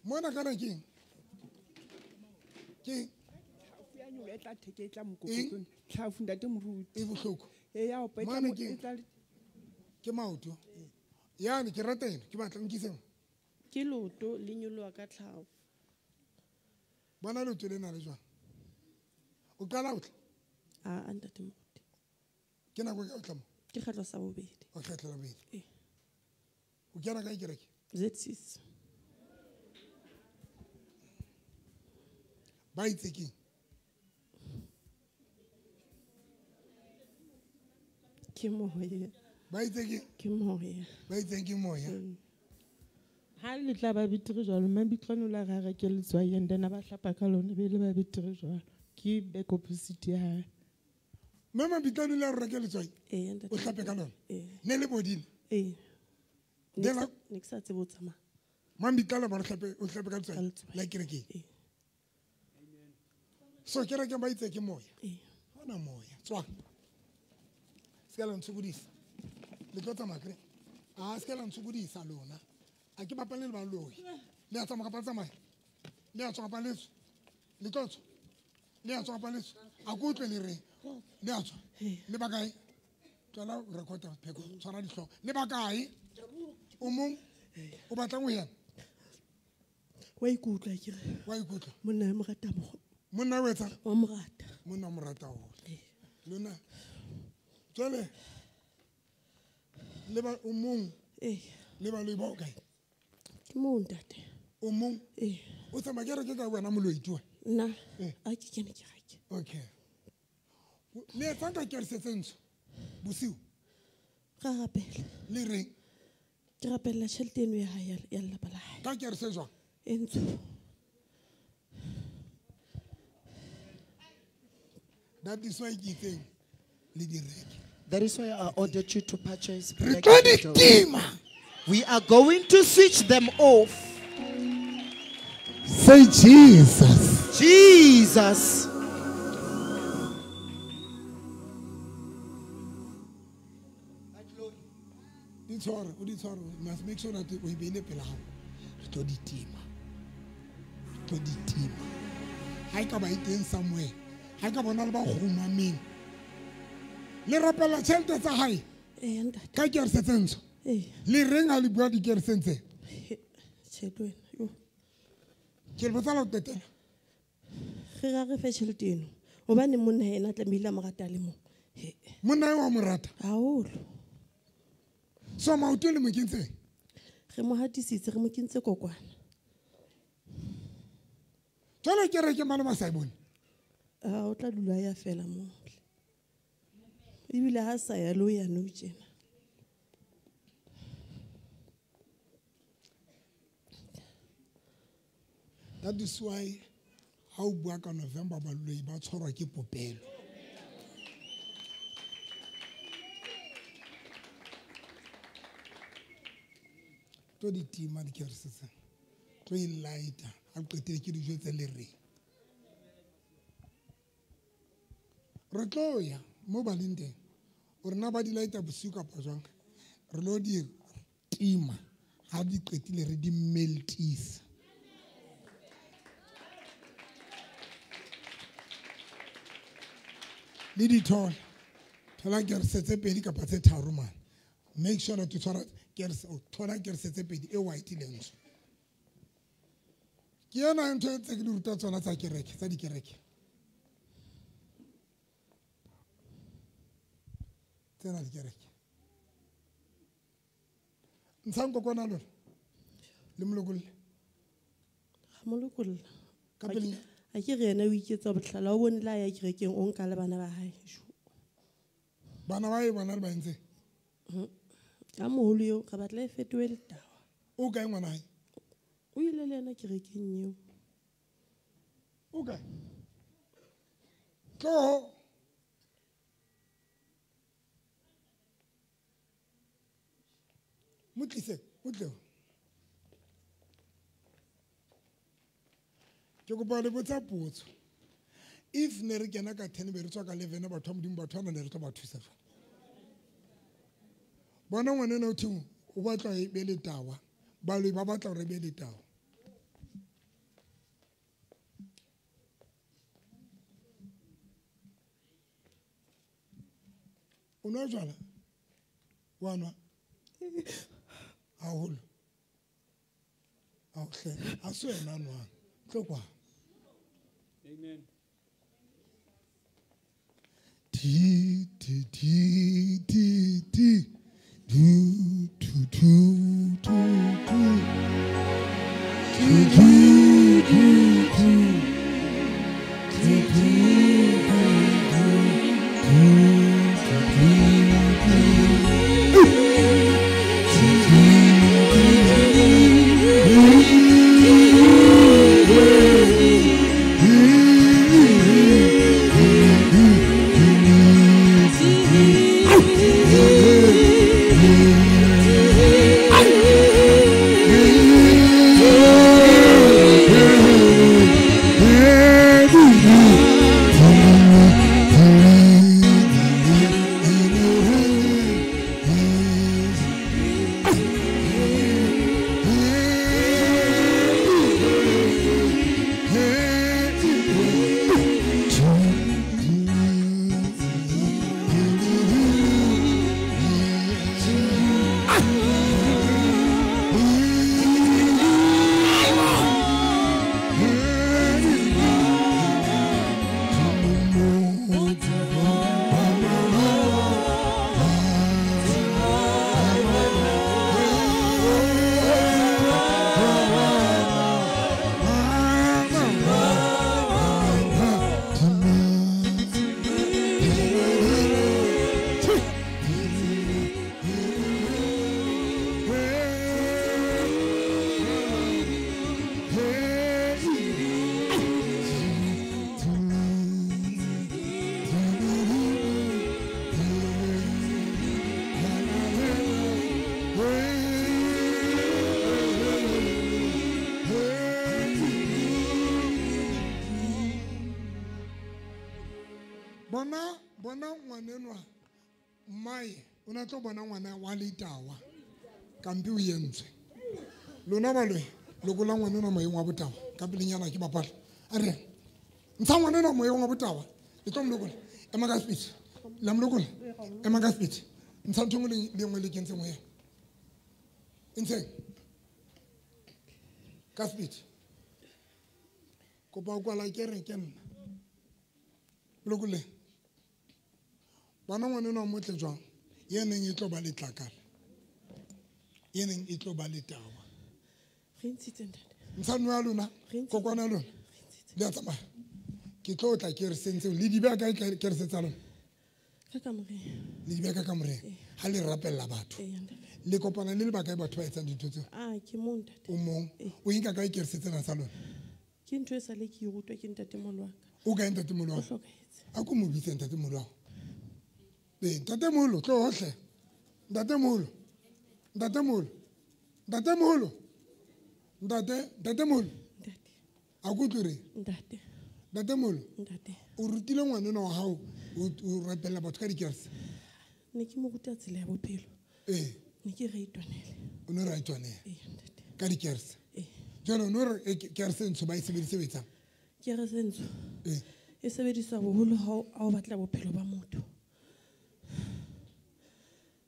Mona kana keng? Keng? Tlhafu ya nyolo e tla theke e tla mokokotlong. Tlhafu ntate Moruti. E bohloko. E ya opa e tla Mane keng? e tla Ke maoto. Yane ke rata ena, ke batla nkiseng. Ke leoto le nyoloha ka tlhafu. Bona leoto lena le jwang? O qala ho tla? A ntate Moruti. Ke nako e kae o tla mo? Ke kgetlo sa bobedi. O kgetlo la bobedi. Ee. O kena kae kereke? Z6. Ba itse keng? Ke moya. Ba itse keng? Ke moya. Ba itseng ke moya? Ha le tla ba betere jwalo, Mabitlwane o la re a reke letswai and then a ba hlapa ka lona, be le ba betere jwalo. Ke back opposite ya hae. Mme Mabitlwane o ile a re reke letswai? Ee, ntate. O hlape ka lona? Ee. Ne le bodile? Ee. Ne la- Ne ke sa tsebe ho tsamaya. Mabitlwane ba re hlape, o hlape ka letswai? Ka letswai. La kerekeng? Ee. So kerekeng ba itse ke moya. Hona moya. Tswa. Se ka la ntshokodisa. Le tlo tsamaya kere? A se ka la ntshokodisa lona. A ke bapale le baloi. Le a tsamaya kapa le tsamaya? Le a tswa kapa le tswe? Le tlo tswa? Le a tswa kapa le tswe? A ke utlwe le reng? Le a tswa? Le ba kae? Tswela record-a pheko, tshwara dihlooho. Le ba kae? O mong? O batlang ho yena? Wa ikutlwa akere. Wa ikutlwa? Monna ya mo rata mo. Monna o etsang? Wa mo rata. Monna o mo rata haholo. Lona. Jwale le ba o mong? Le baloi ba o kae? Ke moo ntate. O mong? O tsamaya kereke ka wena moloi tue? Nna a ke kene kereke. Okay. Le etsang ka kerese tse ntsho bosiu? Ra rapela. Le reng? Ke rapella tjhelete eno ya hae ya lelapa la hae. Ka kerese jwang? E ntsho. That is why ke itseng le di reke. That is why I ordered you to purchase Re black tlo di candles. tima. We are going to switch them off. Say Jesus. Jesus. Di tshware, o di tshware. You must make sure that o e beile pela hao. Re tlo di tima. Re tlo di tima. Ha e ka ba e teng somewhere. Ha e ka bona le ba kgumameng. Le rapela tjhelete tsa hae? Ntate. Ka kerese tse ntsho? Le reng ha le bua dikereseng tse? Tjhelete wena, yo. Ke le botsa la ho qetela. Re ra re fe tjhelete eno. Hobane monna yena tlamehile a mo rata le mong. Monna eo wa mo rata? Haholo. So maoto le mo kentseng? Re mo hatisitse, re mo kentse kokwana. Jwale kereke mane ba sa e bone? Ah, o tla dula ya fela moo. Ebile ha sa ya lo ya nou tjena. That is why ha o bua ka November baloi ba tshwarwa ke popelo. Tlo di tima dikerese tsena. Tlo e lighta. Ha qetile ke dijo tse le reng. Re tlo ya mo ba leng teng. O rena ba di lighta bosiu kapa jwang? Re lo di tima. Ha di qetile re di meltisa. Le di thola. Thola kerese tse pedi kapa tse tharo mane. Make sure that you thola kerese, o thola kerese tse pedi e white le ntsho. Ke yona ntho tse ke di ruta tsona tsa kereke, tsa dikereke. Tsena dikereke. Ntshang kokwana lona. Le molokolle. Ga molokolla. Ka pele. A ke re yena o iketsa bohlala, o bone la ya kerekeng o nka le bana ba hae. Bana ba hae bona le ba entse? Ka moholo eo re batla e fetohe letawa. O kae ngwana hae? O ile le yena kerekeng eo. O kae? Tloho. Mo tlise, o tle. Ke kopa le botsa potso. If ne re kena ka 10 be re tswa ka 11 batho ba Modimo batho ba ne re tlo ba thusa jwang? Bona ngwana ena o theng o batla e be letawa. Baloi ba batla hore e be letawa. O nwa jwala? Wa nwa? Haholo. Ao hle, ha se wena a nwang. Tlo kwa. Amen. T T T T T do do do do do do do do do do do. Bona bona ngwanenwa mmae o na tlo bona ngwana wa letawa kampi o entswe. Lona baloi lokola ngwanenwa moyeng wa botawa ka pelenyana ke bapala. A re ntsha ngwanenwa moyeng wa botawa le tlo mlokola. Ema ka speech. La mlokola. Ema ka speech. Ntsha ntho nngwe le nngwe le kentseng ho yena. Ntsheng. Ka speech. Kopa o kwala kereke nna. Lokole. Bana ngwanenwa motle jwang? Ye neng e tlo ba letlakala. Ye neng e tlo ba letawa. Re ntshitse ntate. Ntsha nwa ya lona, kokwana ya lona. Le a tsamaya. Ke tlo tla ke re sentseng le di beha kae ke re tsa lona? Ka kamoreng. Le di beha ka kamoreng. Ha le rapella batho. Le kopana le lebaka batho ba etsang dintho tseo. Ah, ke mong ntate. O mong. O inka kae ke re tsena tsa lona? Ke ntho e sale ke e rutwa ke ntatemoholo wa ka. O kae ntatemoholo wa O hao? hlokahetse. A ko mo bitse ntatemoholo wa hao. Ee, ntatemoholo, tlo hohle. Ntatemoholo. Ntatemoholo. Ntatemoholo. Ntate, ntatemoholo. Ntate. A ko utlwe re? Ntate. Ntatemoholo. Ntate. O rutile ngwanenwa wa hao o rapella batho ka dikerese? Ne ke mo ruta tsela ya bophelo. Ee. Ne ke re itwanele. O ne re a itwanele? Ee, ntate. Ka dikerese? Ee. Jwale o no re kerese ntsho ba e sebedise ho etsang? Kerese ntsho. Ee. E sebediswa boholo ha o batla bophelo ba motho.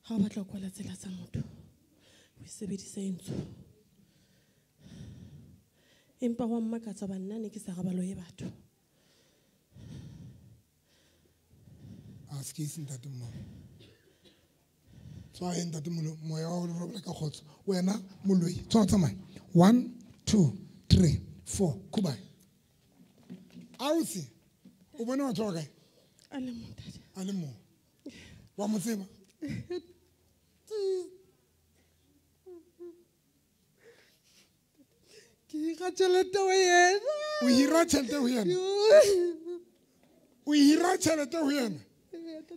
Ha o batla ho kwala tsela tsa motho, o e sebedise e ntsho. Empa wa mmakatsa ba nna ne ke sa re ba loye batho. A se ke ise ntatemoholo. Tswa he ntatemoholo, moya wa ho robala ka kgotso. Wena moloi, tswa tsamaya. 1 2 3 4 kubai. Ausi, o bone batho ba kae? A le mong ntate. A le mong. Wa mo tseba? Ke hira tjhelete ho yena. O hira tjhelete ho yena? O hira tjhelete ho yena?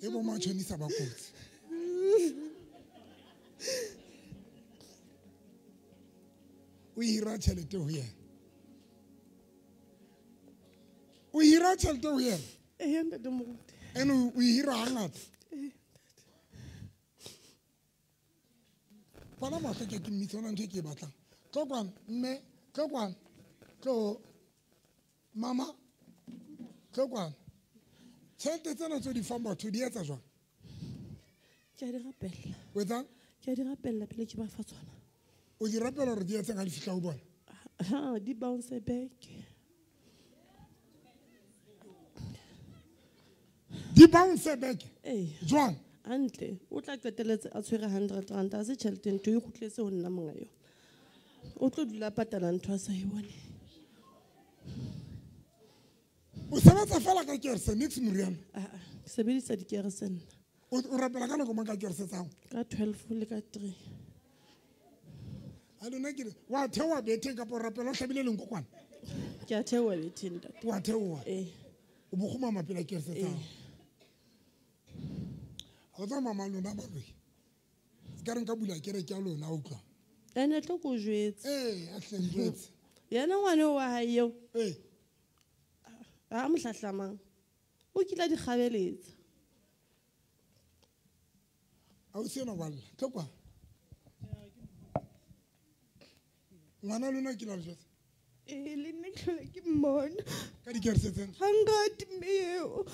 E bo matjhonisa ba kotsi. O hira tjhelete ho yena. O hira tjhelete ho yena? Ee, ntate moruti. Ene o hira hangata? Ee. Bona mahlo ke mmitsa ona ntho e ke e batlang. Tlo kwano, mme, tlo kwano. Tlo, mama, tlo kwano. Tjhelete tsena tse di fang batho di etsa jwang? Ke a di rapella. O etsang? Ke a di rapella pele ke ba fa tsona. O di rapella hore di etseng ha di fihla ho bona? Ha, di bounce back. Di bounce back? Ee. Jwang? Hantle, o tla qetelletse a tshwere 100 rand, a se tjhelete ntho e kgutletse ho nna monga yona. O tlo dula patala ntho a sa e bone. O sebetsa fela ka kerese, nix moriana? Ah, ke sebedisa dikerese nna. O rapela ka nako mang ka kerese tsa hao? Ka 12 le ka 3. A lona ke re, wa theoha betheng kapa o rapela o hlabile lenko kwana? Ke a theoha betheng, ntate. Wa theoha? Ee. O bo kgumama pela kerese tsa hao? Ee. Ha o tsa mama lona baloi. Se ka re nka bula kereke ya lona, a utlwa. Ene tlo ko jwetse. Ee, a hle njwetse. Yena ngwana wa hae eo. Ee. Ha mo hlahlamang. O kile a di kgabeletsa. Ausi ena wa lla. Tlo kwa. Ngwana lona ke la le jwetsa? Ee, le nna ke hlola ke mmona. Ka dikerese tsena? Hangata mme eo.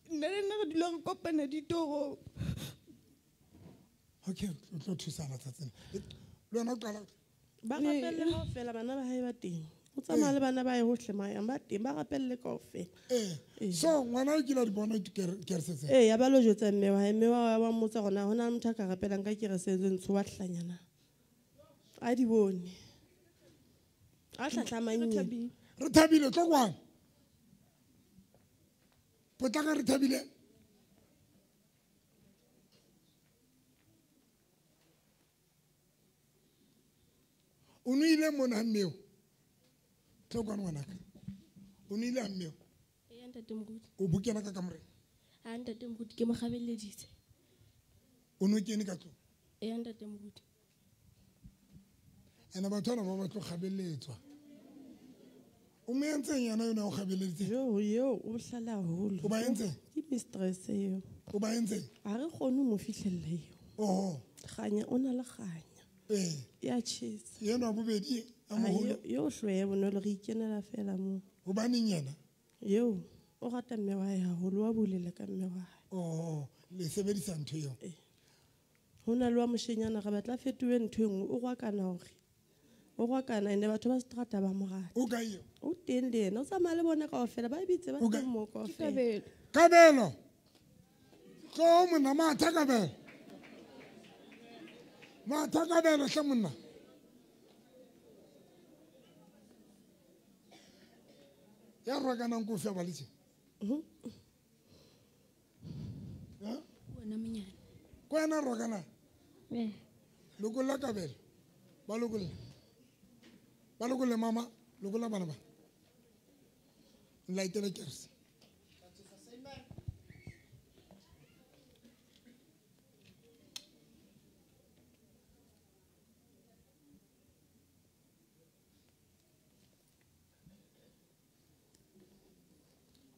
Nna le nna re dula re kopana ditorong. Okay, o tlo thusana tsatsing. Le wena o qala. Ba rapelle kaofela, bana ba hae ba teng. O tsamaya le bana ba hae hohle mayang, ba teng, ba rapelle kaofela. Ee. So ngwana o kile a di bona dikerese tsena? Ee, ya ba lo jwetsa mme wa hae, mme wa hae wa mmotsa hore na hona le motho a ka rapelang ka kerese tse ntsho wa hlanyana. A di bone. A hlahlamang Re yena. thabile. Re thabile, tlo kwano. Potlaka re thabile. O no ile mona ha mmeo? Tlo kwano ngwanaka. O no ile ha mmeo? Ee, ntate moruti. O bo kena ka kamoreng? Ha, ntate moruti, ke mo kgabeleditse. O no kene ka tlung? Ee, ntate moruti. Ene batho bana ba batlo kgabeletswa. O mo entseng yena yona o kgabeleditseng? Jo, eo o bohlale haholo. O ba entseng? Ke mistress eo. O ba entseng? Ha re kgone ho mo fihlella eo. Oho. Kganya, o na le kganya. Ee. Ya tjhesa. Yena wa bobedi a moholo. Eo hloe bonolo re ikenela fela moo. Hobaneng yena? Eo o rata mme wa hae haholo, wa bulela ka mme wa hae. Oh, le sebedisa ntho eo. Ee. Ho na le wa moshenyana re batla fetohe ntho e nngwe, o rwakana hore. O rwakana ene batho ba seterata ba mo rata. O kae eo? O teng le yena, o tsamaya le bona kaofela, ba bitse ba teng moo kaofela. Kabelo. Kabelo. Tlo monna matha Kabelo. Matha Kabelo hle monna. Ya rwakanang ko fe ba le tje? Ha? Wena monyane. Ko yena rwakana? Eh. Lokolla Kabelo. Ba lokolla. Ba lokolle mama, lokolla bana ba. Nlaitele kerse.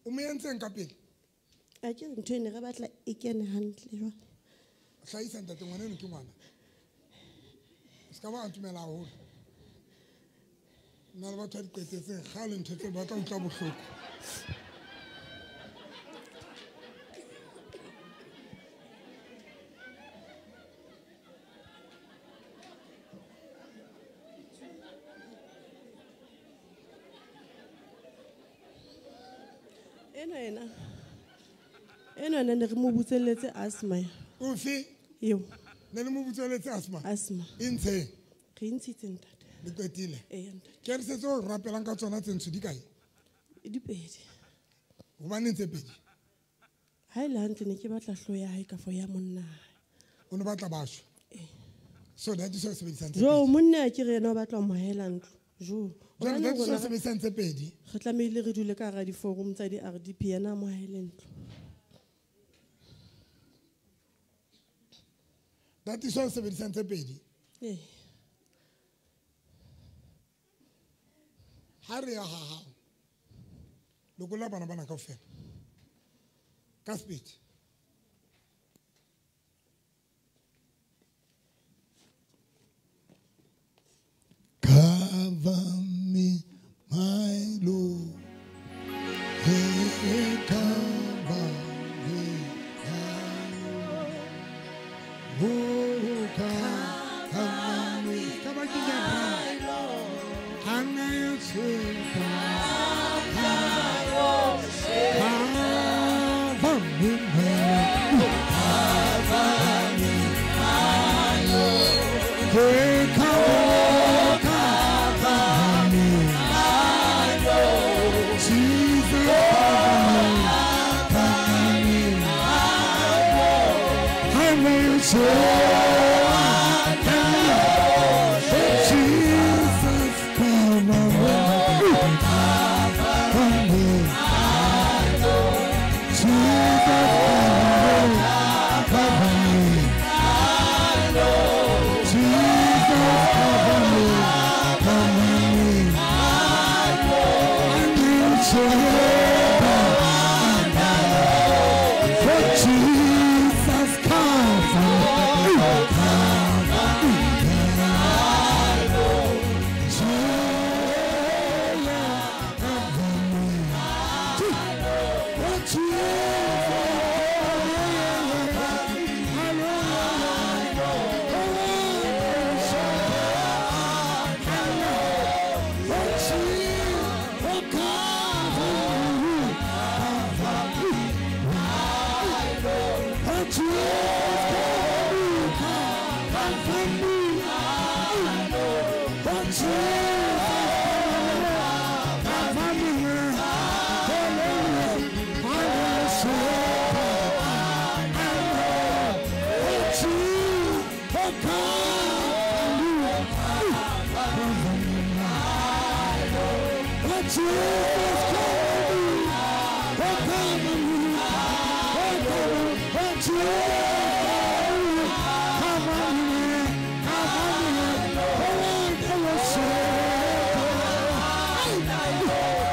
O mo entseng ka pele? A ke ntho e ne re batla e kene hantle jwale. Hlahisa ntate, ngwana eno ke ngwana. O ska ba atumela haholo. Nna le batho ba di qetetseng kgale ntho tseo ba tla utlwa bohloko. Ena ena ne re mo butselletse asthma. Ofe? Eo. Ne le mo butselletse asthma? Asthma. E ntsheng? Re ntshitse ntate. Le qetile? Ee ntate. Ke re se tseo rapelang ka tsona tse ntsho di kae? Di pedi. Hobaneng tse pedi? Ha e le hantle ne ke batla hloho ya hae kafo ya monna hae. O ne batla basho? Ee. So that is sebedisang tse Jo, pedi. monna ke re yena o batla ho mo haela ntlo. Jo. Jwale that is sebedisang tse pedi. Re tlamehile re dule ka hara di-forum tsa di-RDP yena a mo haele ntlo. That is sebedisang tse pedi. Ee. Ha re ya ha hao. Lokolla bana bana kaofela. Ka speed. Cover me, my Lord. Hey, cover me, my Lord. Oh, cover me. Cover me, my Lord. Cover me, my Lord. Hey, cover me, my Lord. Jesus, cover me, my Lord. Jesus, cover me, my Lord. Jesus, cover me, my Lord. Jesus, cover me, cover me, my Lord. For Jesus, cover me, cover me, my Lord. Jesus,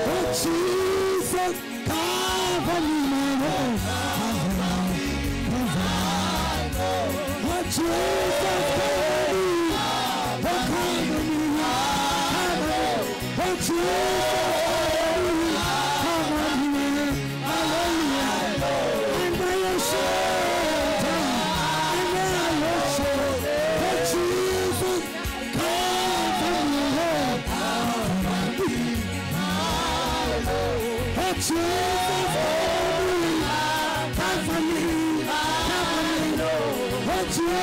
Oh Jesus, cover me, my Lord. Cover me, cover me. Oh Jesus, cover me. Oh, cover me, cover me. Oh Jesus, cover me, cover me. Hallelujah. And I am shelter, and I am shelter. Oh Jesus, cover me, Lord. Cover me. Oh Jesus, cover me, cover me, cover me. Oh Jesus,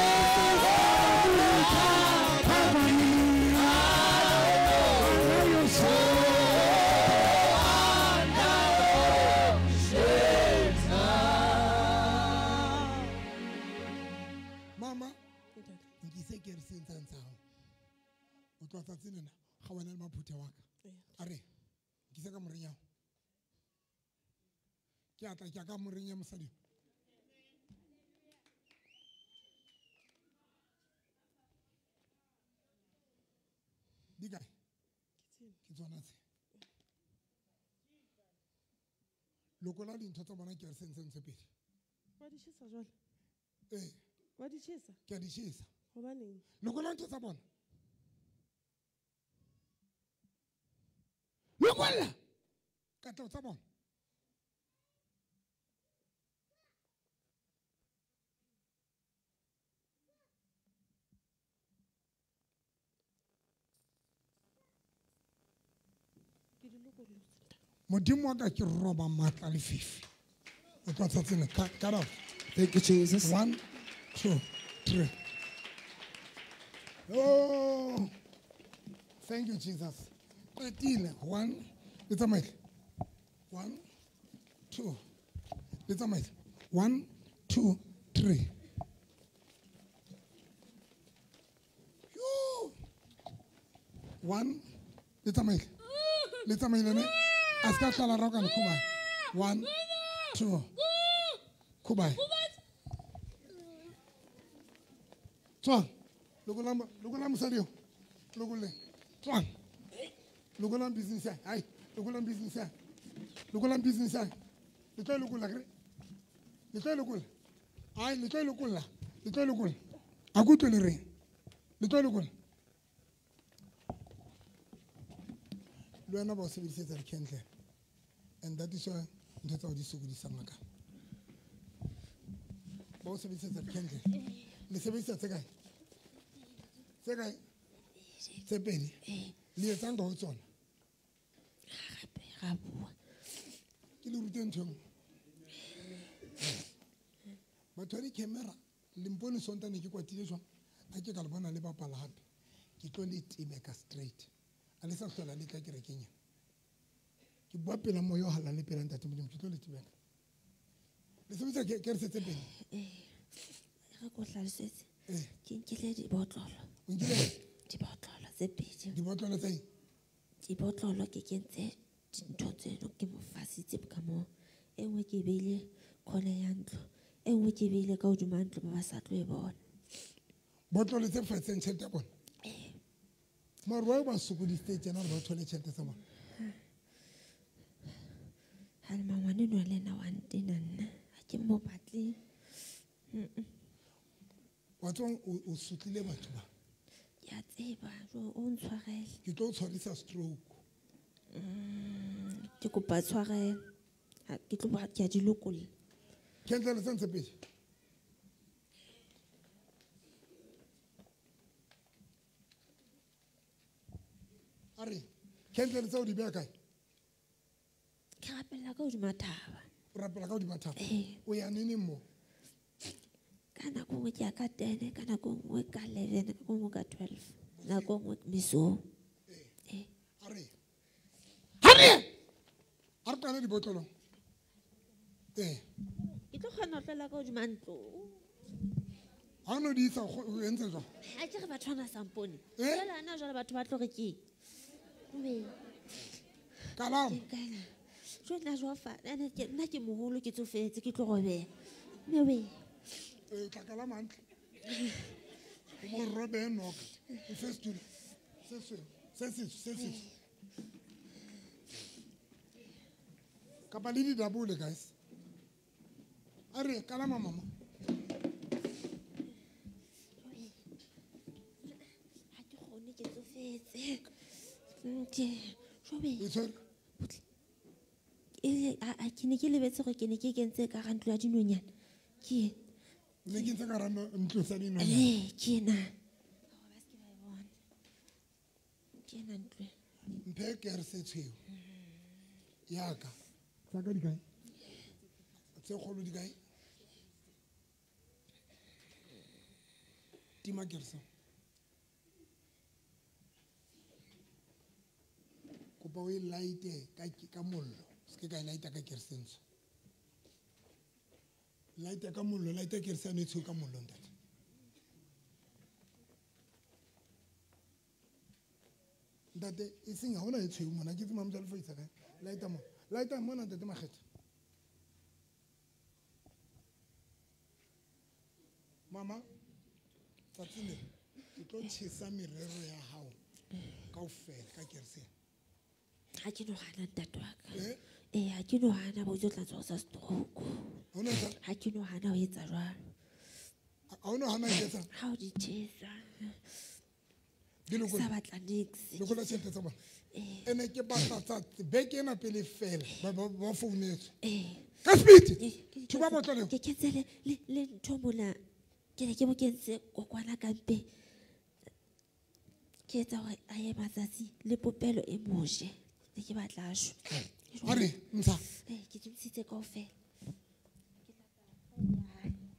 cover me, cover me. And I am Mama, nkise ke re sentsang tsa hao. O tloha tsatsi lena ga wena le maphuthe wa ka. A re nkise ka moreng ya hao. Ke a tla ke ka moreng ya mosadi. Di kae? Ke tsona tse. Lokola dintho tsa bona ke re sentseng tse pedi. Wa di tjhesa jwale? Eh. Wa di tjhesa? Ke a di tjhesa. Hobaneng? Lokola ntho tsa bona. Lokola! Katleho tsa bona. Ke di lokollotse. Modimo wa ka ke roba matla le fifi. O tloha tsatsing lena. Cut off. Thank you, Jesus. 1, 2, 3. Oh, thank you, Jesus. Qetile. 1, le tsamaile. 1, 2, le tsamaile. 1, 2, 3. Yo. 1, le tsamaile. Le tsamaile ne? A ska tlala roka le khuba. 1, 2. Khuba. Tswang. Lokola mosadi eo. Lokole. Tswang. Lokolang business ya. Hai, lokolang business ya. Lokolang business ya. Le tlo lokola kere. Le tlo lokola. Ai, le tlo lokola. Le tlo lokola. A ku tlole reng. Le tlo lokola. Le wena ba o sebedisetsa di-candle. And that is why ntho tsa ho di sokodisang ngaka. Ba o sebedisetsa di-candle. Le sebedisa tse kae? Tse kae? Tse pedi. Le etsang ka ho tsona? Ra bua. Ke le rute ntho e nngwe. Batho ba di-camera, le mpone Sontaha ne ke kwatile jwang? A ke ka le bona le bapala hape. Ke tlo le tebeka straight. A le sa hlola le tla kerekeng ena. Ke bua pela moya o halala le pela Ntate Modimo, ke tlo le tebeka. Le sebedisa kerese tse pedi? Re ko hlalosetse. Ke nkile dibotlolo. O nkile? Dibotlolo tse pedi. Dibotlolo tse eng? Dibotlolo ke kentse dintho tseno ke mo fasitse ka moo. E nngwe ke e beile corner ya ntlo. E nngwe ke e beile ka hodima ntlo ba ba sa tlo e bona. Botlolo tse fatseng tjhelete ya bona? Mare why ba sokodisitse tjena hore ba thole tjhelete tsa bona? Ha le mangwane enwa le yena wa ntena nna. Ha ke mo batle. Wa tseba o sotlile batho ba. Ke a tseba, jo o ntshwarele. Ke tlo o tshwarisa stroke. Ke kopa tshwarelo. Ha ke tlo ba ke a di lokolla. Candle tse ntse pedi. A re, candle tse o di beha kae? Ke rapella ka hodima thaba. O rapela ka hodima thaba? Ee. O ya neneng moo? Ka nako nngwe ke ya ka 10, ka nako nngwe ka 11, ka nako nngwe ka 12, nako nngwe mesong. Ee. A re. A re! A re tlale dibotlolong. Ee. Ke tlo kgona ho tlola ka hodima ntlo. Ha o no di isa o entse jwang? Ha ke re batho bana sa mpone. Eh? Jwale hana jwale batho ba tlo re keng? Ube. Kalama. Jwale nna jwa fa, nna ke moholo ke tsofetse ke tlo robeha. Mme we. O tla kalama hantle. O mo robehe noka. O fe setulo. Se setsho, se setsho. Kapa le di double guys. A re kalama mama. Ha ke kgone ke tsofetse. Ke jobe. A ke ne ke lebetse gore ke ne ke kentse ka ga ntlo ya dinonyana. Ke ne ke ntse ka ra ntlo tsa dinonyana. Ke ena. Ke ena ntlo. Mphe ke re se tshweu. Ya ka. Tsa ka di kae? Tse kgolo di kae? Tima ke re se. Kopa o e light-e ka mollo. Se ke ka e light-a ka kerese ntsho. Light-a ka mollo, light-a kerese eno e tshweu ka mollo ntate. Ntate e seng ha hona e tshweu mona, ke tseba Mamojalefa o isa kae. Light-a mona. Light-a mona ntate Makgetha. Mama, tsatsing le ke tlo tjhesa merero ya hao kaofela ka kerese. Ha ke no hana ntate wa ka. Ha ke no hana bo tlo tla tshwara stroke. Ha ke no hana ho etsa jwalo. Ha o no hana ho etsa? Ha o di tjhesa. Sa batla niks. Lokola tjhelete tsa bona. Ene ke batla tsa beke ena pele fela ba founetswe. Ka speed. Thuba botlolo leo. Ke kentse le ntho mona. Ke ne ke mo kentse kokwana ka mpe. Ke etsa hore a ye matsatsi le popelo e moje. Ne ke batla a shwe. A re ntsha. Ke di ntshitse kaofela.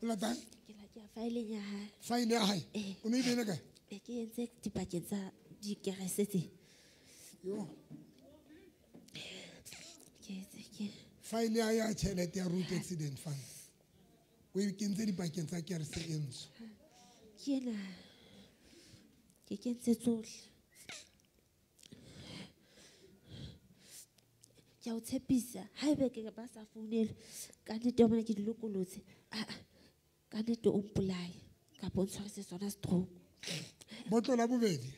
O latang? Ke la ke ya faeleng ya hae. Faele ya hae? O ne e beile kae? Ke entse dipakeng tsa dikerese tse. Yo. Ke etse ke. Faele ya tjhelete ya road accident fund. O e kentse dipakeng tsa kerese e ntsho. Ke ena. Ke kentse tsohle. Ke a o tshepisa, haebe ke ba sa founele, ka nnete wa bona ke di lokolotse. Ka nnete o mpolaye kapa o ntshwarise sona stroke. Botlolo la bobedi.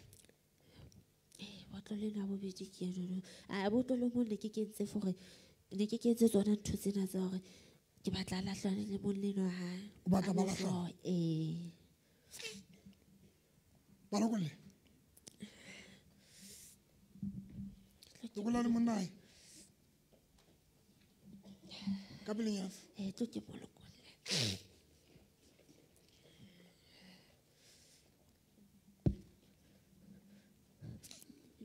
Botlolo lena bobedi ke eno. Botlolo mo ne ke kentse for ne ke kentse tsona ntho tsena tsa hore ke batla lahlane le monna enwa hae. O batla ba lahlane? Ee. Ba lokolle. Lokolla le monna hae. Ka pelenyana. Tlo ke mo lokolle.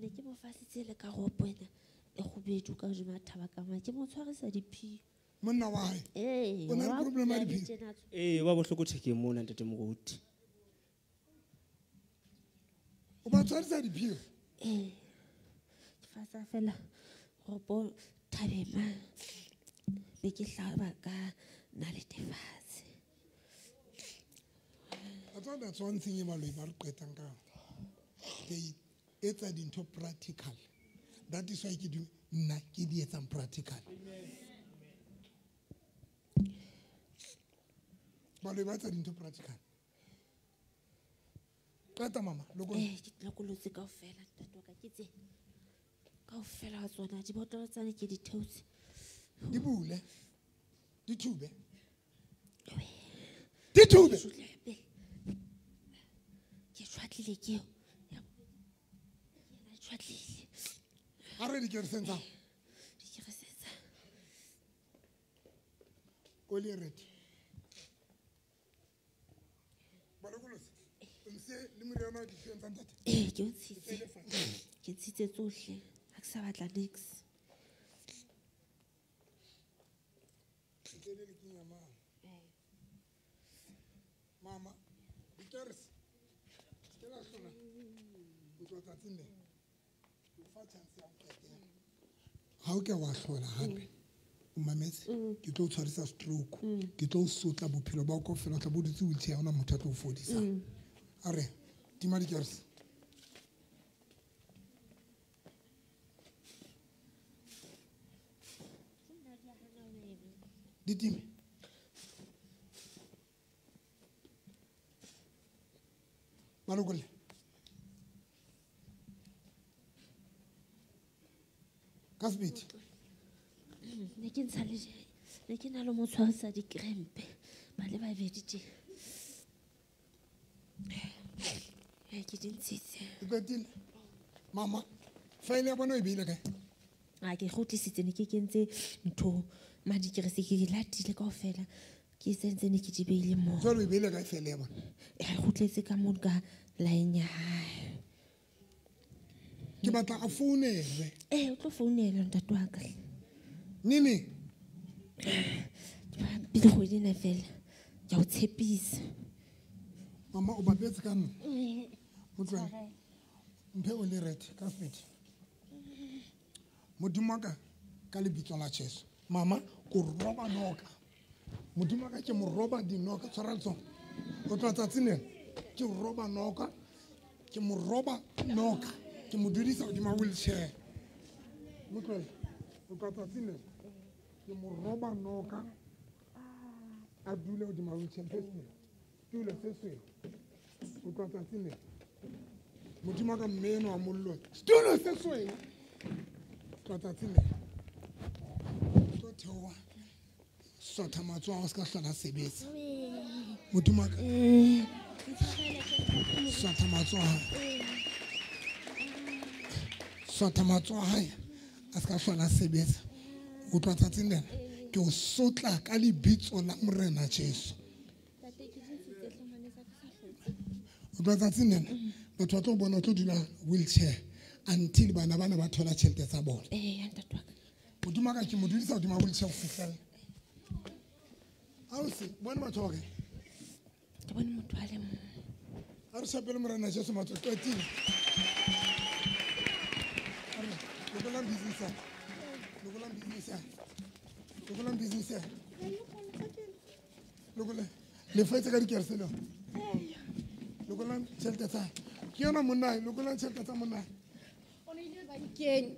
Ne ke mo fasitse le ka ropo ena e kgubedu ka hodima thaba ka mane. Ke mo tshwarisa diphio. Monna wa hae? O na le problem ya diphio? Wa bohloko thekeng mona ntate Moruti. O ba tshwarisa diphio? Ke fasa fela ropo thabeng mane. Be ke hlaba ka nalete fatshe. A tswa that's one thing e baloi ba re qetang ka. They etsa dintho practical. That is why ke di nna ke di etsang practical. Baloi ba etsa dintho practical. Qeta mama, lokolla. Ke lokolotse kaofela ntate wa ka ke tse. Kaofela wa tsona dibotlolo tsane ke di theotse. Di bule. Di thube. Di thube. Ke tshwatlile ke eo. Ke tshwatlile. A re di kereseng tsa. Di kereseng tsa. O le ready. Ba lokolotse. O ntse le moriana wa diphio tsa ntate? Ke o ntshitse. Ke ntshitse tsohle. Ha ke sa batla niks. Mama, dikerese. Ke la hlola. O tlo tsatsing le. O fa chance ya ho qetela. Ha o ke wa hlola hape. O mametse, ke tlo o tshwarisa stroke. Ke tlo o sotla bophelo ba kaofela, o tla bo dutse wheelchair, ha hona motho a tlo o fodisang. A re, tima dikerese. Di time. Ba lokolle. Ka sebete. Ne ke ntsha le ne ke na le mo tshwarisa dikrempe ba le babedi tje. Ke di ntshitse. E qetile. Mama, faele ya bona o e beile kae? A ke kgutlisitse ne ke kentse ntho madikerese ke di latile kaofela. Ke sentse ne ke di beile moo. Jwale o e beile kae faele ya bona? E kgutletse ka mono ka line ya hae. Ke batla a founelwe. O tlo founelwa ntate wa ka. Nini? Pele kgwedi ena fela. Ke a o tshepisa. Mama o bapetse ka nna. Motswadi. Mphe o le rete ka sebete. Modimo wa ka ka lebitso la Jesu. Mama ko roba noka. Modimo wa ka ke mo roba dinoka tshwara letsogo. O tla tsatsing lena ke roba noka. Ke mo roba noka. Ke mo dudisa hodima wheelchair. Motlwele o tla tsatsing lena ke mo roba noka. A dule hodima wheelchair. Tulo se sweu. O tla tsatsing lena. Modimo wa ka mme eno wa mollo. Tulo se sweu. Tla tsatsing lena. Tlo theoha. Sotha matsoho a se ka hlola sebetsa. Modimo wa ka. Sotha matsoho a hae. Sotha matsoho a hae a se ka hlola sebetsa. O tla tsatsing lena ke o sotla ka lebitso la Morena Jesu. O tla tsatsing lena batho ba tlo bona o tlo dula wheelchair until bana bana ba thola tjhelete tsa bona. Ntate wa ka. Modimo wa ka ke mo dudisa hodima wheelchair ho fihlela. Ausi, bone batho ba kae? Ke bone motho a le mong. A re shapele Morena Jesu matsoho qetile. Lokolang business ya. Lokolang business ya. Lokolang business ya. Lokolang. Le fetse ka dikerese le. Lokolang tjhelete tsa. Ke yona monna, lokolang tjhelete tsa monna. O ne ile bankeng.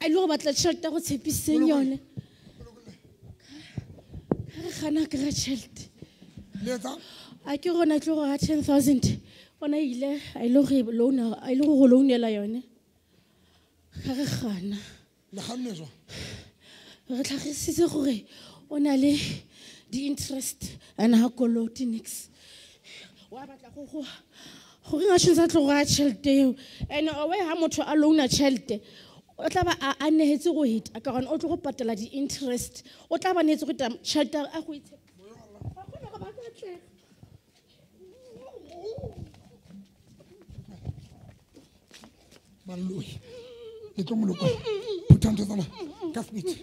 A ile go batla tjhelete go tshepiseng yone. Re gana kry tjhelete. Le etsa? A ke gona tlo go ga 10,000. Ona ile a ile go loan, a ile go loanela yone. Ga re gana. Le ganne jwang? Re tlhagisitse gore o na le di-interest and ha kolote nix. Wa batla go go gore nga tshwanetse a tlo go ga tjhelete eo. And owe ha motho a loana tjhelete o tla ba a nehetse go heta ka gona o tlo go patela di-interest. O tla ba nehetse go heta tjhelete a go itshepa. Ga gona gore ba ka atlega. Baloi. Le tlo moloko. Phutha ntho tsa lona. Ka sebete.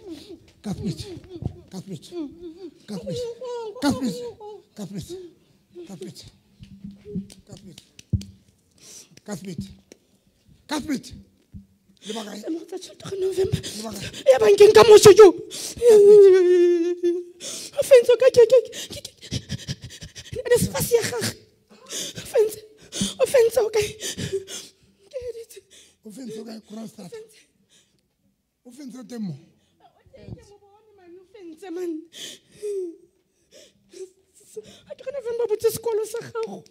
Ka sebete. Ka sebete. Ka sebete. Ka sebete. Ka sebete. Ka sebete. Ka sebete. Ka sebete. Ka sebete. Le ba kae? Mo tsa tjhelete go November. Le ba kae? Ya bankeng ka moso jo. O fentse ka ke NSFAS ya gagwe. O fentse. O fentse o kae? Ke editse. O fentse o kae? Kroonstad. O fentse o teng mo? O fentse man. Ha ke November botse sekolo sa gago.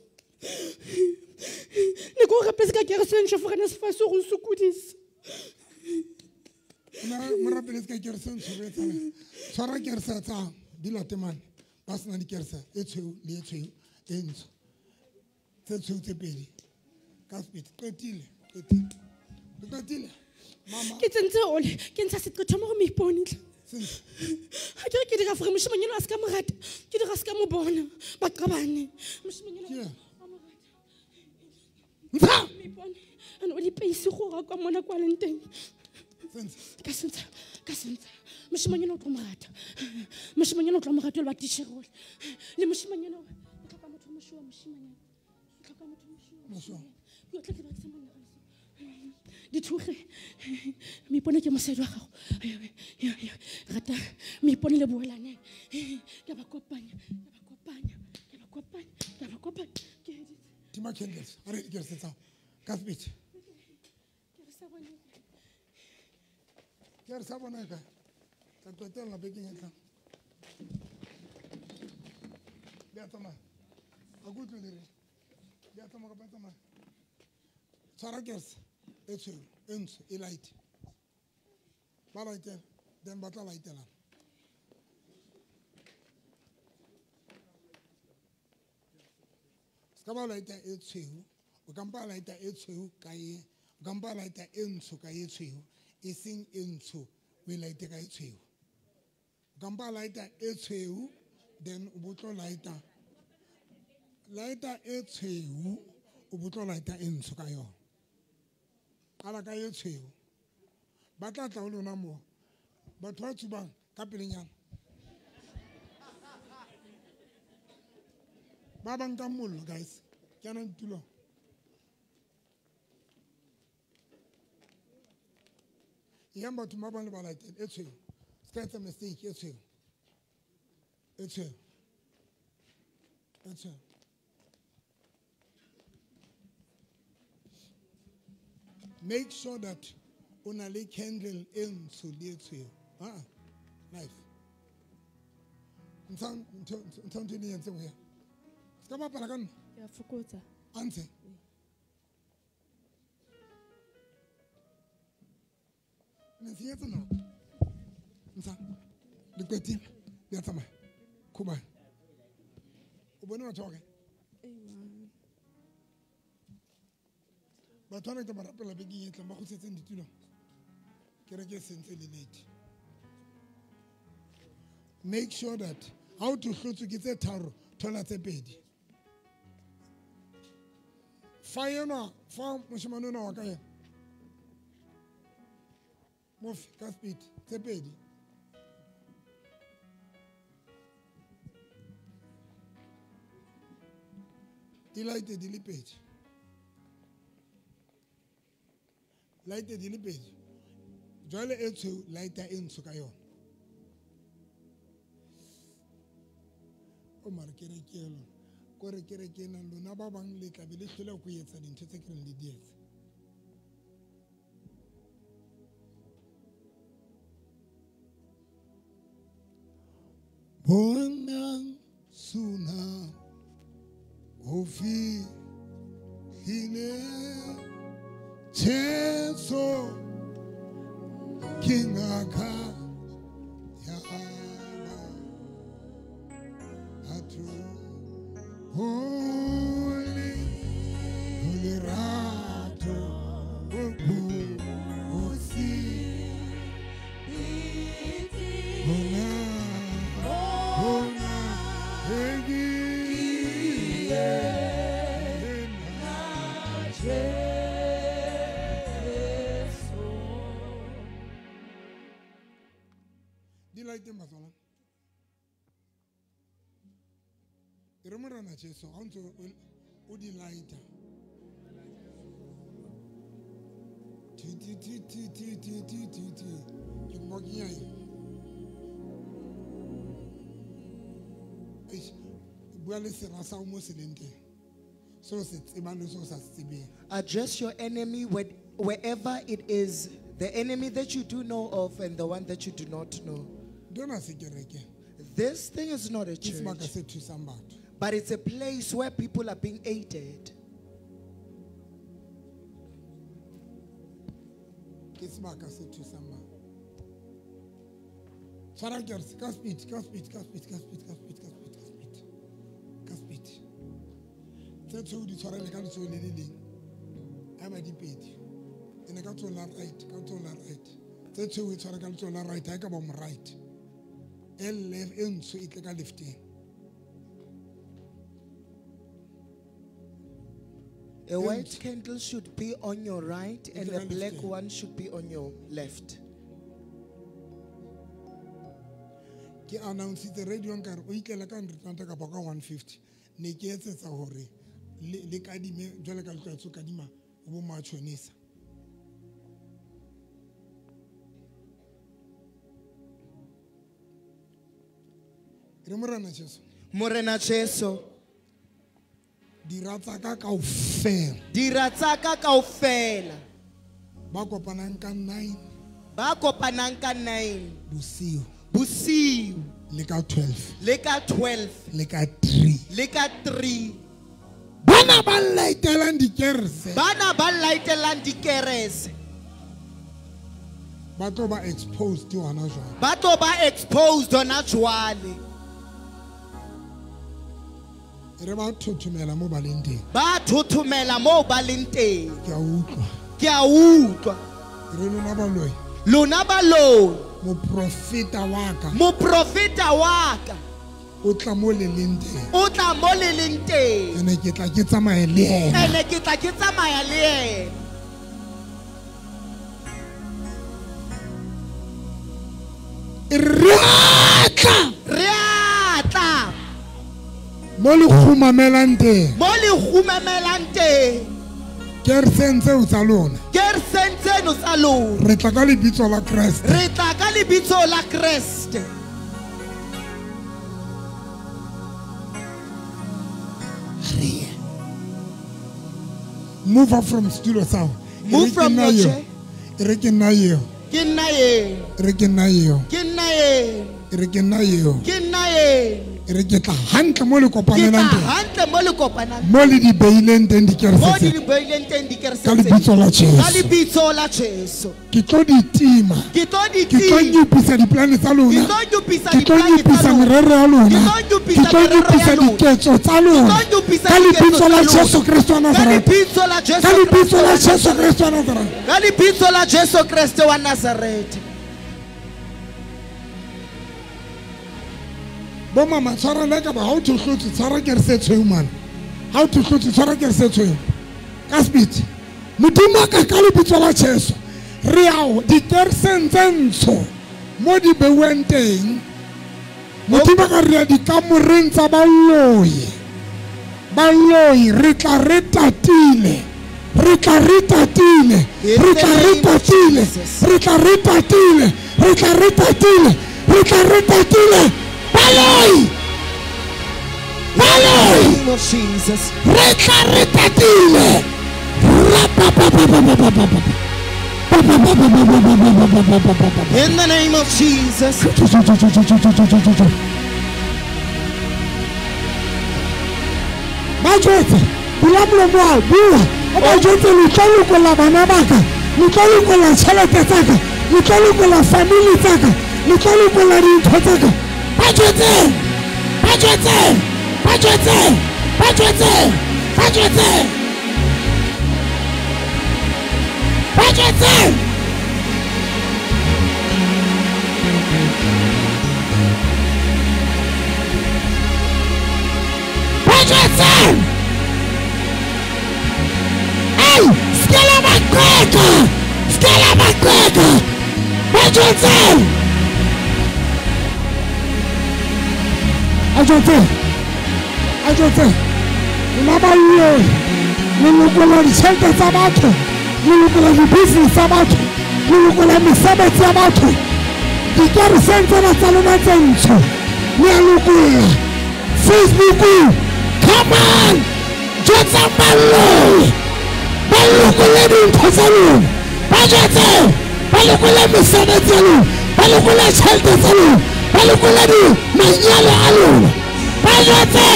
Ne ko rapetse ka kerese ntsho for NSFAS go nsokodisa. Mo rapeletse ka kerese ntsho re etsang. Tshwara kerese tsa di late mane. Ba sena dikerese e tshweu le e tshweu e ntsho. Tse tshweu tse pedi. Ka sebete qetile, qetile. Qetile. Mama. Ke tsentse ole, ke ntsha seqetho mo go moipone tlhe. Ha ke re ke dira gore moshimanyana a se ka mo rata, ke dira se ka mo bona, ba qabane. Moshimanyana a mo rata. Ntsha! Moipone, ane o le peisi go ga kwa mona kwa leng teng. Ka sentse, ka sentse. Moshimanyana o tlo mo rata. Moshimanyana o tlo mo rata le ba titjhere ole. Le moshimanyana o tlhoka motho moshoa moshimanyana. O tlhoka motho moshoa. Ke o tla ke batla monna. Dithuge moipone ke mosadi wa gago. Rata moipone le boelane. Ke ba kopanya, ke ba kopanya, ke ba kopanya, ke ba kopanya. Ke editse. Tima candles, a re dikerese tsa ka sebete. Ke re sa bone. Ke re sa bona ka. Tla qetella bekeng e tlang. Le a tsamaya. A ke utlwe le reng. Le a tsamaya kapa le tsamaya. Tshwara kerese e tshweu, e ntsho, e light. Ba laitela, then ba tla laitelana. Se ka ba laita e tshweu, o ka mpa laita e tshweu ka e, o ka mpa laita e ntsho ka e tshweu, e seng e ntsho o e laite ka e tshweu. O ka mpa laita e tshweu, then o bo tlo laita. Laita e tshweu, o bo tlo laita e ntsho ka yona. Qala ka e tshweu. Ba tla tla ho lona moo. Batho ba tsubang ka pelenyana. Ba bang ka mollo, guys. Ke ana ditulong. Yang batho ba bang le ba laitele e tshweu. Se ka etsa mistake e tshweu. E tshweu. E tshweu. Make sure that o na le candle e ntsho le e tshweu. Knife. Ntsha ntho e le entseng ho ya. Se ka bapala ka nna. Ke a fokotsa. A ntshe. Ne senyetsa nako. Ntsha. Le qetile. Le a tsamaya. Khubane. O bone batho ba kae? Batho ba ke ba rapela bekeng e tlang ba kgutletseng ditulong. Kereke e sentse le late. Make sure that ha o hlotswe ke tse tharo, thola tse pedi. Fa enwa, fa moshemane ona wa ka yena. Mofe ka speed, tse pedi. Di laete di le pedi. Laete di le pedi. Jwale e tshweu, laeta e ntsho ka yona. O mare kereke e lona. Kore kereke ena lona ba bang le tla be le hloleha ho etsa dintho tse ke reng le di etse. Bonang suna ho fihlile Jesu ke ngaka ya batho. Holy, holy rato, bosi, bona, bona, di laete matswana. E re Morena Jesu ha o ntse o di laeta. Ti ti ti ti ti ti ti ti ti. Ke mo kenya eng? Eish, bua le sera sa hao mo se leng teng. Seo se tsebang le seo sa se tsebeng. Address your enemy wherever it is, the enemy that you do know of and the one that you do not know. Ntho ena se kereke. This thing is not a Ke sebaka church, se thusang batho. but it's a place where people are being aided. Ke sebaka se thusang batho. Tshwara kerese ka speed, ka speed, ka speed, ka speed, ka speed, ka speed, ka speed. Ka speed. Tse tshweu di tshwarele ka letsoho le le leng. Ha ba di pedi. Ene ka letsoho la right, ka letsoho la right. Tse tshweu e tshware ka letsoho la right, ha e ka ba mo right. E left, e ntsho e tle ka lefteng. A white candle should be on your right and a black left. one should be on your left. Ke announce-itse radio nkare o itlela ka 100 rand kapa ka 150. Ne ke etsetsa hore le kadime jwale ka le tlwaetse ho kadima ho bo matjhonisa. Re Morena Jesu. Morena Jesu. Dira tsa ka kaofela. Dira tsa ka kaofela. Ba kopanang ka 9. Ba kopanang ka 9. Bosiu. Bosiu. Le ka 12. Le ka 12. Le ka 3. Le ka 3. Bana ba laitelang dikerese. Bana ba laitelang dikerese. Ba tlo ba exposed hona jwale. Ba tlo ba exposed hona jwale. Re ba thothomela mo ba leng teng. Ba thothomela mo ba leng teng. Ke a utlwa. Ke a utlwa. Re lona baloi. Lona baloi. Moprofeta wa ka. Moprofeta wa ka. O tla mo le leng teng. O tla mo le leng teng. Ene ke tla ke tsamaya le yena. Ene ke tla ke tsamaya le yena. Re a tla. Re a tla. Mo le kgumamelang teng. Mo le kgumamelang teng. Kereseng tseo tsa lona. Kereseng tseno tsa lona. Re tla ka lebitso la Kreste. Re tla ka lebitso la Kreste. Move up from studio sound. Move from your chair. Re ke nna eo. Ke nna eo. Re ke nna eo. Ke nna eo. Re ke nna eo. Ke nna eo. Re ke tla hantle mo le kopanelang teng. Hantle mo le kopanang. Mo le di beileng teng dikerese. Mo di beileng teng dikerese. Ka lebitso la Jesu. Ka lebitso la Jesu. Ke tlo di tima. Ke tlo di tima. Ke tlo nyopisa diplane tsa lona. Ke tlo nyopisa Ke tlo nyopisa merero ya lona. Ke tlo nyopisa Ke tlo nyopisa diketso tsa lona. Ke tlo nyopisa Ka lebitso la Jesu Kreste wa Nazareth. Ka lebitso la Jesu. Ka lebitso la Jesu Kreste wa Nazareth. Ka lebitso la Jesu Kreste wa Nazareth. Bo mama tshwara le ka ba ha o thohlotse tshwara kerese tshweu man. Ha o thohlotse tshwara kerese tshweu. Ka sebete. Modimo ka ka lebitso la Jesu. Re ao dikereseng tse ntsho mo di beuweng teng. Modimo ka re ya dikamoreng tsa baloi. Baloi re tla re tatile. Re tla re tatile. Re tla re tatile. Re tla re tatile. Re tla re tatile. Re tla re tatile. Baloi! Baloi! In the name of Jesus. Re tla re tatile. In the name of Jesus. Ba jwetse, bula molomo wa bua. O ba jwetse le tla lokolla bana ba ka, le tla lokolla tjhelete tsa ka, le tla lokolla family tsa ka, le tla lokolla dintho tsa ka. Ba jwetse, ba jwetse, ba jwetse, ba jwetse, ba jwetse. Ba jwetse. Ba jwetse. Ei, skela ba qeka, skela ba qeka. Ba jwetse. Ajote, ajote, lona baloi, le lokola ditjhelete tsa batho, le lokola di-business tsa batho, le lokola mesebetsi ya batho. Dikereseng tsena tsa lona tse ntsho, le a lokola. Facebook, come on, jwetsang baloi, ba lokole dintho tsa lona, ba jwetse, ba lokole mesebetsi ya lona, ba lokole tjhelete tsa lona. Ba lokola di manyalo a lona. Ba jwetse.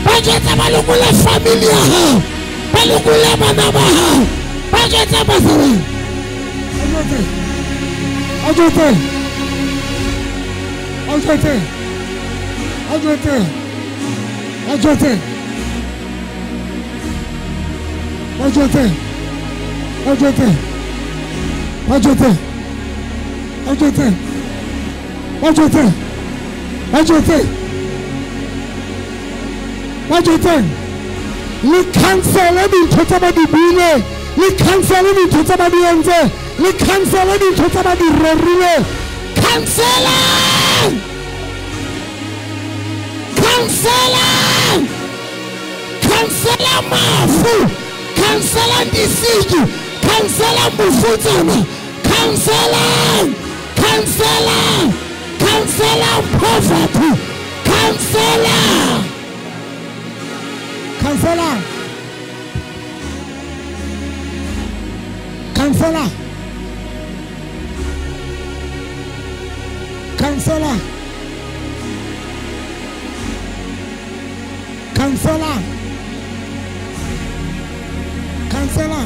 Ba jwetse ba lokola family ya hao. Ba lokola bana ba hao. Ba jwetse ba sebeng. A jwetse. A jwetse. A jwetse. A jwetse. A jwetse. A jwetse. A jwetse. A jwetse. Ba jwetse. Ba jwetse. Ba jwetse. Le cancele dintho tsa ba di buile. Le cancele dintho tsa ba di entse. Le cancele dintho tsa ba di rerile. Cancelang! Cancelang! Cancela mafu. Cancelang disiki. Cancelang bofutsana. Cancelang! Cancelang! Cancelang poverty! Cancelang! Cancelang! Cancela! Cancela! Cancela! Cancela!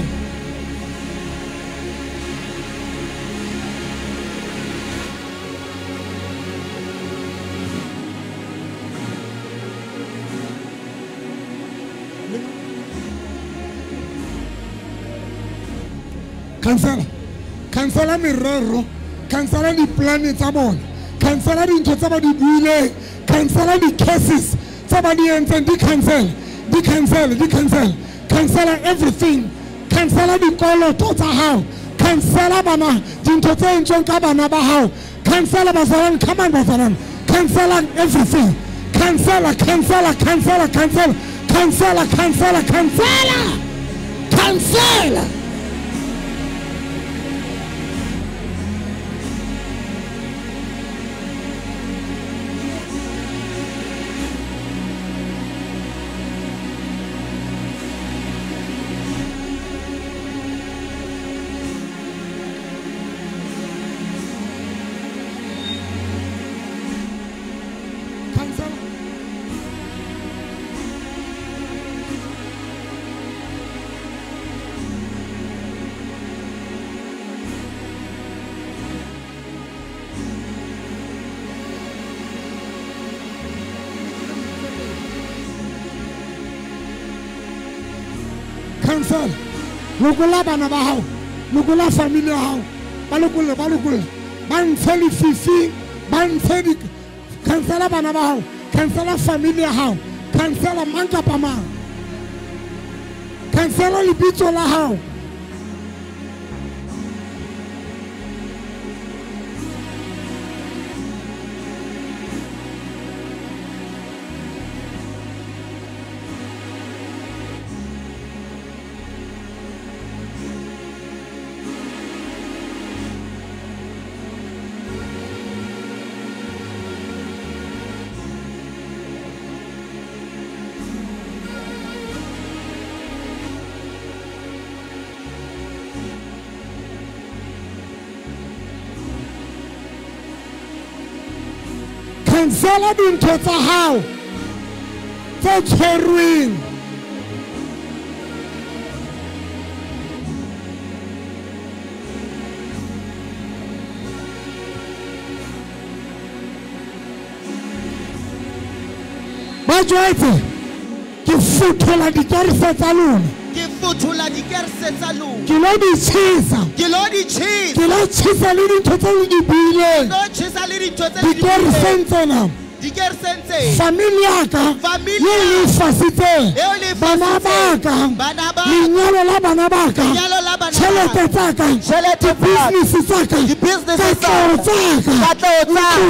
Cancela. Cancela merero. Cancela di-plane tsa bona. Cancela dintho tsa ba di buileng. Cancela di-cases tsa ba di entseng. Di cancel. Di cancel. Di cancel. Cancela everything. Cancela dikoloto tsa hao. Cancela bana dintho tse entsweng ka bana ba hao. Cancela bazalwane. Come on bazalwane. Cancela everything. Cancela, cancela, cancela, cancela. Cancela, cancela, cancela. Cancela. Cancel. Lokola bana ba hao. Lokola family ya hao. Ba lokolle, ba lokolle. Ba ntshe lefifing, ba ntshe di cancela bana ba hao. Cancela family ya hao. Cancela mang kapa mang. Cancela lebitso la hao. Cancela dintho tsa hao tse tshwerweng. Ba jwetse ke futhola dikerese tsa lona. Ke futhola dikerese tsa lona. Ke lo di tjhesa. Ke lo di tjhesa. Ke lo tjhesa le dintho tse le di buileng. Ke lo tjhesa le dintho tse le di Dikereseng tsena. Dikereseng tse. Family ya ka. Family eo le e fasitseng. Eo le e Bana ba ka. Bana ba. Lenyalo la bana ba ka. Lenyalo la bana ba. Tjhelete tsa ka. Tjhelete tsa ka. Di-business tsa ka. Di-business tsa ka. Katleho tsa ka. Katleho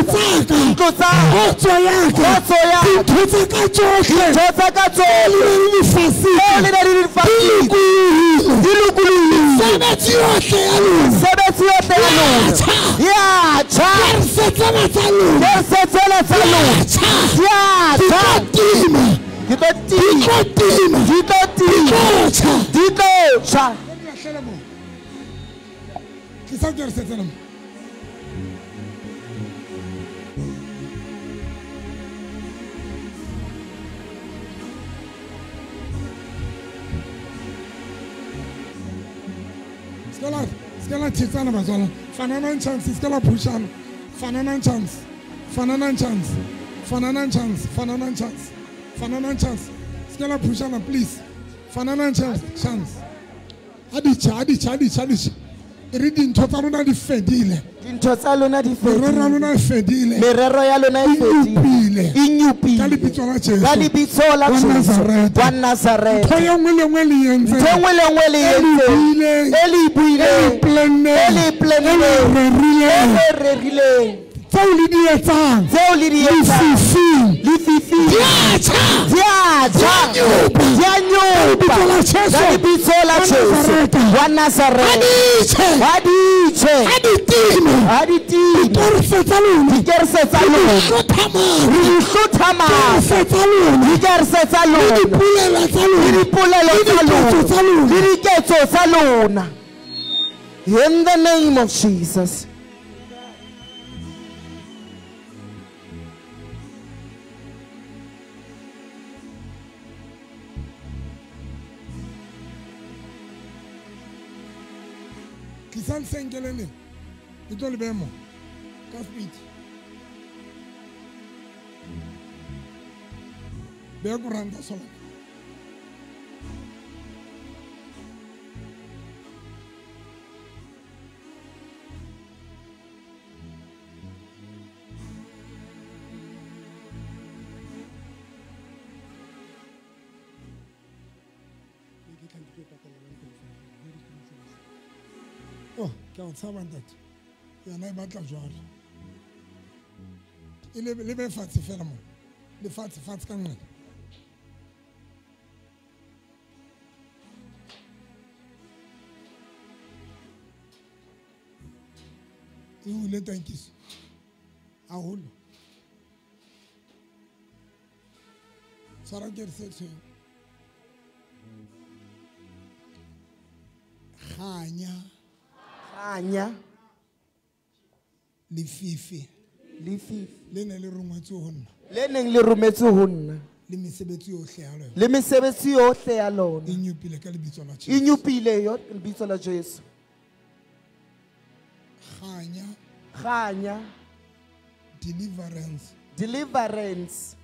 tsa ka. Ntlo tsa ka. Ntlo tsa ka. Kgotso ya ka. Kgotso ya ka. Dintho tsa ka tsohle. Dintho tsa ka tsohle. Tseo le neng le di fasitse. Tseo le neng le di fasitse. Di lokolohile. Di lokolohile. Mesebetsi yohle ya lona. Mesebetsi yohle ya lona. Ya tjha. Ya tjha. Kerse tsena tsa lona. Kerse tsena tsa lona. Ya tjha. Ya tjha. Di tlo tima. Di tlo tima. Di tlo tima. Di tlo tima. Di tlo tjha. Di tlo tjha. Tlisa kerse tsena mo. Skela thetsana batswala. Fananang chance, skela pushana. Fananang chance. Fananang chance. Fananang chance. Fananang chance. Fananang chance. Skela pushana please. Fananang chance. Chance. Adicha, adicha, adicha, adicha. Re dintho tsa rona di fedile. Dintho tsa lona di fedile. Merero ya lona e fedile. Merero ya lona e fedile. E E nyupile. Ka lebitso la Jesu. Ka lebitso la Wa Jesu. Nazareta. Wa Nazareta. Ntho e nngwe le nngwe le e entseng. Ntho e nngwe le nngwe le e E le entseng. buileng. E le buileng. E le planneng. E le planneng. E le rerileng. E le rerileng. Tseo le di etsang. Tseo le di etsang. Lefifing. Lefifing. Di a tjha. Di a tjha. Di a nyupa. Di a nyupa. Ka lebitso la Jesu. Ka lebitso la Wa Jesu. Nazareta. Wa Nazareta. Ha di tjhe. Ha di tjhe. Ha di time. Ha di time. Dikerese tsa lona. Dikerese tsa Re di lona. hlotha matla. Re di hlotha matla. Dikerese tsa lona. Dikerese tsa Le lona. dipolelo tsa lona. Le dipolelo Le tsa diketso lona. tsa lona. Le diketso tsa lona. In the name of Jesus. Tlisang senkele le. Ke tlo le beha mo. Ka speed. Beha koranta sola. Ke a o tshaba ntate. Yona e batla jwalo. E le be fatshe fela mo. Le fatshe fatshe ka nqena. E hule tankiso. Haholo. Tshwara kerese tshweu. Kganya. Kganya. Lefifi. Lefifi. Le ne le rongwetswe ho nna. Le neng le rometswe ho nna. Le mesebetsi yohle ya lona. Le mesebetsi yohle ya lona. E nyopile ka lebitso la Jesu. E nyopile yo lebitso la Jesu. Kganya. Kganya. Deliverance. Deliverance.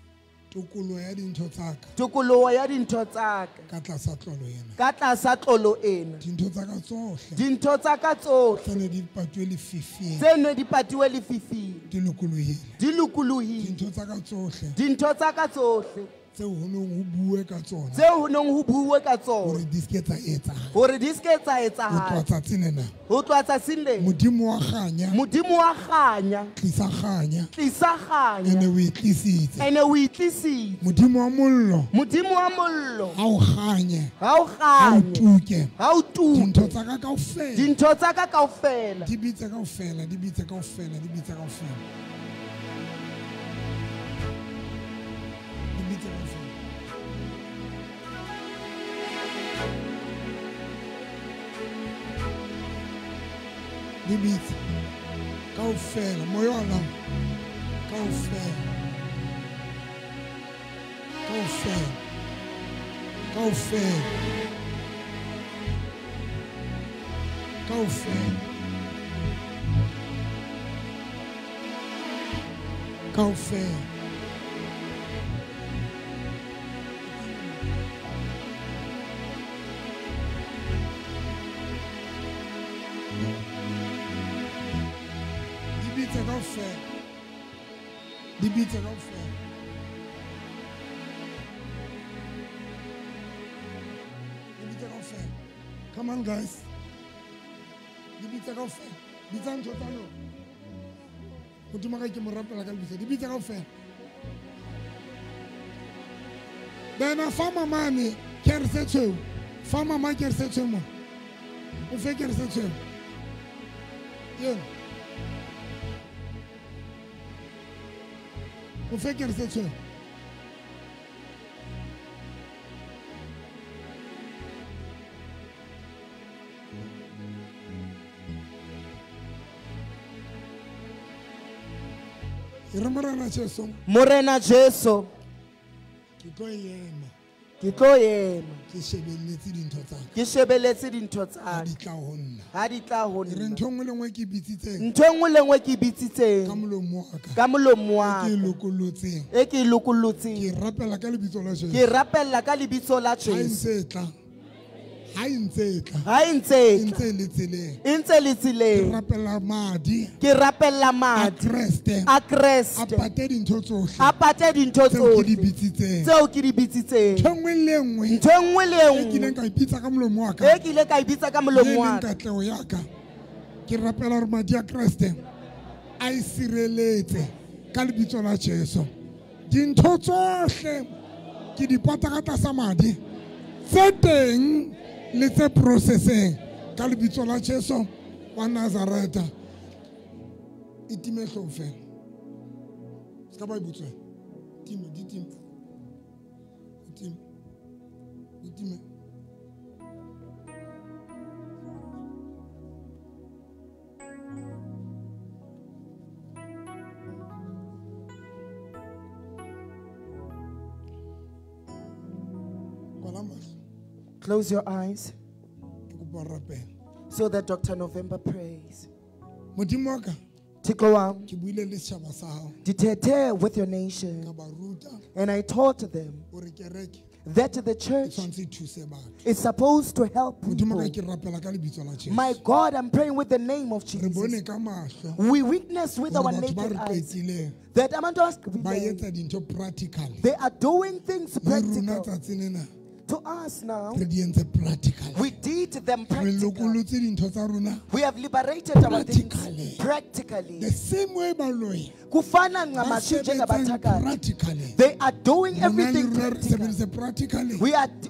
Tokoloho ya dintho tsa ka. Tokoloho ya dintho tsa ka. Ka tlasa tlolo ena. Ka tlasa tlolo ena. Dintho tsa ka tsohle. Dintho tsa ka tsohle. Tse ne di patuwe lefifing. Tse ne di patuwe lefifing. Di lokolohile. Di lokolohile. Dintho tsa ka tsohle. Dintho tsa ka tsohle. Tseo ho neng ho bue ka tsona. Tseo ho neng ho bue ka tsona. Hore di se ke tsa etsahala. Hore di se ke tsa etsahala. Ho tloha tsatsing lena. Ho tloha tsatsing lena. Modimo wa kganya. Modimo wa kganya. Tlisa kganya. Tlisa kganya. Ene o e tlisitse. Ene o e tlisitse. Modimo wa mollo. Modimo wa mollo. Ha o kganye. Ha o kganye. Ha o tuke. Ha o tuke. Dintho tsa ka kaofela. Dintho tsa ka kaofela. Di bitse kaofela, di bitse kaofela, di bitse kaofela. Di bitse kaofela, moya wa lona kaofela, kaofela, kaofela, kaofela, kaofela. Di bitse kaofela. Di bitse kaofela. Come on guys. Di bitse kaofela. Bitsa ntho tsa lona. Modimo ka ke mo rapela ka lebitso. Di bitse kaofela. Bena fa mamane kerese tshweu. Fa mama kerese tshweu mo. O fe kerese tshweu. Yena. O fe kerese tshweu. E re Morena Jesu. Morena Jesu. Ke tlo ema. Ke tlo ema. Ke shebelletse dintho tsa ka. Ke shebelletse dintho tsa ka. Ha di tla ho nna. Ha di tla ho nna. E re ntho nngwe le nngwe ke bitsitseng. Ntho nngwe le nngwe ke bitsitseng. Ka molomo wa ka. Ka molomo wa ka. E ke lokolotseng. E ke lokolotseng. Ke rapela ka lebitso la Jesu. Ke rapela ka lebitso la Jesu. Ha e ntse e tla. Ha e ntse e tla. Ha e ntse e tla. E ntse le tseleng. E ntse le tseleng. Ke rapela madi. Ke rapela madi. A Kreste. A Kreste. A pate dintho tsohle. A pate dintho tsohle. Tseo ke di bitsitseng. Tseo ke di bitsitseng. Ntho nngwe le nngwe. Ntho nngwe le nngwe. E kileng ka ipitsa ka molomo wa ka. E kileng ka ipitsa ka molomo wa ka. Le katleho ya ka. Ke rapela hore madi a Kreste a e sireletse ka lebitso la Jesu. Dintho tsohle ke di pata ka tlasa madi. Tse teng le tse processeng ka lebitso la Jesu wa Nazareta. E time hlooho fela. Se ka ba e butswe. Time, di time. Di time. Di time. Kwala mahlo. Close your eyes so that Dr. November prays. Modimo wa ka. Thixo wam. Ke buile le setjhaba sa hao. Dithethe with your nation. Ka ba ruta. And I taught them hore kereke that the church e tshwanetse e thuse batho. is supposed to help Modimo people. ka ke rapela ka lebitso la Jesu. My God, I'm praying with the name of Re bone Jesus. ka mahlo We witness with hore our batho ba naked re eyes qetileng that abantu ba abasiqhibileyo, etsa dintho practically. they are doing things Le rona practical. tsatsing lena To us now, Re di entse practical. we did them Re practically. lokolotse dintho tsa rona We have liberated our things Practically. practically. The same way baloi Kufana ba ncamashi sebetsang njengabathakathi. practically. They are doing Rona le everything rona re practically. sebeditse practically.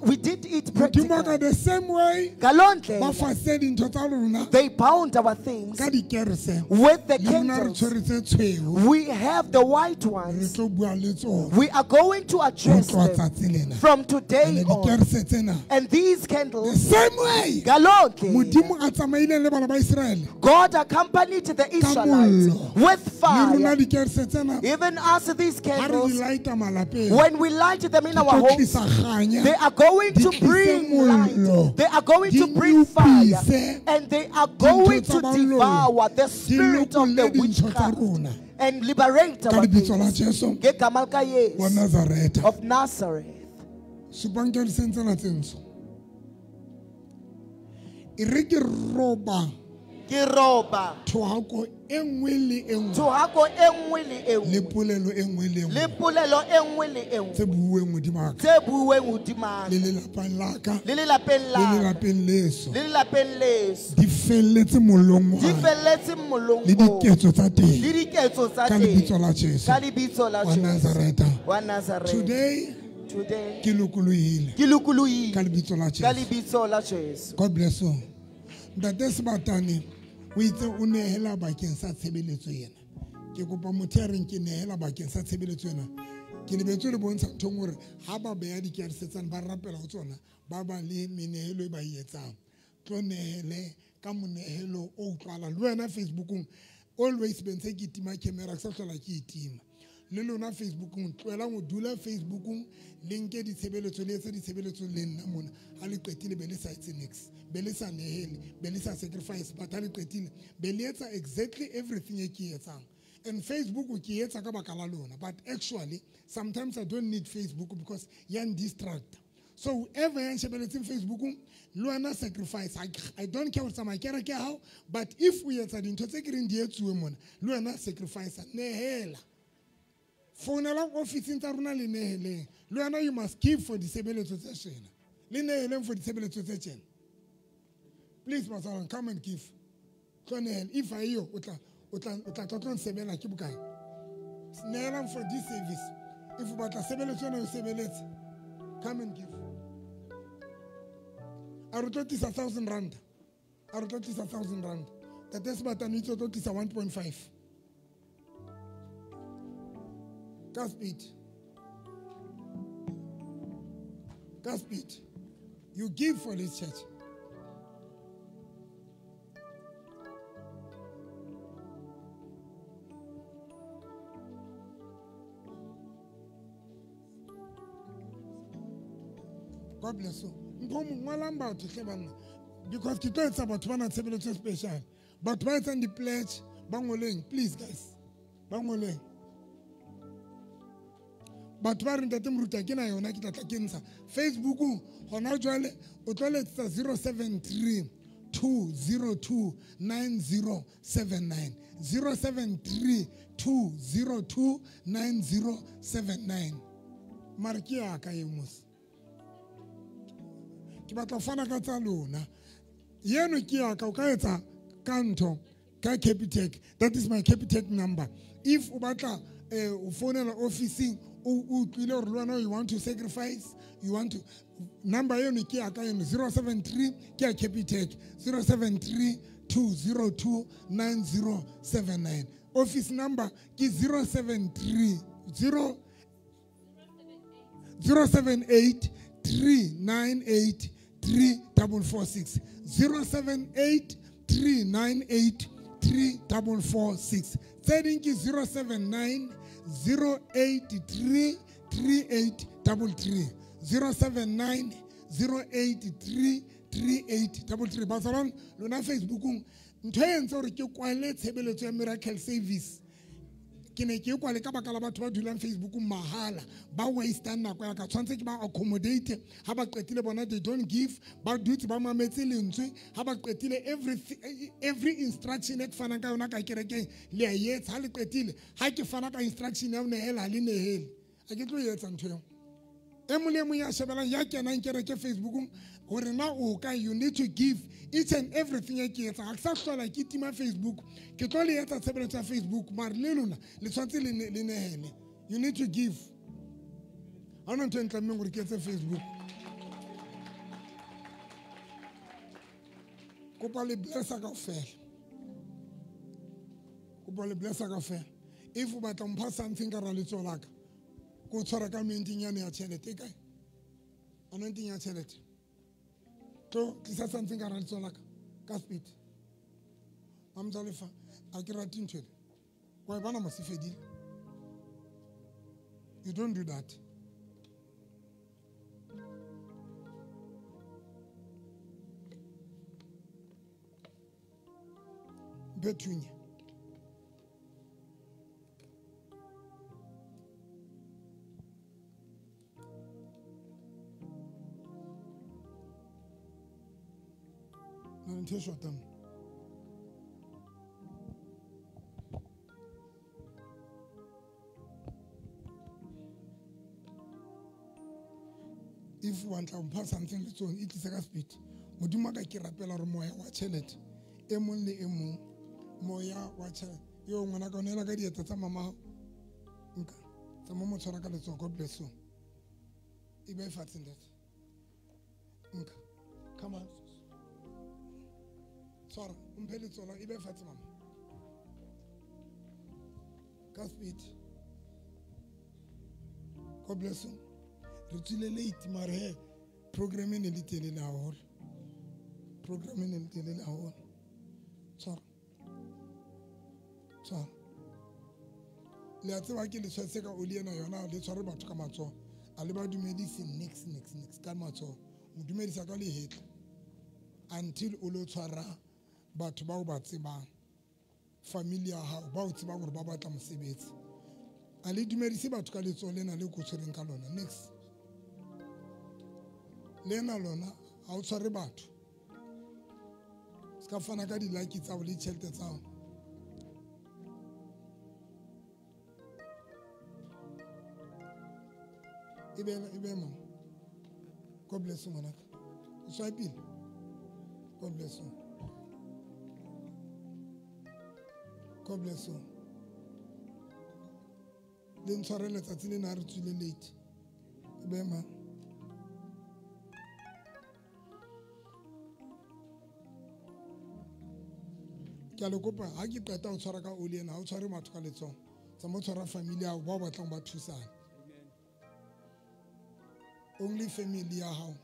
We did it Modimo wa ka practically. the same way Ngaloo ba ndlela, fase dintho tsa rona they bound our things ka dikerese. with the Le rona re candles. tshwere tse tshweu. We have the white Re ones. tlo bua le tsona We are going to ho address tloha them tsatsi lena. from today And on. dikerese tsena And these the candles, same way ngaloo ndlela, Modimo a tsamaileng le bana ba Israele God accompanied the Israelites mollo. with le rona fire. dikerese tsena Even us, these ha re di candles, lighta malapeng when we light them in di our tlo homes, tlisa kganya they are going di to tlise bring light. mollo, They are going di to bring fire. nyopise And they are going dintho tsa to baloi, devour the di spirit of the lokolle dintho tsa witchcraft rona and liberate ka our lebitso la things. Jesu Ngegama likaYesu wa Nazareta. of Nazareth. Supang kereseng tsena tse ntsho. E re ke roba Ke roba thohako e nngwe le e nngwe thohako e nngwe le e le nngwe polelo e nngwe le e le nngwe polelo e nngwe le e nngwe tse buuweng hodimo ha ka tse buuweng hodima le lelapeng la ka le lelapeng le la ka lelapeng leso le lelapeng leso di felletse mollong wa di felletse mollong le oo diketso tsa teng le diketso tsa ka teng lebitso la Jesu ka lebitso la wa Jesu Nazareta. wa Nazareth. Today Today ke lokolohile ke lokolohile ka lebitso la ka Jesu. lebitso la Jesu. God bless you. Ntate Sebatane o itse o nehela bakeng sa tshebeletso ena. Ke kopa motho ya reng ke nehela bakeng sa tshebeletso ena. Ke lebetse le bontsha nthong hore ha ba beha dikerese tsane ba rapela ho tsona ba ba le menehelo e ba e etsang. Tlo nehele ka monehelo o utlwahalang. Le wena Facebookong always be ntse ke tima camera ke sa hlola ke e tima. Le lona Facebookong tlohelang ho dula Facebookong le nke ditshebeletso le etse ditshebeletso le nna mona. Ha le qetile be le sa etse niks, be le sa nehele, be le sa sacrifice, but ha le qetile be le etsa exactly everything e ke e etsang. And Facebook ke e etsa ka baka la lona, but actually sometimes I don't need Facebook because ya distract. So whoever ya nshebeletseng Facebookong le wena sacrifice. I don't care hore tsamaya kereke ya hao, but if o etsa dintho tse ke reng di etsuwe mona, le wena sacrifice, nehela. Founela ofising tsa rona le neheleng. Le wena you must give for ditshebeletso tse tjena. Le neheleng for ditshebeletso tse tjena. Please Masalwane, come and give. Tlo nehela. If ha eyo, o tla tlo nsebela ke bokae? Nehelang for this service. If o batla tshebeletso ena o sebeletse, come and give. A re tlo tlisa 1,000 rand. A re tlo tlisa 1,000 rand. Tate Sebatane o itse o tlo tlisa 1.5. Ka speed. Ka speed. You give for this church. God bless you. Mpho mongwalang batho hle banna. Because ke tlo etsa batho ba na tshebeletso e special. Batho ba etsang di-pledge, ba ngoleng, please guys. Ba ngoleng. Batho ba reng ntate Moruti ha ke na yona ke tla tla ke ntsha. Facebookong hona jwale o tlo letsetsa 073 202 9079. 073 202 9079. Mare ke ya ka eo mos. Ke batla ho fana ka tsa lona. Yeno ke ya ka, o ka etsa ka ntho ka Capitec. That is my Capitec number. If o batla o founela ofising o utlwile hore le wena you want to sacrifice, you want to, number eno ke ya ka eno 073 ke ya Capitec 073 202 9079. Office number ke 073 078 398 3446. 078 398 3446. Tse ding ke 079 083 3833. 079 083 3833. Batsalwane lona Facebookong ntho e entse hore ke kwale tshebeletso ya Miracle Service. Ke ne ke kwale ka baka la batho ba dulang Facebookong mahala, ba wastang nako ya ka. Tshwanetse ke ba accommodate ha ba qetile bona they don't give, ba dutse ba mametse lentswe ha ba qetile every instruction e ke fanang ka yona ka kerekeng le a e etsa. Ha le qetile ha ke fana ka instruction ya ho nehela, ha le nehele. Ha ke tlo e etsa ntho eo. E mong le mong ya shebelang ya kenang kereke Facebookong hore na o kae, you need to give each and everything e ke etsang. Ha ke sa hlola ke tima Facebook, ke tlo le etsa tshebeletso ya Facebook, mare le lona le tshwanetse le nehele. You need to give. Ha hona ntho e ntlammeng hore ke etse Facebook. Kopa le blessa kaofela. Kopa le blessa kaofela. If o batla mpha something ka ra letsoho la ka, ko tshwara ka anointing yane ya tjhelete e kae? Anointing ya tjhelete. Tlo tlisa something ka ra letsoho la ka, ka speed. Mamzalefa, ha ke rate ntho ele. Wa e bona mos e fedile. You don't do that. Betunya. Ntho e shotang. If o batla ho mpha something le tsone, e tlise ka speed. Modimo ka ke rapela hore moya wa tjhelete e mong le e mong, moya wa tjhelete yo ngwana ka o neela ka dieta tsa mama nka tsa mo mo tshwara ka letsoho. God bless you. E be fatshe ntate. Nka come on. Tshwara o mphe letsoho e be fatshe mama. Ka speed. God bless you. Re tswile late mare he program e ne le telele haholo. Program e ne le telele haholo. Tshwara. Tshwara. Le a tseba ke le tshwetse ka oli ena yona, le tshware batho ka matsoho. A le ba dumedise nix nix nix ka matsoho. Mo dumedisa ka lehetla until o lo tshwara batho bao ba tsebang, family ya hao ba o tsebang hore ba batla mosebetsi. A le dumedise batho ka letsoho lena le ko tshwereng ka lona. Next. Lena lona ha o tshware batho. Se ka fana ka di-like tsa hao le ditjhelete tsa hao. E be mama. God bless you ngwanaka. O swipile. God bless you. God bless you. Le ntshware letsatsi lena ha re tswile late. E be mama. Ke a le kopa ha ke qeta ho tshwara ka oli ena, ha o tshware batho ka letsoho. Tsamaya o tshwara family ya hao bao batlang ba thusana. Only family ya hao.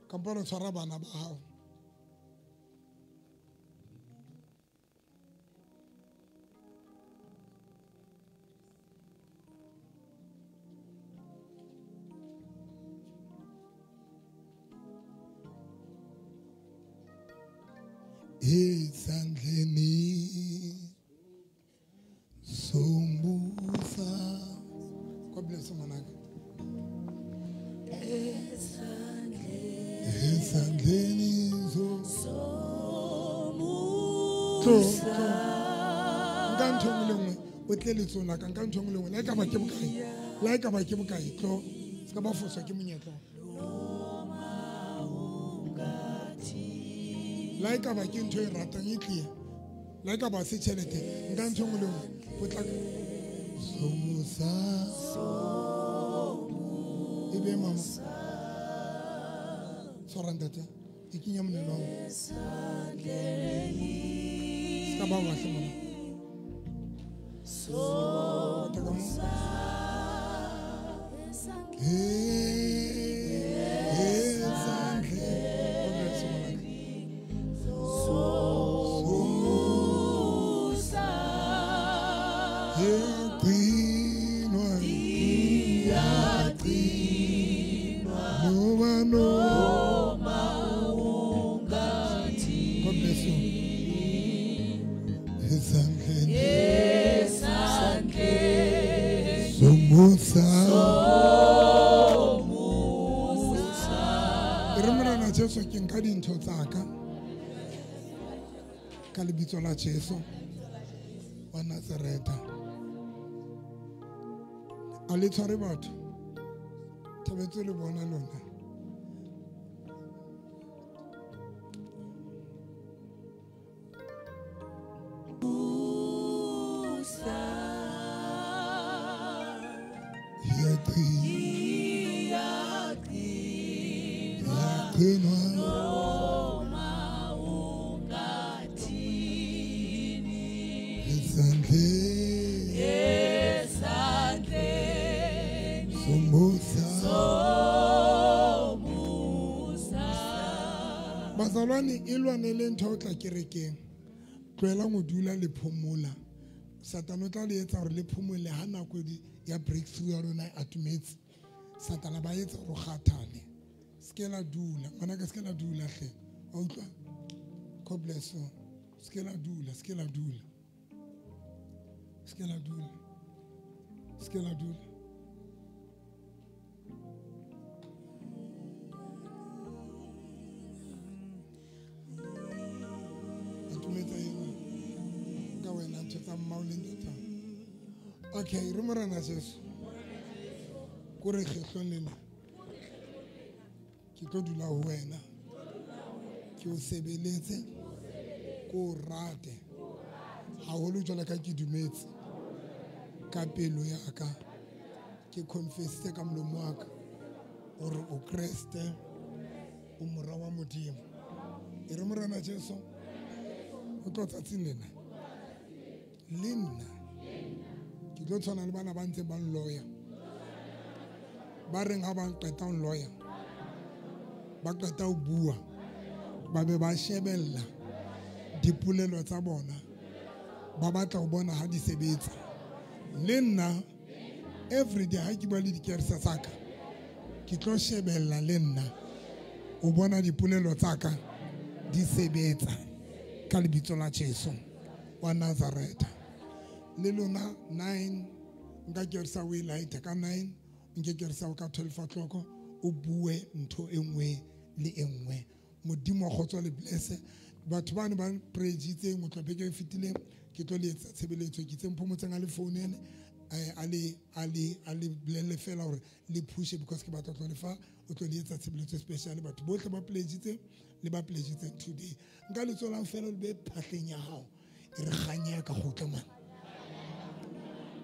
Kampo o tshwara bana ba hao. Esandleni sombusa. God bless you ngwanaka. Esandleni sombusa. Nka ntho e nngwe le nngwe o tle letsohong la ka, nka ntho e nngwe le nngwe le ha e ka ba ke bokae, le ha e ka ba ke bokae, tlo se ka ba foswa ke monyetla. Le ha e ka ba ke ntho e ratang e tlie, le ha e ka ba se tjhelete, nka ntho e nngwe le nngwe potlaka. Somusa e be mama. Tshwara ntate, e kenya monelong. Se ka ba wa hle mona. Pota ka mo. God bless you. Somusa. Re morena Jesu ke nka dintho tsa ka ka lebitso la Jesu wa Nazareta. A le tshware batho. Thabetse le bona lona. Bazalwane e lwanele ntho o tla kerekeng. Tlohela go dula le phomola. Satane o tla le etsa hore le phomole ha nako ya breakthrough ya lona e atumetse. Satane ba etsa hore o kgathale. Se la dula, ngwanaka se la dula hle. Wa utlwa? God bless you. Se la dula, se la dula. Se la dula. Se la dula. Okay, re morena Jesu. Ko re kgetlong lena. Ke tlo dula ho wena. Ke o sebeletse. Ko o rate. Haholo jwalo ka ke dumetse. Ka pelo ya ka. Ke confessitse ka molomo wa ka hore o Kreste, o mora wa Modimo. E re morena Jesu, o tlo tsatsing lena. Le nna ke tlo tshwana le bana ba ntse ba nloya. Ba reng ha ba qeta ho nloya, ba qeta ho bua, ba be ba shebella dipolelo tsa bona, ba batla ho bona ha di sebetsa. Le nna every day ha ke bua le dikerese tsa ka, ke tlo shebella le nna o bona dipolelo tsa ka di sebetsa ka lebitso la Jesu wa Nazareth. Le lona 9 nka keresa o e light ka 9, nke keresa o ka 12 o'clock, o bue ntho e nngwe le e nngwe. Modimo wa kgotso le bless. Batho bane ba prejitseng o tlo beke e fetileng, ke tlo le etsa tshebeletso, ke tseng phomotseng a le founele, a le bolelle fela hore le pushe because ke batla tlo le fa, o tlo le etsa tshebeletso special. Batho bohle ba pledgitseng le ba pledgitseng today. Nka le tswelang fela le be phahleng ya hao. E re kganya ya ka kgutla man.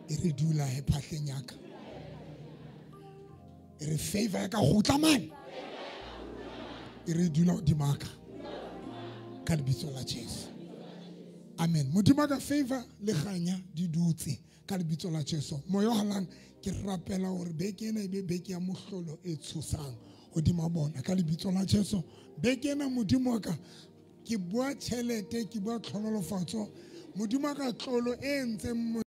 E re dula he phahleng ya ka. E re favor ya ka kgutla man. E re dula hodima ka. Ka lebitso la Jesu. Amen. Modimo ka favor le kganya di dutse ka lebitso la Jesu. Moya o halang ke rapela hore beke ena e be beke ya mohlolo e tshosang hodima bona ka lebitso la Jesu. Beke ena Modimo ka ke bua tjhelete, ke bua tlhonolofatso. Modimo ka tlolo e ntseng